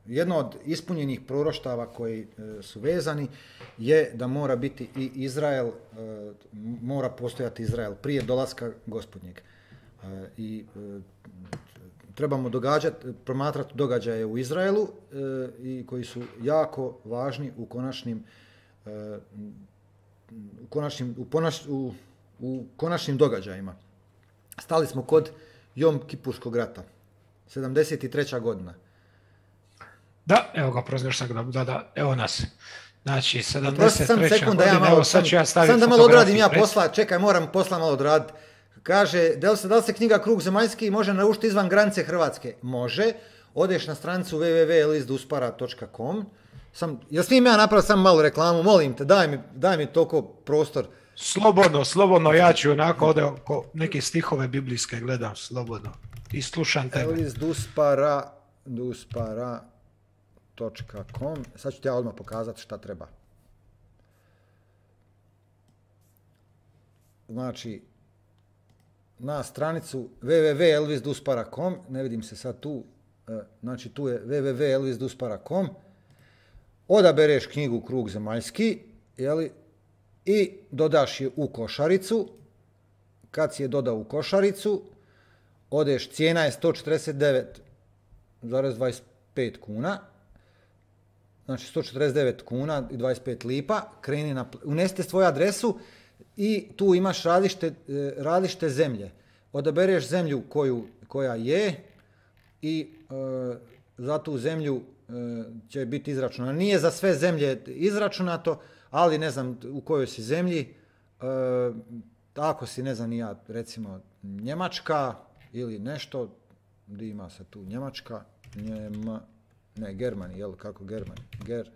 jedno od ispunjenih proroštava koji e, su vezani, je da mora biti i Izrael, e, mora postojati Izrael prije dolaska Gospodnjeg. E, I e, trebamo događati, promatrati događaje u Izraelu e, i koji su jako važni u konačnim u konačnim, u, ponaš, u, u konačnim događajima. Stali smo kod Jom Kipurskog rata, sedamdeset treća godina. Da, evo ga, prozir sam da, da, da, evo nas. Znači, Prosti sedamdeset sam treća sekund da ja godina, malo, evo sad sam, ću ja staviti sam da malo odradim ja fotografiju posla, čekaj, moram posla malo odraditi. Kaže, da li se, da li se knjiga Krug zemaljski može naručiti izvan granice Hrvatske? Može. Odeš na stranicu w w w tačka list duspara tačka com. Sam, jel smijem ja napraviti samo malu reklamu? Molim te, daj mi, daj mi toliko prostor. Slobodno, slobodno, ja ću onako ovdje oko neke stihove biblijske gledam, slobodno. I slušam tebe. List duspara, duspara tačka com. Sad ću ti ja odmah pokazati šta treba. Znači, na stranicu w w w tačka elvis duspara tačka com, ne vidim se sad tu, znači tu je w w w tačka elvis duspara tačka com, odabereš knjigu Krug zemaljski, jeli, i dodaš je u košaricu. Kad si je dodao u košaricu, odeš, cijena je sto četrdeset devet zarez dvadeset pet kuna, znači sto četrdeset devet kuna i dvadeset pet lipa, kreni na, unesite svoju adresu i tu imaš različite, različite zemlje. Odabereš zemlju koju, koja je i e, za tu zemlju e, će biti izračunato. Nije za sve zemlje izračunato, ali ne znam u kojoj si zemlji, e, ako si, ne znam ni ja, recimo Njemačka ili nešto, gdje ima se tu Njemačka, Njema, ne, Germani, jel, kako Germani, Ger,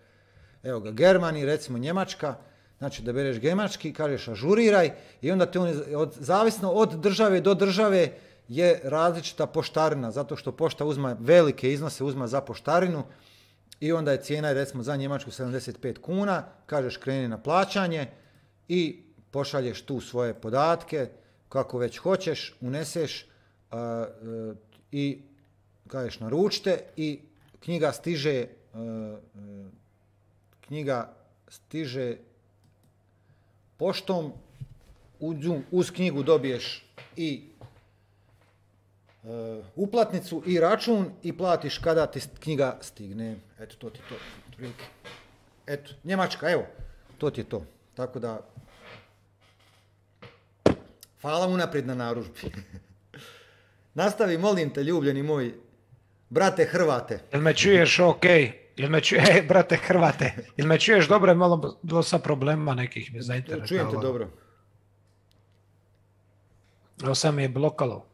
evo ga, Germani, recimo Njemačka, znači da bereš njemački, kažeš ažuriraj i onda te on, od, zavisno od države do države je različita poštarina, zato što pošta uzma velike iznose, uzma za poštarinu i onda je cijena, recimo za Njemačku sedamdeset pet kuna, kažeš kreni na plaćanje i pošalješ tu svoje podatke, kako već hoćeš, uneseš a, a, i kažeš naručite i knjiga stiže, a, a, knjiga stiže poštom, uz knjigu dobiješ i e, uplatnicu i račun i platiš kada ti knjiga stigne. Eto, to ti to. Eto, Njemačka, evo, to ti je to. Tako da, hvala unaprijed na narudžbi. Nastavi, molim te, ljubljeni moj, brate Hrvate. Jel me čuješ ok? Jel me čuje, e, brate Hrvate, jel me čuješ dobro, je malo dosta problema nekih me zainteresovalo. Čujem te dobro. Ovo sam mi je blokalo.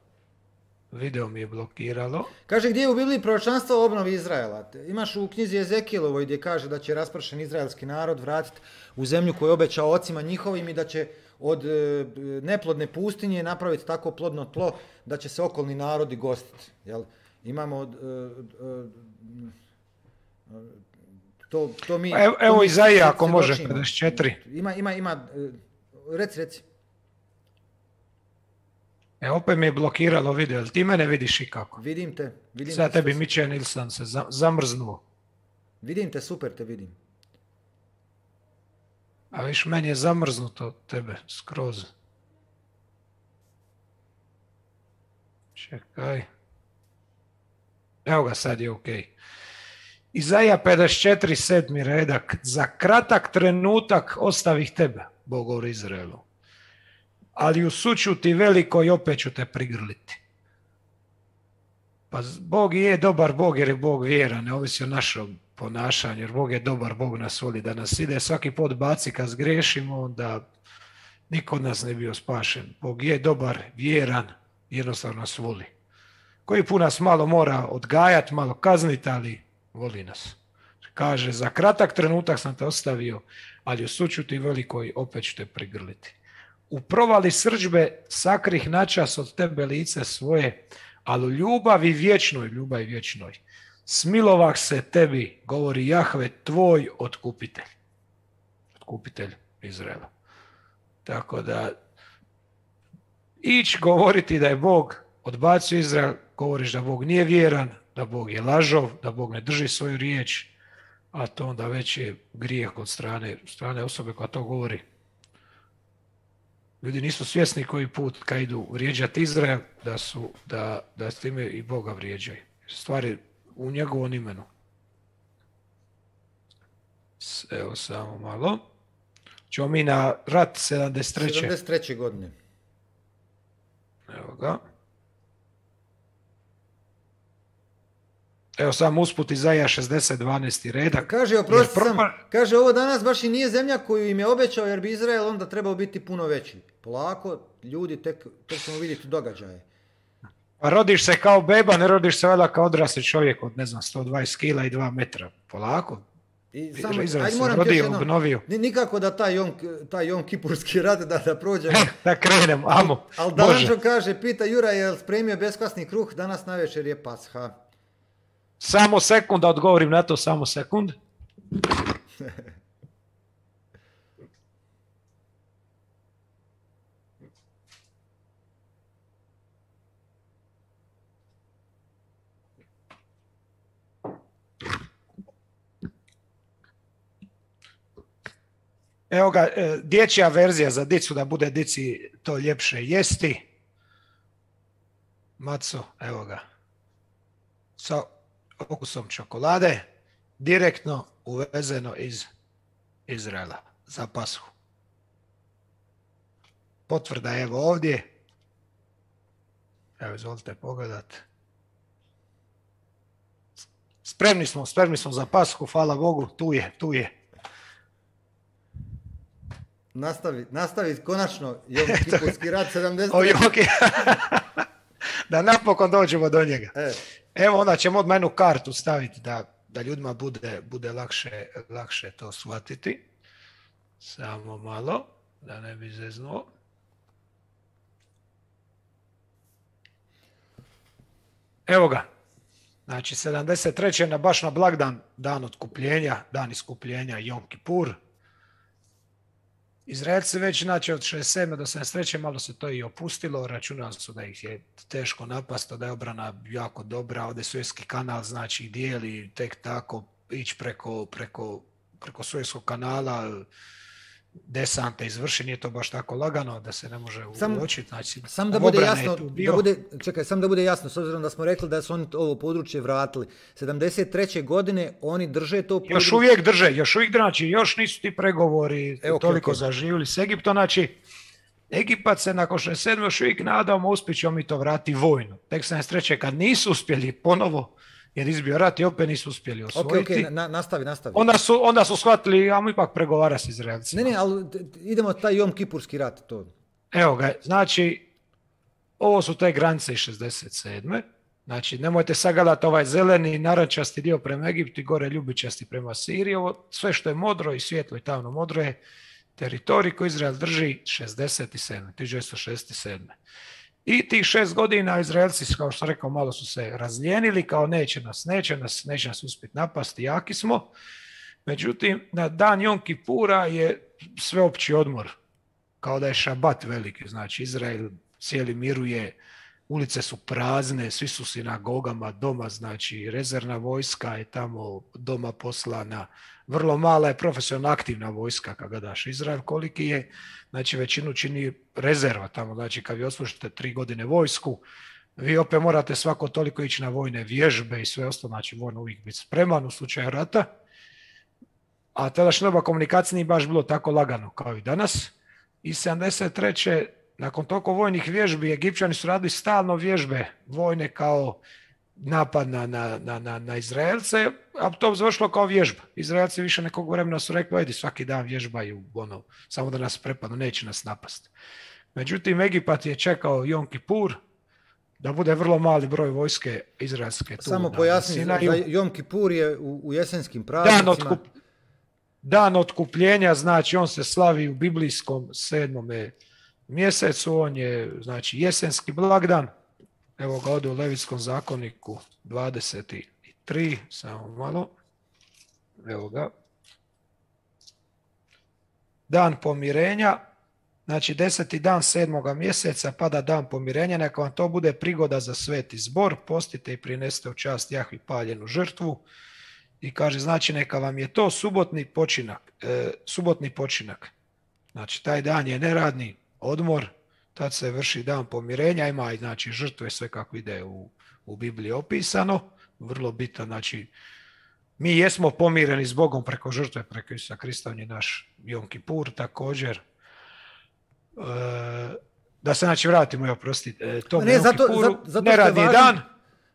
Video mi je blokiralo. Kaže, gdje je u Bibliji proročanstvo o obnovi Izraela? Imaš u knjizi Ezekielovoj gdje kaže da će raspršen izraelski narod vratiti u zemlju koju je obećao ocima njihovim i da će od e, neplodne pustinje napraviti tako plodno tlo da će se okolni narodi gostiti. Jel? Imamo... E, e, to, to mi... Evo, evo Izaija ako može, pedeset četiri. Ima, ima, ima... E, reci, reci. E, opet mi je blokiralo video, jel ti mene vidiš i kako? Vidim te. Vidim Sad te tebi sve... Miće Nilsson se zamrznuo. Vidim te, super te vidim. A viš, meni je zamrznuto od tebe, skroz. Čekaj. Evo ga, sad je okej. Okay. Izaija pedeset četiri, sedmi redak. Za kratak trenutak ostavih tebe, Bog govori Izraelu. Ali u sućuti velikoj opet ću te prigrliti. Pa Bog je dobar Bog jer je Bog vjeran, ne ovisi o našom ponašanju, jer Bog je dobar, Bog nas voli da nas ide svaki put baci kad zgrešimo, da niko od nas ne bio spašen. Bog je dobar, vjeran, jednostavno nas voli. Koji put nas malo mora odgajati, malo kazniti, ali voli nas. Kaže, za kratak trenutak sam te ostavio, ali u sućuti velikoj opet ću te prigrliti. U provali srdžbe sakrih načas od tebe lice svoje, ali u ljubavi vječnoj, ljubavi vječnoj, smilovah se tebi, govori Jahve, tvoj otkupitelj. Otkupitelj Izraela. Tako da, ići govoriti da je Bog odbacio Izrael, govoriš da Bog nije vjeran, da Bog je lažov, da Bog ne drži svoju riječ, a to onda već je grijeh od strane, strane osobe koja to govori. Ljudi nisu svjesni koji put kad idu vrijeđati Izrael, da su, da, da s time i Boga vrijeđaju. Stvari u njegovom imenu. Evo samo malo. Ćemo mi na rat sedamdeset treće. sedamdeset treće godine. Evo ga. Evo sam usput Izaija šezdeset, dvanaesti redak. Kaže, oprosti sam, kaže, ovo danas baš i nije zemlja koju im je obećao, jer bi Izrael onda trebao biti puno veći. Polako, ljudi, tek, tek ćemo vidjeti događaje. Pa rodiš se kao beba, ne rodiš se valjda kao odrasli čovjek od, ne znam, sto dvadeset kila i dva metra. Polako. I samo, Izrael ajde se moram rodio, jedno, obnovio. Nikako da taj Jom, taj Jom Kipurski rat da, da prođemo. Da krenemo, amo. Ali Dančo kaže, pita Jura, je li spremio beskvasni kruh, danas navečer je Pasha. Samo sekund da odgovorim na to, samo sekund. Evo ga, dječja verzija za dicu, da bude dici to ljepše jesti. Maco, evo ga. Sa okusom čokolade, direktno uvezeno iz Izraela za Pashu. Potvrda je evo ovdje. Evo, izvolite pogledat. Spremni smo, spremni smo za Pashu, hvala Bogu, tu je, tu je. Nastavi, nastavi konačno Jom Kipurski rat sedamdeset. O, okay. Da napokon dođemo do njega. E. Evo, onda ćemo odmah jednu kartu staviti da, da ljudima bude, bude lakše, lakše to shvatiti. Samo malo, da ne bi zeznuo. Evo ga. Znači, sedamdeset treće na baš na blagdan, dan otkupljenja, dan iskupljenja, Jom Kipur. Izraelci već, znači, od šezdeset sedme do sedamdeset treće malo se to i opustilo, računali su da ih je teško napasti, da je obrana jako dobra, ovdje Suezki kanal, znači, dijeli tek tako ići preko, preko, preko Suezkog kanala, desante izvrši, nije to baš tako lagano da se ne može uočiti. Znači, sam da bude jasno, da bude, čekaj, sam da bude jasno, s obzirom da smo rekli da su oni ovo područje vratili. sedamdeset treće godine oni drže to područje. Još uvijek drže, još uvijek znači, još nisu ti pregovori e, okay, toliko okay. zaživjeli s Egiptom, znači Egipat se nakon šezdeset sedme još uvijek nadamo uspjet ćemo mi to vratiti vojno. Tek sedamdeset treće kad nisu uspjeli ponovo jer izbio rat i opet nisu uspjeli osvojiti. Ok, ok, na, nastavi, nastavi. Onda su, onda su shvatili, ajmo ipak pregovara s Izraelcima. Ne, ne, ali idemo taj Jom Kipurski rat. To. Evo ga, znači, ovo su te granice iz šezdeset sedme. Znači, nemojte sagledati ovaj zeleni, narančasti dio prema Egiptu i gore ljubičasti prema Siriji. Ovo, sve što je modro i svjetlo i tamno modro je teritorij koji Izrael drži šezdeset sedme, tisuću devetsto šezdeset sedme. I tih šest godina Izraelci, kao što sam rekao, malo su se razljenili, kao neće nas, neće nas, neće nas uspjeti napasti, jaki smo. Međutim, na dan Jom Kipura je sveopći odmor, kao da je šabat veliki. Znači, Izrael cijeli miruje, ulice su prazne, svi su sinagogama doma, znači rezervna vojska je tamo doma poslana, vrlo mala je profesionalna aktivna vojska kad gledaš Izrael koliki je, znači većinu čini rezerva tamo, znači kad vi odslužite tri godine vojsku, vi opet morate svako toliko ići na vojne vježbe i sve ostalo, znači moramo uvijek biti spreman u slučaju rata, a tadašnja doba komunikacije nije baš bilo tako lagano kao i danas. I sedamdeset treće nakon toliko vojnih vježbi, Egipćani su radili stalno vježbe vojne kao napad na, na, na, na Izraelce, a to završilo kao vježba. Izraelci više nekog vremena su rekli, ajde svaki dan vježbaju, ono, samo da nas prepadnu, neće nas napasti. Međutim, Egipat je čekao Jom Kipur, da bude vrlo mali broj vojske izraelske. Samo pojasni, za Jom Kipur je u, u jesenskim praznicima. Dan, otkup, dan otkupljenja, znači on se slavi u biblijskom sedmome mjesecu, on je znači jesenski blagdan. Evo ga ovdje u Levitskom zakoniku dvadeset tri, samo malo. Evo ga. Dan pomirenja, znači deseti dan sedmoga mjeseca pada dan pomirenja, neka vam to bude prigoda za sveti zbor, postite i prinesite u čast Jahvi paljenu žrtvu. I kaže, znači neka vam je to subotni počinak, e, subotni počinak. Znači taj dan je neradni odmor, tad se vrši dan pomirenja, ima i znači žrtve, sve kako ide u, u Bibliji opisano, vrlo bitan, znači mi jesmo pomireni s Bogom preko žrtve, preko Isusa Krista, on je naš Jom Kipur također. E, da se znači vratimo, ja prostite, to ne, Jom zato, Kipuru, zato, zato neradni važan, dan.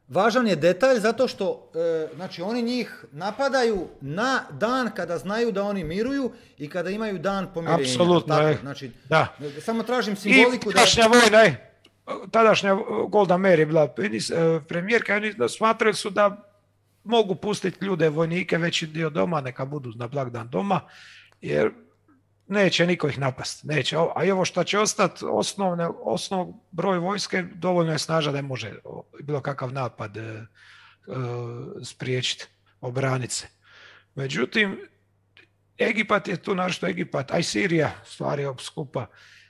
Važan je detalj zato što e, znači oni njih napadaju na dan kada znaju da oni miruju i kada imaju dan pomirenja. Apsolutno, tako, je. Znači, da. Samo tražim simboliku. I tadašnja da... vojna, je, tadašnja Golda Meir je bila premijerka, oni smatrali su da mogu pustiti ljude, vojnike, veći dio doma, neka budu na blagdan doma, jer neće niko ih napast. Neće. A i ovo što će ostati, osnovne, osnov broj vojske, dovoljno je snaža da može bilo kakav napad e, e, spriječiti, obraniti se. Međutim, Egipat je tu našto Egipat, a i Sirija, stvari skupa,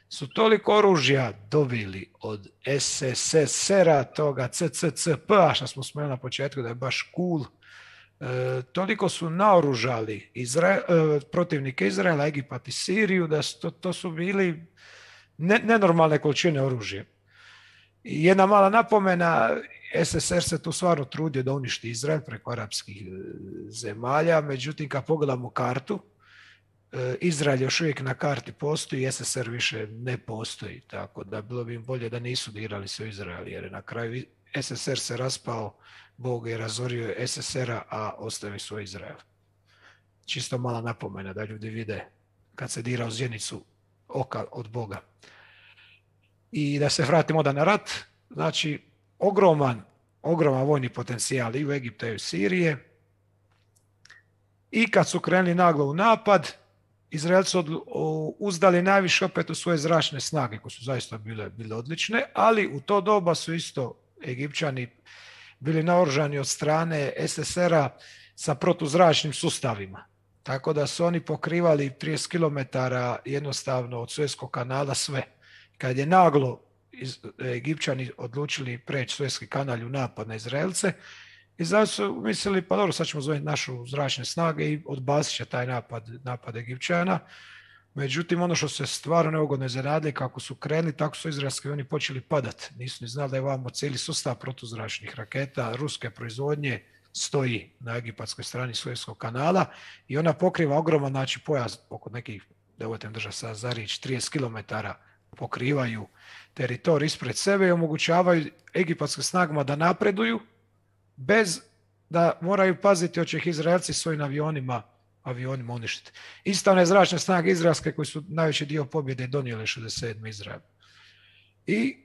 su toliko oružja dobili od es es es er-a, toga ce ce ce pe-a, što smo spomenuli na početku da je baš cool, E, toliko su naoružali Izrael, e, protivnike Izraela, Egipat i Siriju, da su, to, to su bili ne, nenormalne količine oružja. I jedna mala napomena, es es er se tu stvarno trudio da uništi Izrael preko arapskih zemalja, međutim kad pogledamo kartu, e, Izrael još uvijek na karti postoji, es es er više ne postoji, tako da bilo bi im bolje da nisu dirali se u Izrael, jer na kraju es es er se raspao, Bog je razorio es es er-a, a ostavi svoj Izrael. Čisto mala napomena da ljudi vide kad se dira u zjenicu oka od Boga. I da se vratimo da na rat, znači ogroman, ogroman vojni potencijal i u Egiptu i u Sirije. I kad su krenuli naglo u napad, Izraelci uzdali najviše opet u svoje zračne snage, koje su zaista bile, bile odlične, ali u to doba su isto Egipćani bili naoružani od strane es es er-a sa protuzračnim sustavima. Tako da su oni pokrivali trideset kilometara jednostavno od Suezkog kanala sve. Kad je naglo Egipćani odlučili preći Suezki kanal u napad na Izraelce, Izraelci su mislili, pa dobro, sad ćemo zoveti našu zračne snage i odbacit će taj napad, napad Egipćana. Međutim, ono što se stvarno neugodno iznenadili, kako su krenuli, tako su izraelski oni počeli padati. Nisu ni znali da je vamo cijeli sustav protuzračnih raketa ruske proizvodnje stoji na egipatskoj strani Suezkog kanala i ona pokriva ogroman znači pojas oko nekih, da uvetem drža sa za riječ, trideset kilometara pokrivaju teritorij ispred sebe i omogućavaju egipatskim snagama da napreduju bez da moraju paziti hoće ih Izraelci svojim avionima, avionima uništiti. Isto one zračne snage izraelske koji su najveći dio pobjede donijeli šezdeset sedme Izrael. I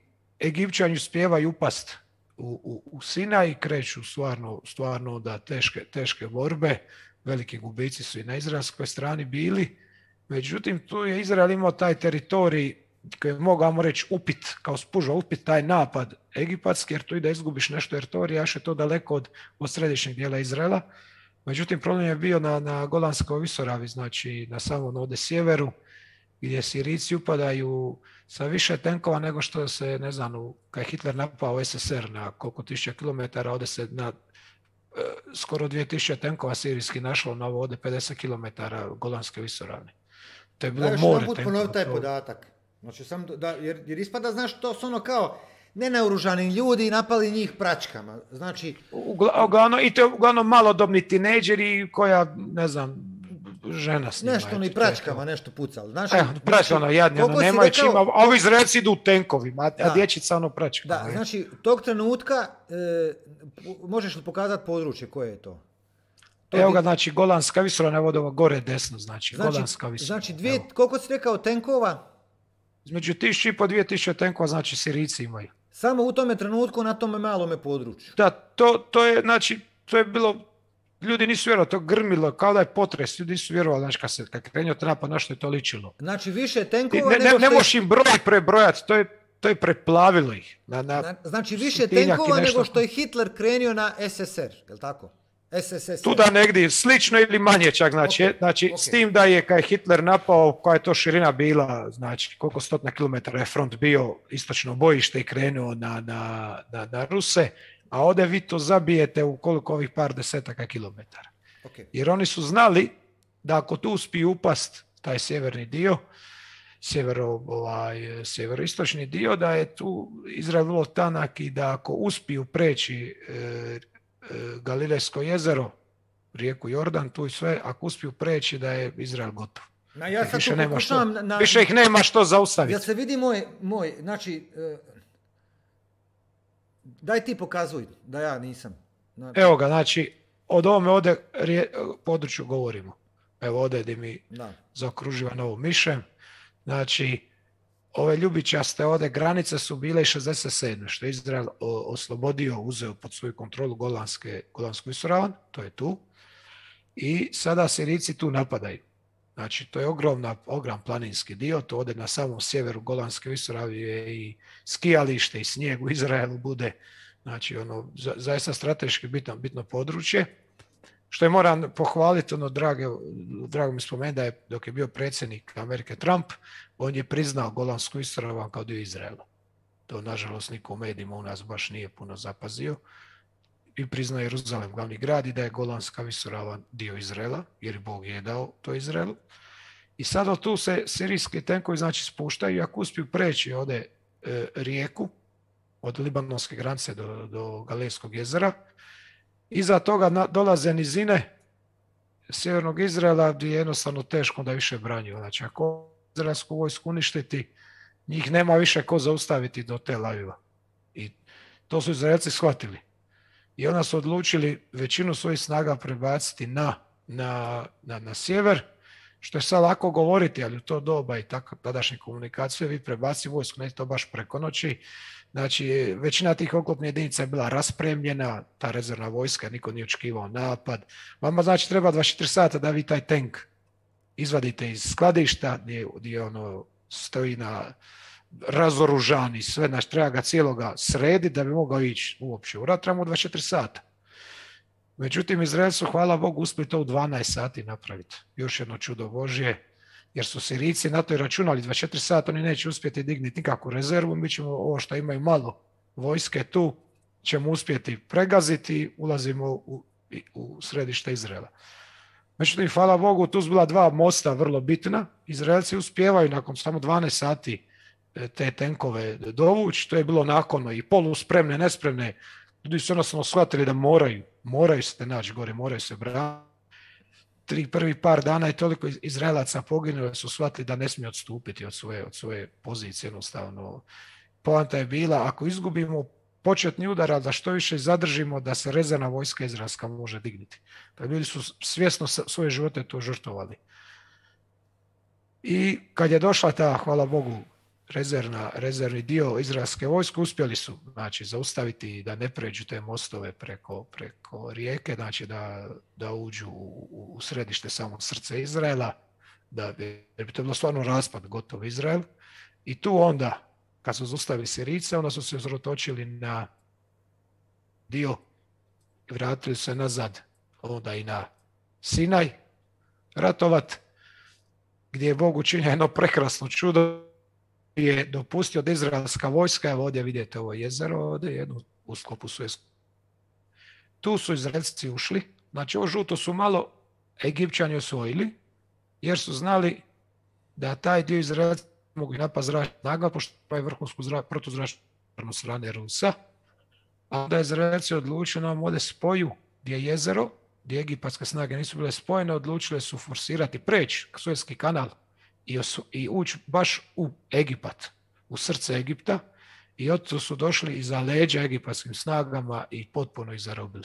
Egipćani uspijevaju upast u, u, u Sinaj i kreću stvarno, stvarno da teške, teške borbe, veliki gubici su i na izraelskoj strani bili. Međutim, tu je Izrael imao taj teritorij koji je mogao reći upit, kao spuža upit taj napad egipatski, jer tu i da izgubiš nešto teritorija, još je to daleko od, od središnjeg dijela Izraela. Međutim, problem je bio na, na Golanskoj visoravi, znači na samom ovdje sjeveru, gdje Sirijci upadaju sa više tenkova nego što se, ne znam, kad je Hitler napao S S R na koliko tisuća kilometara, ovdje se na e, skoro dvije tisuće tenkova sirijski našlo na ovo ovdje pedeset kilometara Golanske visoravne. To je bilo da, more tenkova. Ponovi taj podatak. Znači, sam da, jer, jer ispada, znaš, to su ono kao nenaoružani ljudi napali njih pračkama. Znači... Uglavnom, i to je uglavnom malodobni tinejdžeri koja, ne znam, žena s njima. Nešto ni pračkama nešto pucali. Znači, e, pračka ono jadnje, ono nemaju rekao... čima, a ovi Izraelci idu u tenkovima, a, a dječica ono pračka. Da, znači, tog trenutka e, možeš li pokazati područje koje je to? to Evo ga, znači, Golanska visoravna, evo ovo gore desno, znači, znači Golanska visoravna. Znači, dvije, koliko si rekao tenkova? Između tisuću i po dvije tisuće tenkova, znači, Sirijci imaju. Samo u tome trenutku na tome malome području. Da, to, to je, znači, to je bilo, ljudi nisu vjerovali, to grmilo, kao da je potres, ljudi nisu vjerovali, znači, kad se kad krenio napad, na što je to ličilo. Znači, više tenkova ne, nego ne, što... Ne možeš im broj prebrojati, to je, to je preplavilo ih. Na, na znači, više tenkova nego što je Hitler krenio na S S R, je li tako? S S S R. Tu da negdje, slično ili manje čak, znači, okay, znači okay. S tim da je kad je Hitler napao, koja je to širina bila, znači koliko stotina kilometara je front bio, istočno bojište i krenuo na, na, na, na Ruse, a ovdje vi to zabijete u koliko ovih par desetaka kilometara. Okay. Jer oni su znali da ako tu uspiju upast taj sjeverni dio, sjevero, ovaj, sjeveroistočni dio, da je tu Izrael vrlo tanak i da ako uspiju preći e, Galilejsko jezero, rijeku Jordan, tu i sve, ako uspiju preći da je Izrael gotov. Na, ja sad više, nema što, na, na, više ih nema što zaustaviti. Ja se vidi moj, moj znači, uh, daj ti pokazuj da ja nisam. Znači... Evo ga, znači, od ovome ovdje rije, području govorimo. Evo ovdje gdje mi da. Zaokruživa novo mišem. Znači, ove ljubičaste ovdje granice su bile i šezdeset sedme što je Izrael oslobodio, uzeo pod svoju kontrolu Golanske, Golansku visoravan, to je tu. I sada Sirijci tu napadaju. Znači, to je ogromna, ogrom planinski dio, to ovdje na samom sjeveru Golanske visoravni je i skijalište i snijeg u Izraelu bude, znači, ono, za, zaista strateški bitno, bitno područje. Što je moram pohvaliti, ono, drage, drago mi spomenuti da je dok je bio predsjednik Amerike Trump, on je priznao Golansku visoravan kao dio Izraela. To, nažalost, niko u medijima u nas baš nije puno zapazio. I priznao Jeruzalem glavni grad i da je Golanska visoravan dio Izraela, jer Bog je dao to Izraelu. I sada tu se sirijski tenkovi, znači, spuštaju i ako uspiju preći ovdje e, rijeku od libanonske granice do, do Galilejskog jezera, iza toga na, dolaze nizine sjevernog Izraela gdje je jednostavno teško da više branju. Znači, ako izraelsku vojsku uništiti, njih nema više ko zaustaviti do Tel Aviva. I to su Izraelci shvatili. I onda su odlučili većinu svojih snaga prebaciti na, na, na, na sjever, što je sad lako govoriti, ali u to doba i tako tadašnje komunikacije, vi prebaci vojsku, ne to baš preko noći. Znači, većina tih oklopnih jedinica je bila raspremljena, ta rezervna vojska, niko nije očekivao napad. Vama, znači, treba dvadeset četiri sata da vi taj tank izvadite iz skladišta, gdje, gdje ono stoji na razoružani, sve, znači, treba ga cijeloga srediti da bi mogao ići uopće u rat, trebamo dvadeset četiri sata. Međutim, Izraelci su, hvala Bogu, uspjeli to u dvanaest sati napraviti. Još jedno čudo Božje, jer su Sirijci na to i računali dvadeset četiri sata, oni neće uspjeti digniti nikakvu rezervu, mi ćemo ovo što imaju malo vojske tu, ćemo uspjeti pregaziti i ulazimo u, u središte Izraela. Međutim, hvala Bogu, tu su bila dva mosta vrlo bitna. Izraelci uspijevaju nakon samo dvanaest sati te tenkove dovući, to je bilo nakonno i poluspremne, nespremne. Ljudi su jednostavno shvatili da moraju, moraju se naći gore, moraju se braniti. Tri prvi par dana je toliko Izraelaca poginulo, su shvatili da ne smiju odstupiti od svoje, od svoje pozicije. Jednostavno, poanta je bila, ako izgubimo početni udar, ali da što više zadržimo da se rezervna vojska izraelska može dignuti. Pa ljudi su svjesno svoje živote to žrtvovali. I kad je došla ta, hvala Bogu, rezervna, rezervni dio izraelske vojske, uspjeli su znači, zaustaviti da ne pređu te mostove preko, preko rijeke, znači da, da uđu u, u središte samog srce Izraela, da bi, jer bi to bilo stvarno raspad, gotov Izrael. I tu onda, kad su zaustavili Sirijce, onda su se uzrotočili na dio i vratili se nazad, onda i na Sinaj ratovat, gdje je Bog učinio jedno prekrasno čudo, je dopustio da izraelska vojska, evo ovdje vidite ovo jezero, ovdje jednu u sklopu Suezkog. Tu su Izraelci ušli, znači ovo žuto su malo Egipćani osvojili, jer su znali da taj dio Izraelci mogu i napast zračna snaga, pošto pravi vrhunsku zra, protuzračnu strane Rusa, a onda Izraelci odlučili nam ovdje spoju gdje je jezero, gdje egipatske snage nisu bile spojene, odlučile su forsirati, preći Suezki kanal i, i ući baš u Egipat, u srce Egipta, i od su došli iza leđa egipatskim snagama i potpuno ih zarobili.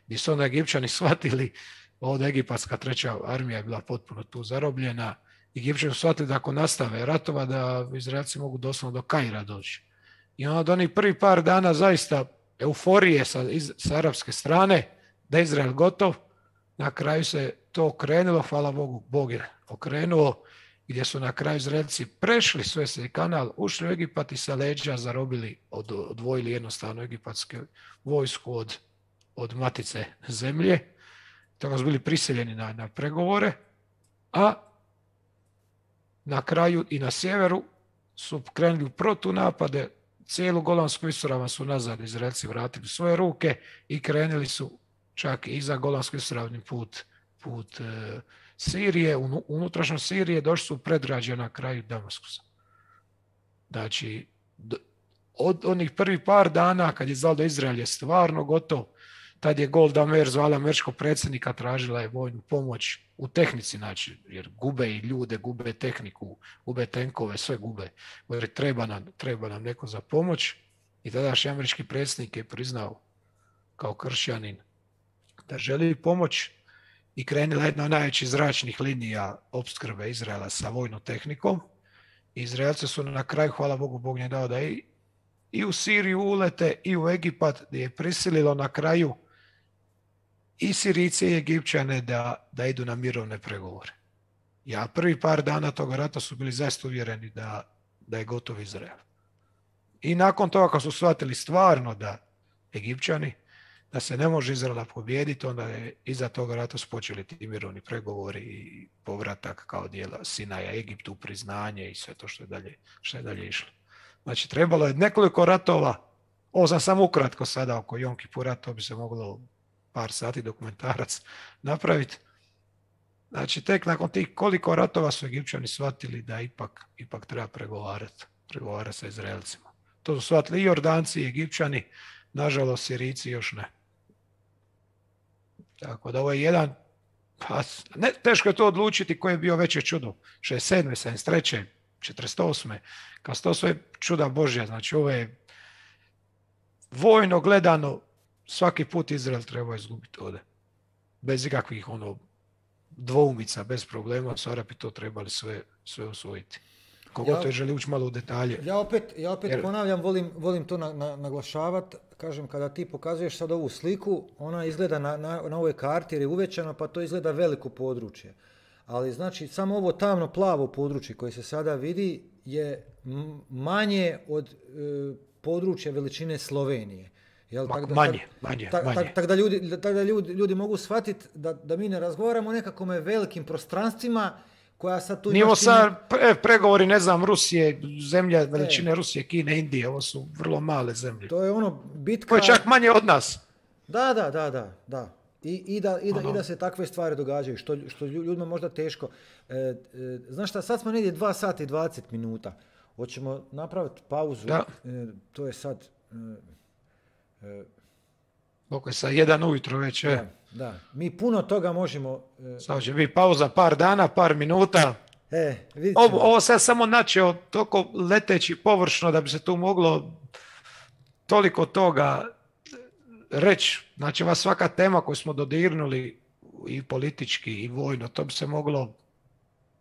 Gdje su onda Egipćani shvatili, ovdje egipatska treća armija je bila potpuno tu zarobljena, Egipćani su shvatili da ako nastave ratova, da Izraelci mogu doslovno do Kaira doći. I onda od onih prvi par dana zaista euforije sa, iz, sa arapske strane, da je Izrael gotov, na kraju se to okrenulo, hvala Bogu, Bog je okrenuo, gdje su na kraju Izraelci prešli Suezki kanal, ušli u Egipat i sa leđa zarobili, od, odvojili jednostavno egipatsku vojsku od, od matice zemlje, tako su bili prisiljeni na, na pregovore, a na kraju i na sjeveru su krenuli u protunapade, cijelu Golansku visoravan su nazad Izraelci vratili svoje ruke i krenuli su čak i za Golansku visoravni put, put e, Sirije, un, unutrašnjo Sirije, došli su predgrađe na kraju Damaskusa. Znači, do, od onih prvih par dana kad je znalo da Izrael je stvarno gotov, tad je Golda Meir zvala američkog predsjednika, tražila je vojnu pomoć u tehnici, znači, jer gube i ljude, gube tehniku, gube tenkove, sve gube. Jer treba nam, treba nam neko za pomoć. I tadašnji američki predsjednik je priznao kao kršćanin da želi pomoć i krenila jedna od najvećih zračnih linija opskrbe Izraela sa vojnom tehnikom. Izraelci su na kraju, hvala Bogu, Bog je dao da i, i u Siriju ulete i u Egipat, gdje je prisililo na kraju i Sirijce i Egipćane da, da idu na mirovne pregovore. Ja prvi par dana toga rata su bili zaista uvjereni da, da je gotov Izrael. I nakon toga kad su shvatili stvarno da Egipćani, da se ne može Izraela pobijediti, onda je iza toga rata su počeli ti mirovni pregovori i povratak kao dijela Sinaja Egiptu, priznanje i sve to što je dalje, što je dalje išlo. Znači trebalo je nekoliko ratova, ovo sam samo ukratko sada oko Jom Kipura, to bi se moglo par sati dokumentarac napraviti. Znači, tek nakon tih koliko ratova su Egipćani shvatili da ipak, ipak treba pregovarati, pregovarati sa Izraelcima. To su shvatili i Jordanci i Egipćani, nažalost Sirijci još ne. Tako da ovo je jedan, pa, ne, teško je to odlučiti koji je bio veće čudo. šezdeset sedme, sedamdeset treće, četrdeset osme Kao to sve čuda Božja. Znači, ovo je vojno gledano, svaki put Izrael treba izgubiti ovdje. Bez ikakvih ono, dvoumica, bez problema, su Arapi to trebali sve, sve osvojiti. Kogo ja, to je želi ući malo u detalje. Ja opet, ja opet Jer... ponavljam, volim, volim to na, na, naglašavati. Kažem, kada ti pokazuješ sad ovu sliku, ona izgleda na, na, na ovoj karti jer je uvećana, pa to izgleda veliko područje. Ali znači, samo ovo tamno plavo područje koje se sada vidi je manje od e, područja veličine Slovenije. Jel, tak da, manje, manje, tak, manje. Tak, tak da, ljudi, tak da ljudi, ljudi mogu shvatiti da, da mi ne razgovaramo o nekakvome velikim prostranstvima koja sad tu... Nije ovo sad pre, pregovori, ne znam, Rusije, zemlja veličine e. Rusije, Kine, Indije, ovo su vrlo male zemlje. To je ono bitka... To je čak manje od nas. Da, da, da, da, da. I, i, da, i, da, i da se takve stvari događaju, što, što ljudima možda teško. E, e, znaš šta, sad smo negdje dva sata i dvadeset minuta. Hoćemo napraviti pauzu. Da. E, to je sad... E, e, Oko je sad jedan ujutro već. Je. Da, da. Mi puno toga možemo... E, sad će biti pauza par dana, par minuta. E, vidit ovo, ovo sad samo načeo toko leteći površno da bi se tu moglo toliko toga reći. Znači, ova svaka tema koju smo dodirnuli i politički i vojno, to bi se moglo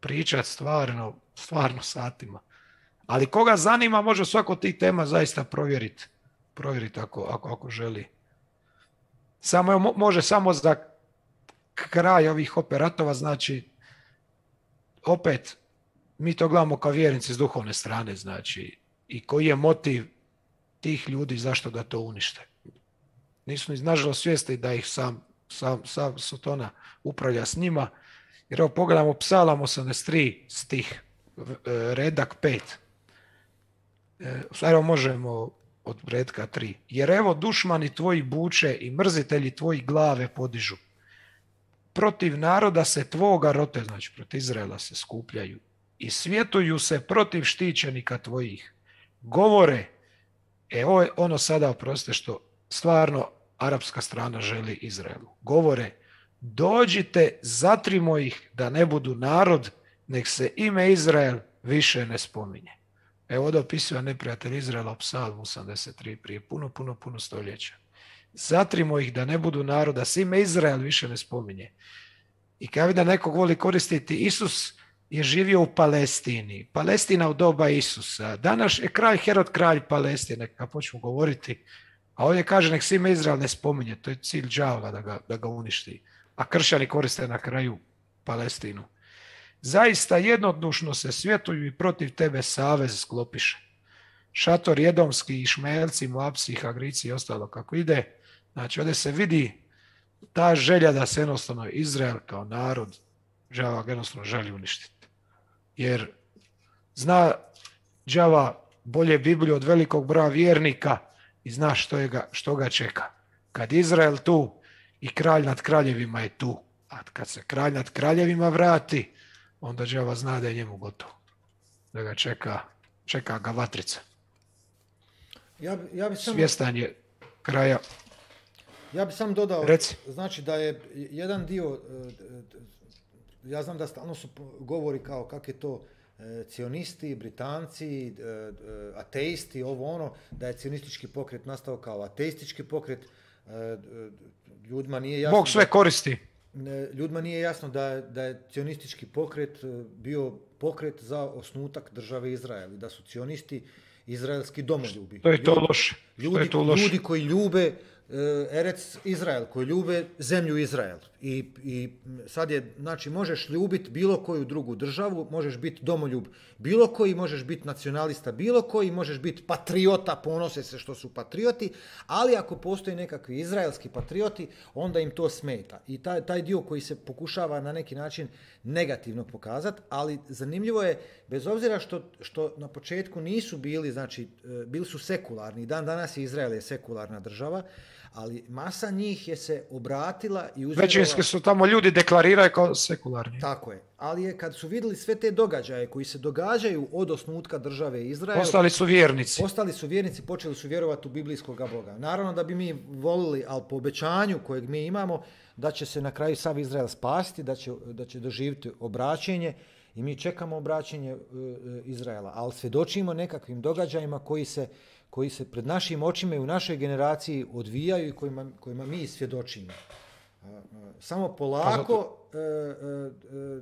pričati stvarno, stvarno satima. Ali koga zanima, može svako tih tema zaista provjeriti. Provjeriti ako, ako, ako želi. Samo, može samo za kraj ovih operatova, znači, opet, mi to gledamo kao vjernici s duhovne strane, znači, i koji je motiv tih ljudi zašto da to unište. Nisu ni nažalost svijesti da ih sam, sam, sam Sotona upravlja s njima, jer evo pogledamo Psalam osamdeset tri stih, redak pet. Evo možemo od redka tri. Jer evo dušmani tvoji buče i mrzitelji tvoji glave podižu. Protiv naroda se tvoga rote, znači protiv Izraela se skupljaju i svjetuju se protiv štićenika tvojih. Govore, e ovo je ono sada, oprostite, što stvarno arapska strana želi Izraelu. Govore, dođite, zatrimo ih da ne budu narod, nek se ime Izrael više ne spominje. Evo ovdje opisuje neprijatelj Izraela u Psalmu osamdeset tri prije puno, puno, puno stoljeća. Zatrimo ih da ne budu narod, da se ime Izrael više ne spominje. I kada vidim da nekog voli koristiti, Isus je živio u Palestini. Palestina u doba Isusa. Danas je kralj Herod kralj Palestine, kada počnu govoriti. A ovdje kaže nek se ime Izrael ne spominje. To je cilj đavola da ga, da ga uništi. A kršćani koriste na kraju Palestinu. Zaista jednodušno se svjetuju i protiv tebe savez sklopiše. Šator Jedomski, Išmaelci, Moabci, Hagrici i ostalo kako ide. Znači ovdje se vidi ta želja da se jednostavno Izrael kao narod đava jednostavno želi uništiti. Jer zna đava bolje Bibliju od velikog broja vjernika i zna što, je ga, što ga čeka. Kad Izrael tu i kralj nad kraljevima je tu, a kad se kralj nad kraljevima vrati, onda đava zna da je njemu gotovo. Da ga čeka, čeka ga vatrica. Ja, ja bi samo... Svjestan je kraja. Ja bih sam dodao, Reci. Znači da je jedan dio, ja znam da stalno su govori kao kak je to cionisti, Britanci, ateisti, ovo ono, da je cionistički pokret nastao kao ateistički pokret, ljudima nije jasno... Bog sve koristi. Ljudima nije jasno da, da je cionistički pokret bio pokret za osnutak države Izrael i da su cionisti izraelski domoljubi. To je to loše. Ljudi, to loše. ljudi koji ljube Erec Izrael, koji ljube zemlju Izrael. I, i sad je, znači, možeš ljubiti bilo koju drugu državu, možeš biti domoljub bilo koji, možeš biti nacionalista bilo koji, možeš biti patriota, ponose se što su patrioti, ali ako postoji nekakvi izraelski patrioti, onda im to smeta. I taj, taj dio koji se pokušava na neki način negativno pokazati, ali zanimljivo je, bez obzira što, što na početku nisu bili, znači, bili su sekularni, dan danas je Izrael je sekularna država, ali masa njih je se obratila i uzela... Većinski su tamo ljudi deklariraju kao sekularni. Tako je. Ali je kad su vidjeli sve te događaje koji se događaju od osnutka države Izrael... Postali su vjernici. Postali su vjernici, počeli su vjerovati u biblijskog Boga. Naravno da bi mi volili, ali po obećanju kojeg mi imamo, da će se na kraju sav Izrael spasiti, da će, da će doživjeti obraćenje i mi čekamo obraćenje uh, Izraela. Ali svjedočimo nekakvim događajima koji se koji se pred našim očima i u našoj generaciji odvijaju i kojima, kojima mi svjedočimo. Samo polako, e, e, e,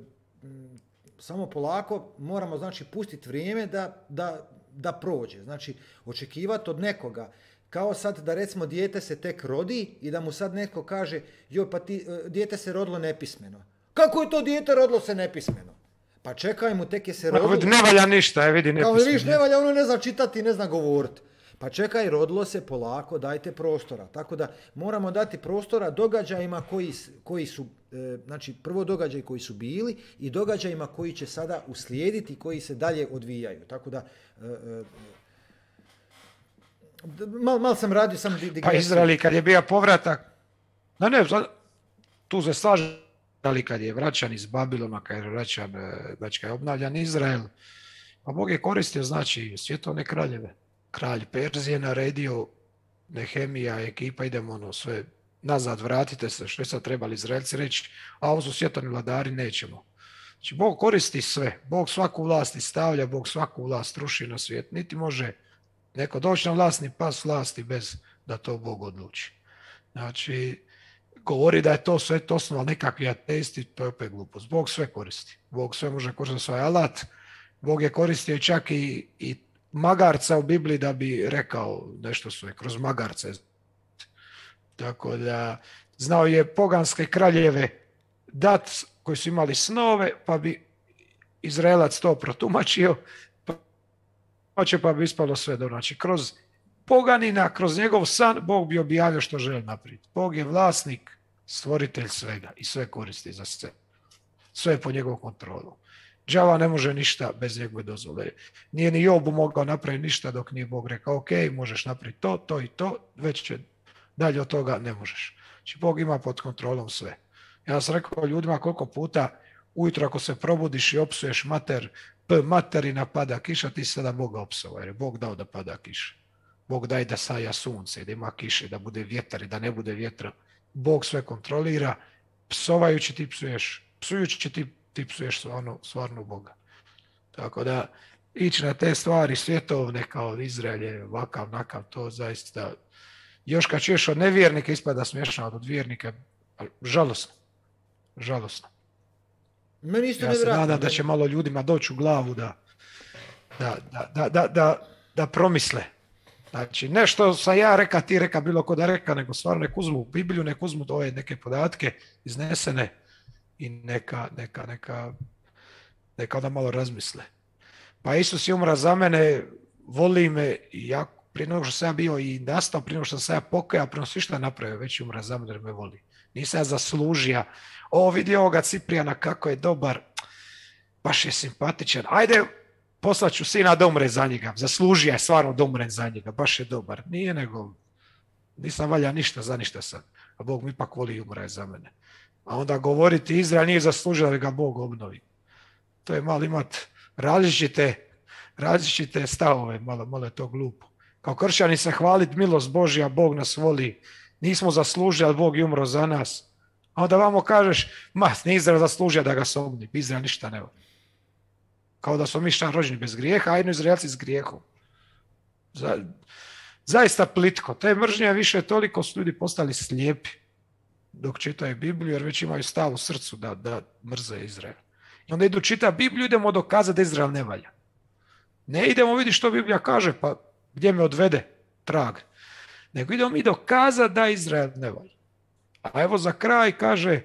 samo polako moramo, znači, pustiti vrijeme da, da, da prođe. Znači, očekivati od nekoga, kao sad da recimo dijete se tek rodi i da mu sad netko kaže, joj, pa ti, dijete se rodilo nepismeno. Kako je to dijete rodilo se nepismeno? Pa čekaj mu, tek je se rodilo... Ne valja ništa, je vidi nepismeno. Kao vidiš, ne valja, ono ne zna čitati, ne zna govoriti. Pa čekaj, rodilo se polako, dajte prostora. Tako da moramo dati prostora događajima koji, koji su, e, znači prvo događaj koji su bili i događajima koji će sada uslijediti, koji se dalje odvijaju. Tako da, e, e, mal, mal sam radio sam digresiju. Pa Izraeli kad je bio povratak, no ne, tu se slažem, ali kad je vraćan iz Babilona, kad je vraćan, znači kad je obnavljan Izrael, pa Bog je koristio, znači, svjetovne kraljeve. Kralj Perzije naredio, Nehemija, ekipa, idemo ono sve nazad, vratite se, što je sad trebali Izraelci reći, a ovo su svjetovni vladari, nećemo. Znači, Bog koristi sve, Bog svaku vlast stavlja, Bog svaku vlast ruši na svijet, niti može neko doći na vlasni pas vlasti bez da to Bog odluči. Znači, govori da je to sve to osnova nekakvi ateisti, to je opet glupost. Bog sve koristi. Bog sve može koristiti svoj alat. Bog je koristio čak i, i magarca u Bibliji da bi rekao nešto svoje, kroz magarce. Tako da, znao je poganske kraljeve dat koji su imali snove, pa bi Izraelac to protumačio, pa će pa bi ispalo sve dobro. Znači, kroz poganina, kroz njegov san, Bog bi objavio što želi napraviti. Bog je vlasnik, stvoritelj svega i sve koristi za sve. Sve je po njegovom kontrolu. Đava ne može ništa bez njegove dozvole. Nije ni Jobu mogao napraviti ništa dok nije Bog rekao, ok, možeš napraviti to, to i to, već će dalje od toga ne možeš. Znači, Bog ima pod kontrolom sve. Ja sam rekao ljudima koliko puta ujutro ako se probudiš i opsuješ mater, p materina pada kiša, ti sada Boga opsova, jer je Bog dao da pada kiša. Bog daje da saja sunce, da ima kiše, da bude vjetar i da ne bude vjetra. Bog sve kontrolira, psovajući ti psuješ, psujući ti, ti psuješ stvarno, stvarno Boga. Tako da ići na te stvari svjetovne kao Izrael je ovakav, nakav, to zaista, još kad čuješ od nevjernika ispada smiješno, od vjernika, žalosno, žalosno. Meni isto ja se nadam da će malo ljudima doći u glavu da, da, da, da, da, da, da promisle. Znači, nešto sam ja reka, ti reka, bilo ko da reka, nego stvarno nek uzmu Bibliju, nek uzmu ove neke podatke iznesene i neka, neka, neka, neka onda malo razmisle. Pa Isus je umra za mene, voli me i ja prije nego što sam ja bio i nastao, prije nego što sam ja pokajao, prije nego svi šta napravio, već je umra za mene jer me voli. Nisam ja zaslužio. O, vidi ovoga Ciprijana kako je dobar, baš je simpatičan. Ajde, poslaću sina da umre za njega. Zaslužio je stvarno da umre za njega, baš je dobar. Nije nego, nisam valja ništa za ništa sad. A Bog mi ipak voli i umre za mene. A onda govoriti Izrael nije zaslužio da ga Bog obnovi. To je malo imat različite, različite stavove, malo, malo je to glupo. Kao kršćani se hvaliti milost Božja, Bog nas voli. Nismo zaslužili, ali Bog je umro za nas. A onda vamo kažeš, ma, ne Izrael zaslužio da ga se obnovi. Izrael ništa ne voli. Kao da smo mi šta rođeni bez grijeha, a jedno Izraelci s grijehom. Za, zaista plitko. Te mržnje više toliko su ljudi postali slijepi dok čitaju Bibliju, jer već imaju stav u srcu da, da mrze Izrael. I onda idu čita Bibliju, idemo dokazati da Izrael ne valja. Ne idemo vidjeti što Biblija kaže, pa gdje me odvede trag. Nego idemo mi dokazati da Izrael ne valja. A evo za kraj kaže,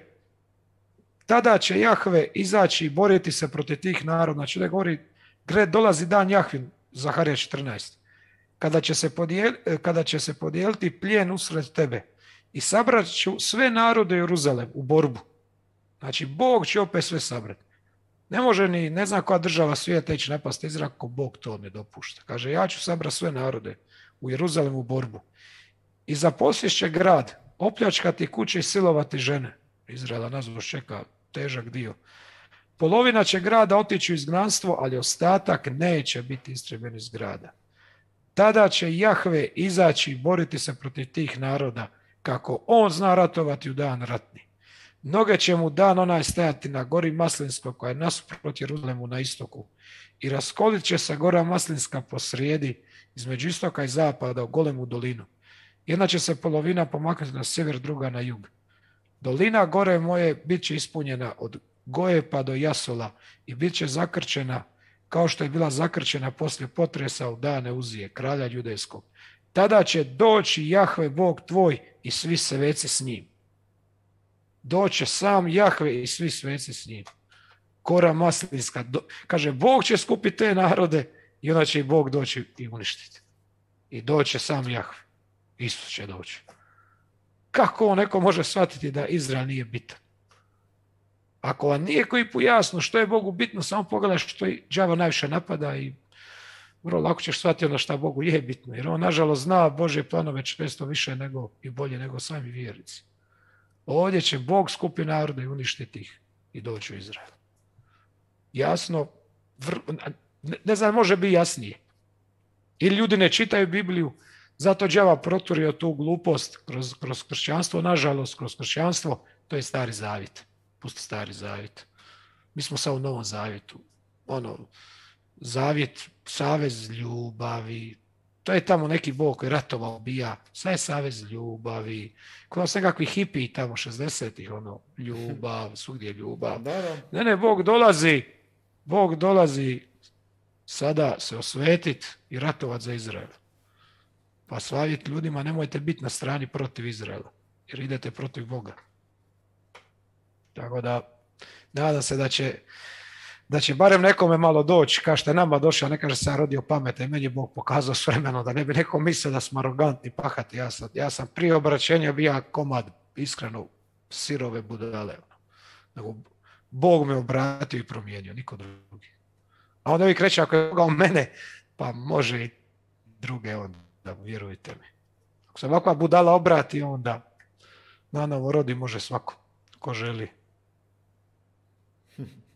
tada će Jahve izaći i boriti se protiv tih naroda. Znači da govori, gre dolazi dan Jahvin, Zaharija četrnaest. Kada će se, podijel, kada će se podijeliti plijen usred tebe i sabrat ću sve narode Jeruzalem u borbu. Znači Bog će opet sve sabrati. Ne može ni, ne znam koja država svijeta ići napasti Izrael ako Bog to ne dopušta. Kaže, ja ću sabrati sve narode u Jeruzalem u borbu. I zaposjest će grad, opljačkati kuće i silovati žene. Izraela nazvao čeka težak dio. Polovina će grada otići u izgnanstvo, ali ostatak neće biti istrebljen iz grada. Tada će Jahve izaći i boriti se protiv tih naroda, kako on zna ratovati u dan ratni. Noge će mu dan onaj stajati na gori Maslinskoj, koja je nasuprot Jeruzalemu na istoku, i raskolit će se gora Maslinska posrijedi, između istoka i zapada u golemu dolinu. Jedna će se polovina pomaknuti na sjever, druga na jug. Dolina gore moje bit će ispunjena od Goje pa do Jasola i bit će zakrčena kao što je bila zakrčena poslije potresa u dane Uzije, kralja judejskog. Tada će doći Jahve Bog tvoj i svi sveci s njim. Doće sam Jahve i svi sveci s njim. Gora Maslinska. Do, kaže, Bog će skupiti te narode i onda će i Bog doći i uništiti. I doće sam Jahve. Isus će doći. Kako neko može shvatiti da Izrael nije bitan? Ako vam nije koji pojasno što je Bogu bitno, samo pogledaj što i đavo najviše napada i vrlo lako ćeš shvatiti ono što Bogu je bitno. Jer on, nažalost, zna Božje planove često više nego i bolje nego sami vjernici. Ovdje će Bog skupi narode i uništiti ih i doći u Izrael. Jasno, vr... ne znam, može biti jasnije. Ili ljudi ne čitaju Bibliju, zato đava proturio tu glupost kroz, kroz kršćanstvo, nažalost, kroz kršćanstvo, to je Stari Zavjet. Pusti Stari Zavjet. Mi smo sad u Novom Zavjetu. Ono, Zavjet, savez ljubavi, To je tamo neki Bog koji ratovao, bija. Sve je savez ljubavi. Kod nas nekakvi hipiji tamo šezdesetih, ono, ljubav, svugdje ljubav. Da, da. Ne, ne, Bog dolazi, Bog dolazi sada se osvetiti i ratovati za Izrael. Pa savjet ljudima, nemojte biti na strani protiv Izraela, jer idete protiv Boga. Tako da, nadam se da će, da će barem nekome malo doći, kao što je nama došao, ne kaže se ja rodio pametan, i meni je Bog pokazao s vremenom, da ne bi neko mislio da smo arogantni, pahati. Ja sam, ja sam prije obraćenja bio komad, iskreno, sirove budale. Nego, Bog me obratio i promijenio, niko drugi. A onda vi kreće, ako je Boga u mene, pa može i druge onda, vjerujte mi. Ako se ovakva budala obrati, onda na novo rodi može svako, ko želi.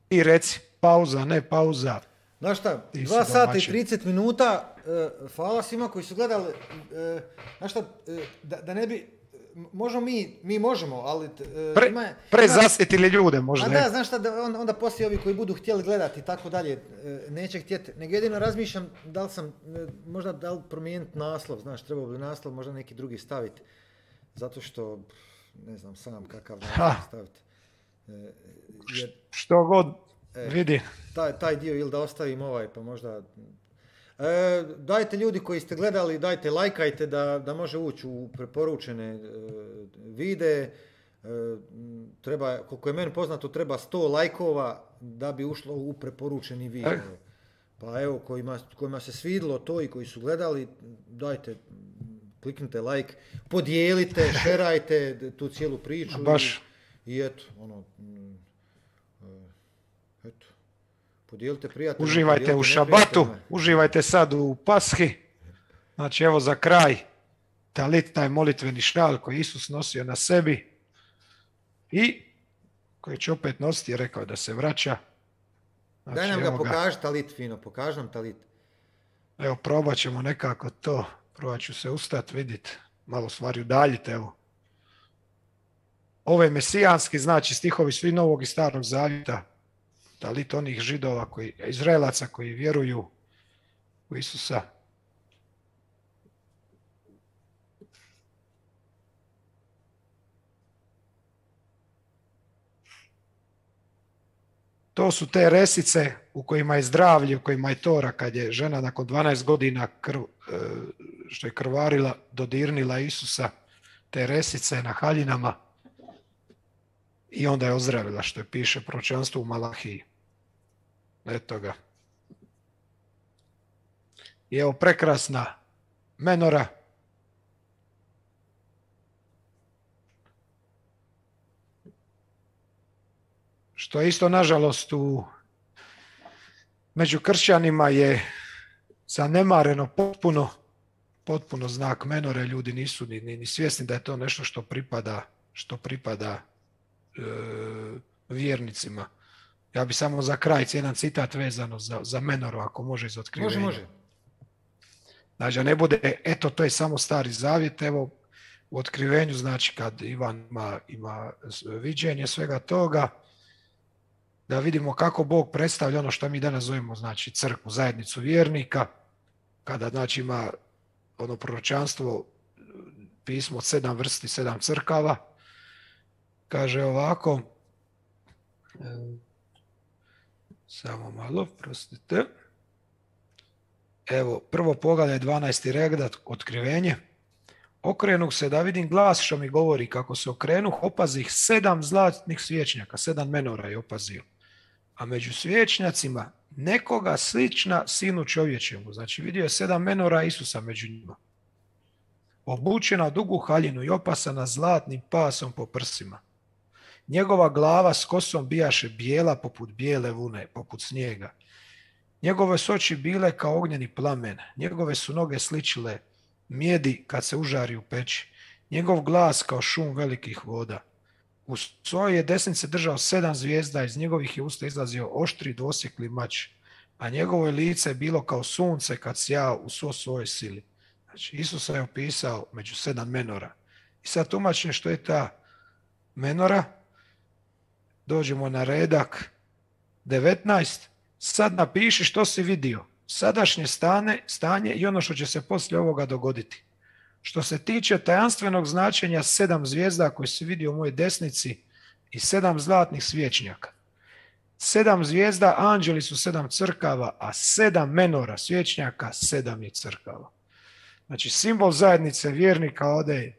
I reci, pauza, ne pauza. Znaš šta, dva sata i trideset minuta, uh, hvala svima koji su gledali, uh, znaš šta, uh, da, da ne bi, možemo mi, mi možemo, ali... Uh, Pre, ima, prezasjetili ljude možda. A da, znaš šta, da onda, onda poslije ovi koji budu htjeli gledati i tako dalje, uh, neće htjeti, nego jedino razmišljam da li sam, uh, možda da li promijeniti naslov, znaš, trebao bi naslov možda neki drugi staviti, zato što, ne znam sam kakav naslov staviti. Uh, jer, što god e, vidi. Taj, taj dio ili da ostavim ovaj, pa možda... E, dajte ljudi koji ste gledali, dajte lajkajte da, da može ući u preporučene e, videe. E, treba, koliko je meni poznato, treba sto lajkova da bi ušlo u preporučeni video. Pa evo, kojima, kojima se svidilo to i koji su gledali, dajte, kliknite like, podijelite, šerajte tu cijelu priču. Baš. I, i eto, ono... Eto, podijelite prijateljima. Uživajte u šabatu, uživajte sad u Pashi. Znači evo za kraj, talit, taj molitveni šal koji Isus nosio na sebi i koji će opet nositi, je rekao da se vraća. Znači, daj nam ga pokaži talit fino, pokaži nam talit. Evo probat ćemo nekako to, probat ću se ustat, vidit, malo stvari udaljite, evo. Ovo je mesijanski, znači stihovi svi Novog i Starog Zavjeta, talit onih Židova, koji, Izraelaca koji vjeruju u Isusa. To su te resice u kojima je zdravlje, u kojima je Tora, kad je žena nakon dvanaest godina krv, što je krvarila, dodirnila Isusa, te resice na haljinama i onda je ozdravila, što je piše proročanstvo u Malahiji. Eto ga. I evo prekrasna menora. Što isto, nažalost, u među kršćanima je zanemareno potpuno, potpuno znak menore. Ljudi nisu ni, ni, ni svjesni da je to nešto što pripada, što pripada e, vjernicima. Ja bi samo za kraj jedan citat vezano za, za menoru, ako može iz Otkrivenja. Može, može. Znači, ne bude, eto, to je samo Stari Zavjet, evo, u Otkrivenju, znači, kad Ivan ima, ima viđenje svega toga, da vidimo kako Bog predstavlja ono što mi danas zovemo, znači, crkvu, zajednicu vjernika, kada, znači, ima ono proročanstvo, pismo od sedam vrsti, sedam crkava, kaže ovako, samo malo, prostite. Evo, prvo poglavlje, dvanaesti redat, Otkrivenje. Okrenuh se da vidim glas što mi govori, kako se okrenuh, opazih sedam zlatnih svječnjaka, sedam menora je opazio. A među svječnjacima nekoga slična sinu čovječemu. Znači vidio je sedam menora Isusa među njima. Obučena u dugu haljinu i opasana zlatnim pasom po prsima. Njegova glava s kosom bijaše bijela poput bijele vune, poput snijega. Njegove su oči bile kao ognjeni plamen. Njegove su noge sličile mjedi kad se užari u peći. Njegov glas kao šum velikih voda. U svojoj je desnici držao sedam zvijezda, iz njegovih je usta izlazio oštri dvosjekli mač, a njegovo je lice bilo kao sunce kad sjao u svo svojoj sili. Znači, Isus je opisao među sedam menora. I sad tumačim što je ta menora. Dođemo na redak devetnaest. Sad napiši što si vidio. sadašnje stane, stanje i ono što će se poslije ovoga dogoditi. Što se tiče tajanstvenog značenja sedam zvijezda koje se vidi u mojoj desnici i sedam zlatnih svječnjaka. Sedam zvijezda, anđeli su sedam crkava, a sedam menora svječnjaka, sedam je crkava. Znači, simbol zajednice vjernika ode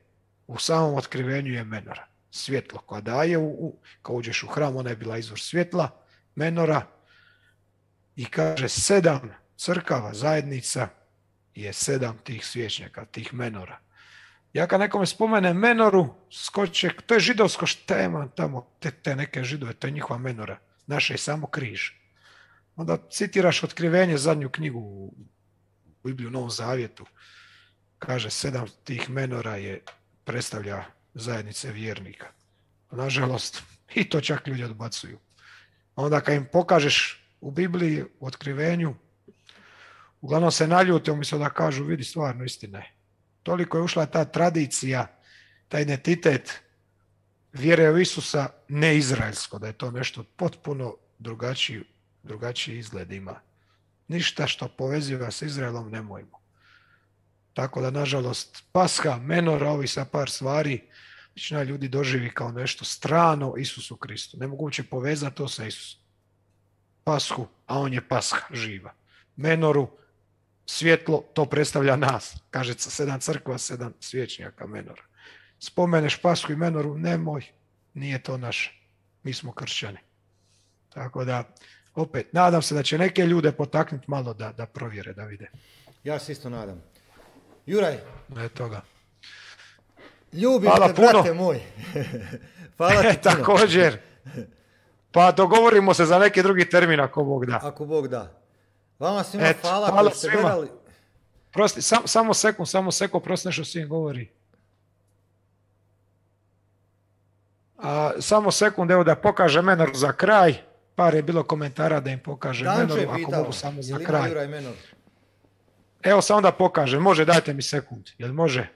u samom otkrivenju je menora. Svjetlo koja daje, u, u, kao uđeš u hram, ona je bila izvor svjetla, menora, i kaže sedam crkava, zajednica je sedam tih svječnjaka, tih menora. Ja kad nekome spomenem menoru, skoče, to je židovsko štema tamo, te, te neke židove, to je njihova menora. Naše je samo križ. Onda citiraš otkrivenje, zadnju knjigu u Bibliju, u Novom Zavjetu. Kaže, sedam tih menora je predstavlja zajednice vjernika. Nažalost, i to čak ljudi odbacuju. Onda kad im pokažeš u Bibliji, u otkrivenju, uglavnom se naljute, umjesto da kažu, vidi, stvarno istina je. Toliko je ušla ta tradicija, taj identitet vjere u Isusa neizraelsko, da je to nešto potpuno drugačiji, drugačiji izgled ima. Ništa što poveziva s Izraelom nemojmo. Tako da, nažalost, Pasha, menora, ovi sa par stvari, većina ljudi doživi kao nešto strano Isusu Kristu. Ne mogu uopće povezati to sa Isusom. Pashu, a on je Pasha, živa. Menoru, svjetlo, to predstavlja nas. Kaže sedam crkva, sedam svječnjaka menora. Spomeneš Pashu i menoru, nemoj, nije to naše. Mi smo kršćani. Tako da, opet, nadam se da će neke ljude potaknuti malo da, da provjere, da vide. Ja se isto nadam. Juraj. Ne toga. Ljubim te, brate moj. Hvala ti puno. Također. Pa dogovorimo se za neki drugi termin ako Bog da. Ako Bog da. Vama svima Et, hvala, hvala koji ste gledali. Prosti, sam, samo sekund, samo sekund, prosti nešto svim govori. A, samo sekund, evo da pokaže menor za kraj. Par je bilo komentara da im pokaže Danče menor, ako mogu samo za kraj. Juraj menor? Evo samo da pokažem, može, dajte mi sekund, jel može?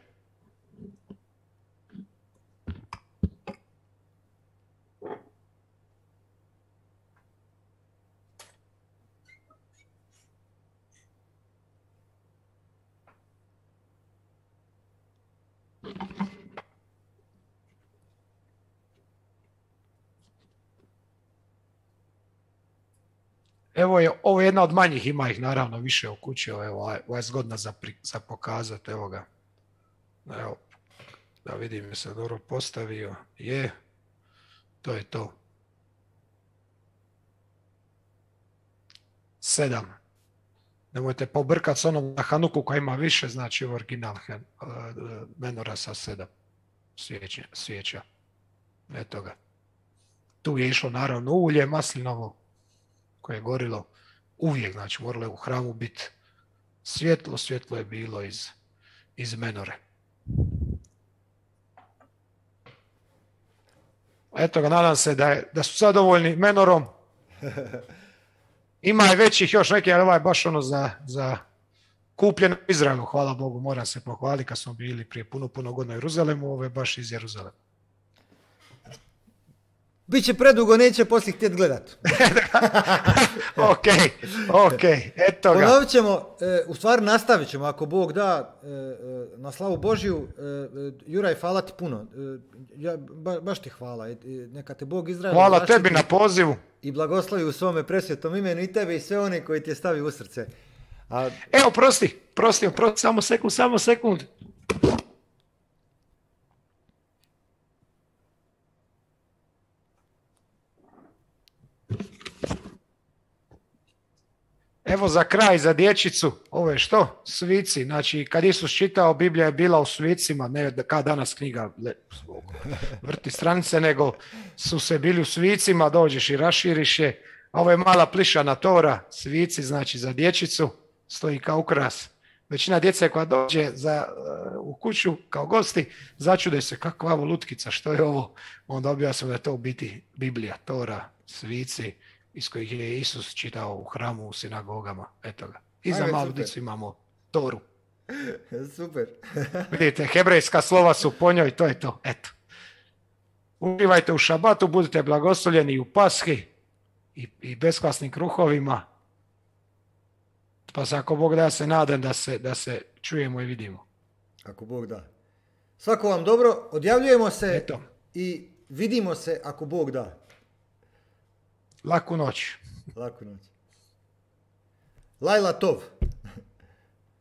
Evo je, ovo je jedna od manjih, ima ih naravno više u kući, evo, ovo je zgodna za, za pokazati, evo ga. Evo, da vidim, je se dobro postavio, je, to je to. Sedam. Nemojte pobrkati s onom na Hanuku koja ima više, znači original menora sa sedam svijeća. svijeća. Eto ga. Tu je išlo naravno ulje maslinovo koje je gorilo uvijek, znači moralo je u hramu biti svjetlo, svjetlo je bilo iz, iz menore. Eto ga, nadam se da, je, da su zadovoljni menorom. Ima i većih još neki, ali ovaj baš ono za, za kupljen u Izraelu, hvala Bogu, moram se pohvaliti kad smo bili prije puno, puno godina u Jeruzalemu, ovo je baš iz Jeruzalema. Biće predugo, neće poslije htjeti gledat. ok, ok, eto ga. Ponovit ćemo, e, u stvari nastavit ćemo, ako Bog da, e, na slavu Božiju. E, Juraj, hvala ti puno. E, ja, ba, baš ti hvala. E, neka te Bog Izrael hvala tebi na pozivu. I blagoslovi u svome presvetom imenu i tebe i sve one koji ti je stavi u srce. A... Evo, prosti, prosti, prosti, samo sekund, samo sekund. Evo za kraj, za dječicu, ovo je što? Svici. Znači, kad Isus čitao, Biblija je bila u svicima, ne kao danas knjiga vrti stranice, nego su se bili u svicima, dođeš i raširiš je. Ovo je mala plišana tora, svici, znači za dječicu, stoji kao ukras. Većina djece koja dođe za, uh, u kuću kao gosti, začude se kakva ovo lutkica, što je ovo? Onda objasnimo da je to u biti Biblija, tora, svici, iz kojih je Isus čitao u hramu, u sinagogama, eto ga. I za malu djecu imamo toru. Super. Vidite, hebrejska slova su po njoj, to je to, eto. Uživajte u šabatu, budite blagoslovljeni u Pashi i, i beskvasnim kruhovima. Pa se ako Bog da, ja se nadam da se, da se čujemo i vidimo. Ako Bog da. Svako vam dobro, odjavljujemo se Eto. i vidimo se ako Bog da. Laku noć. Laku noć. Lajla Tov.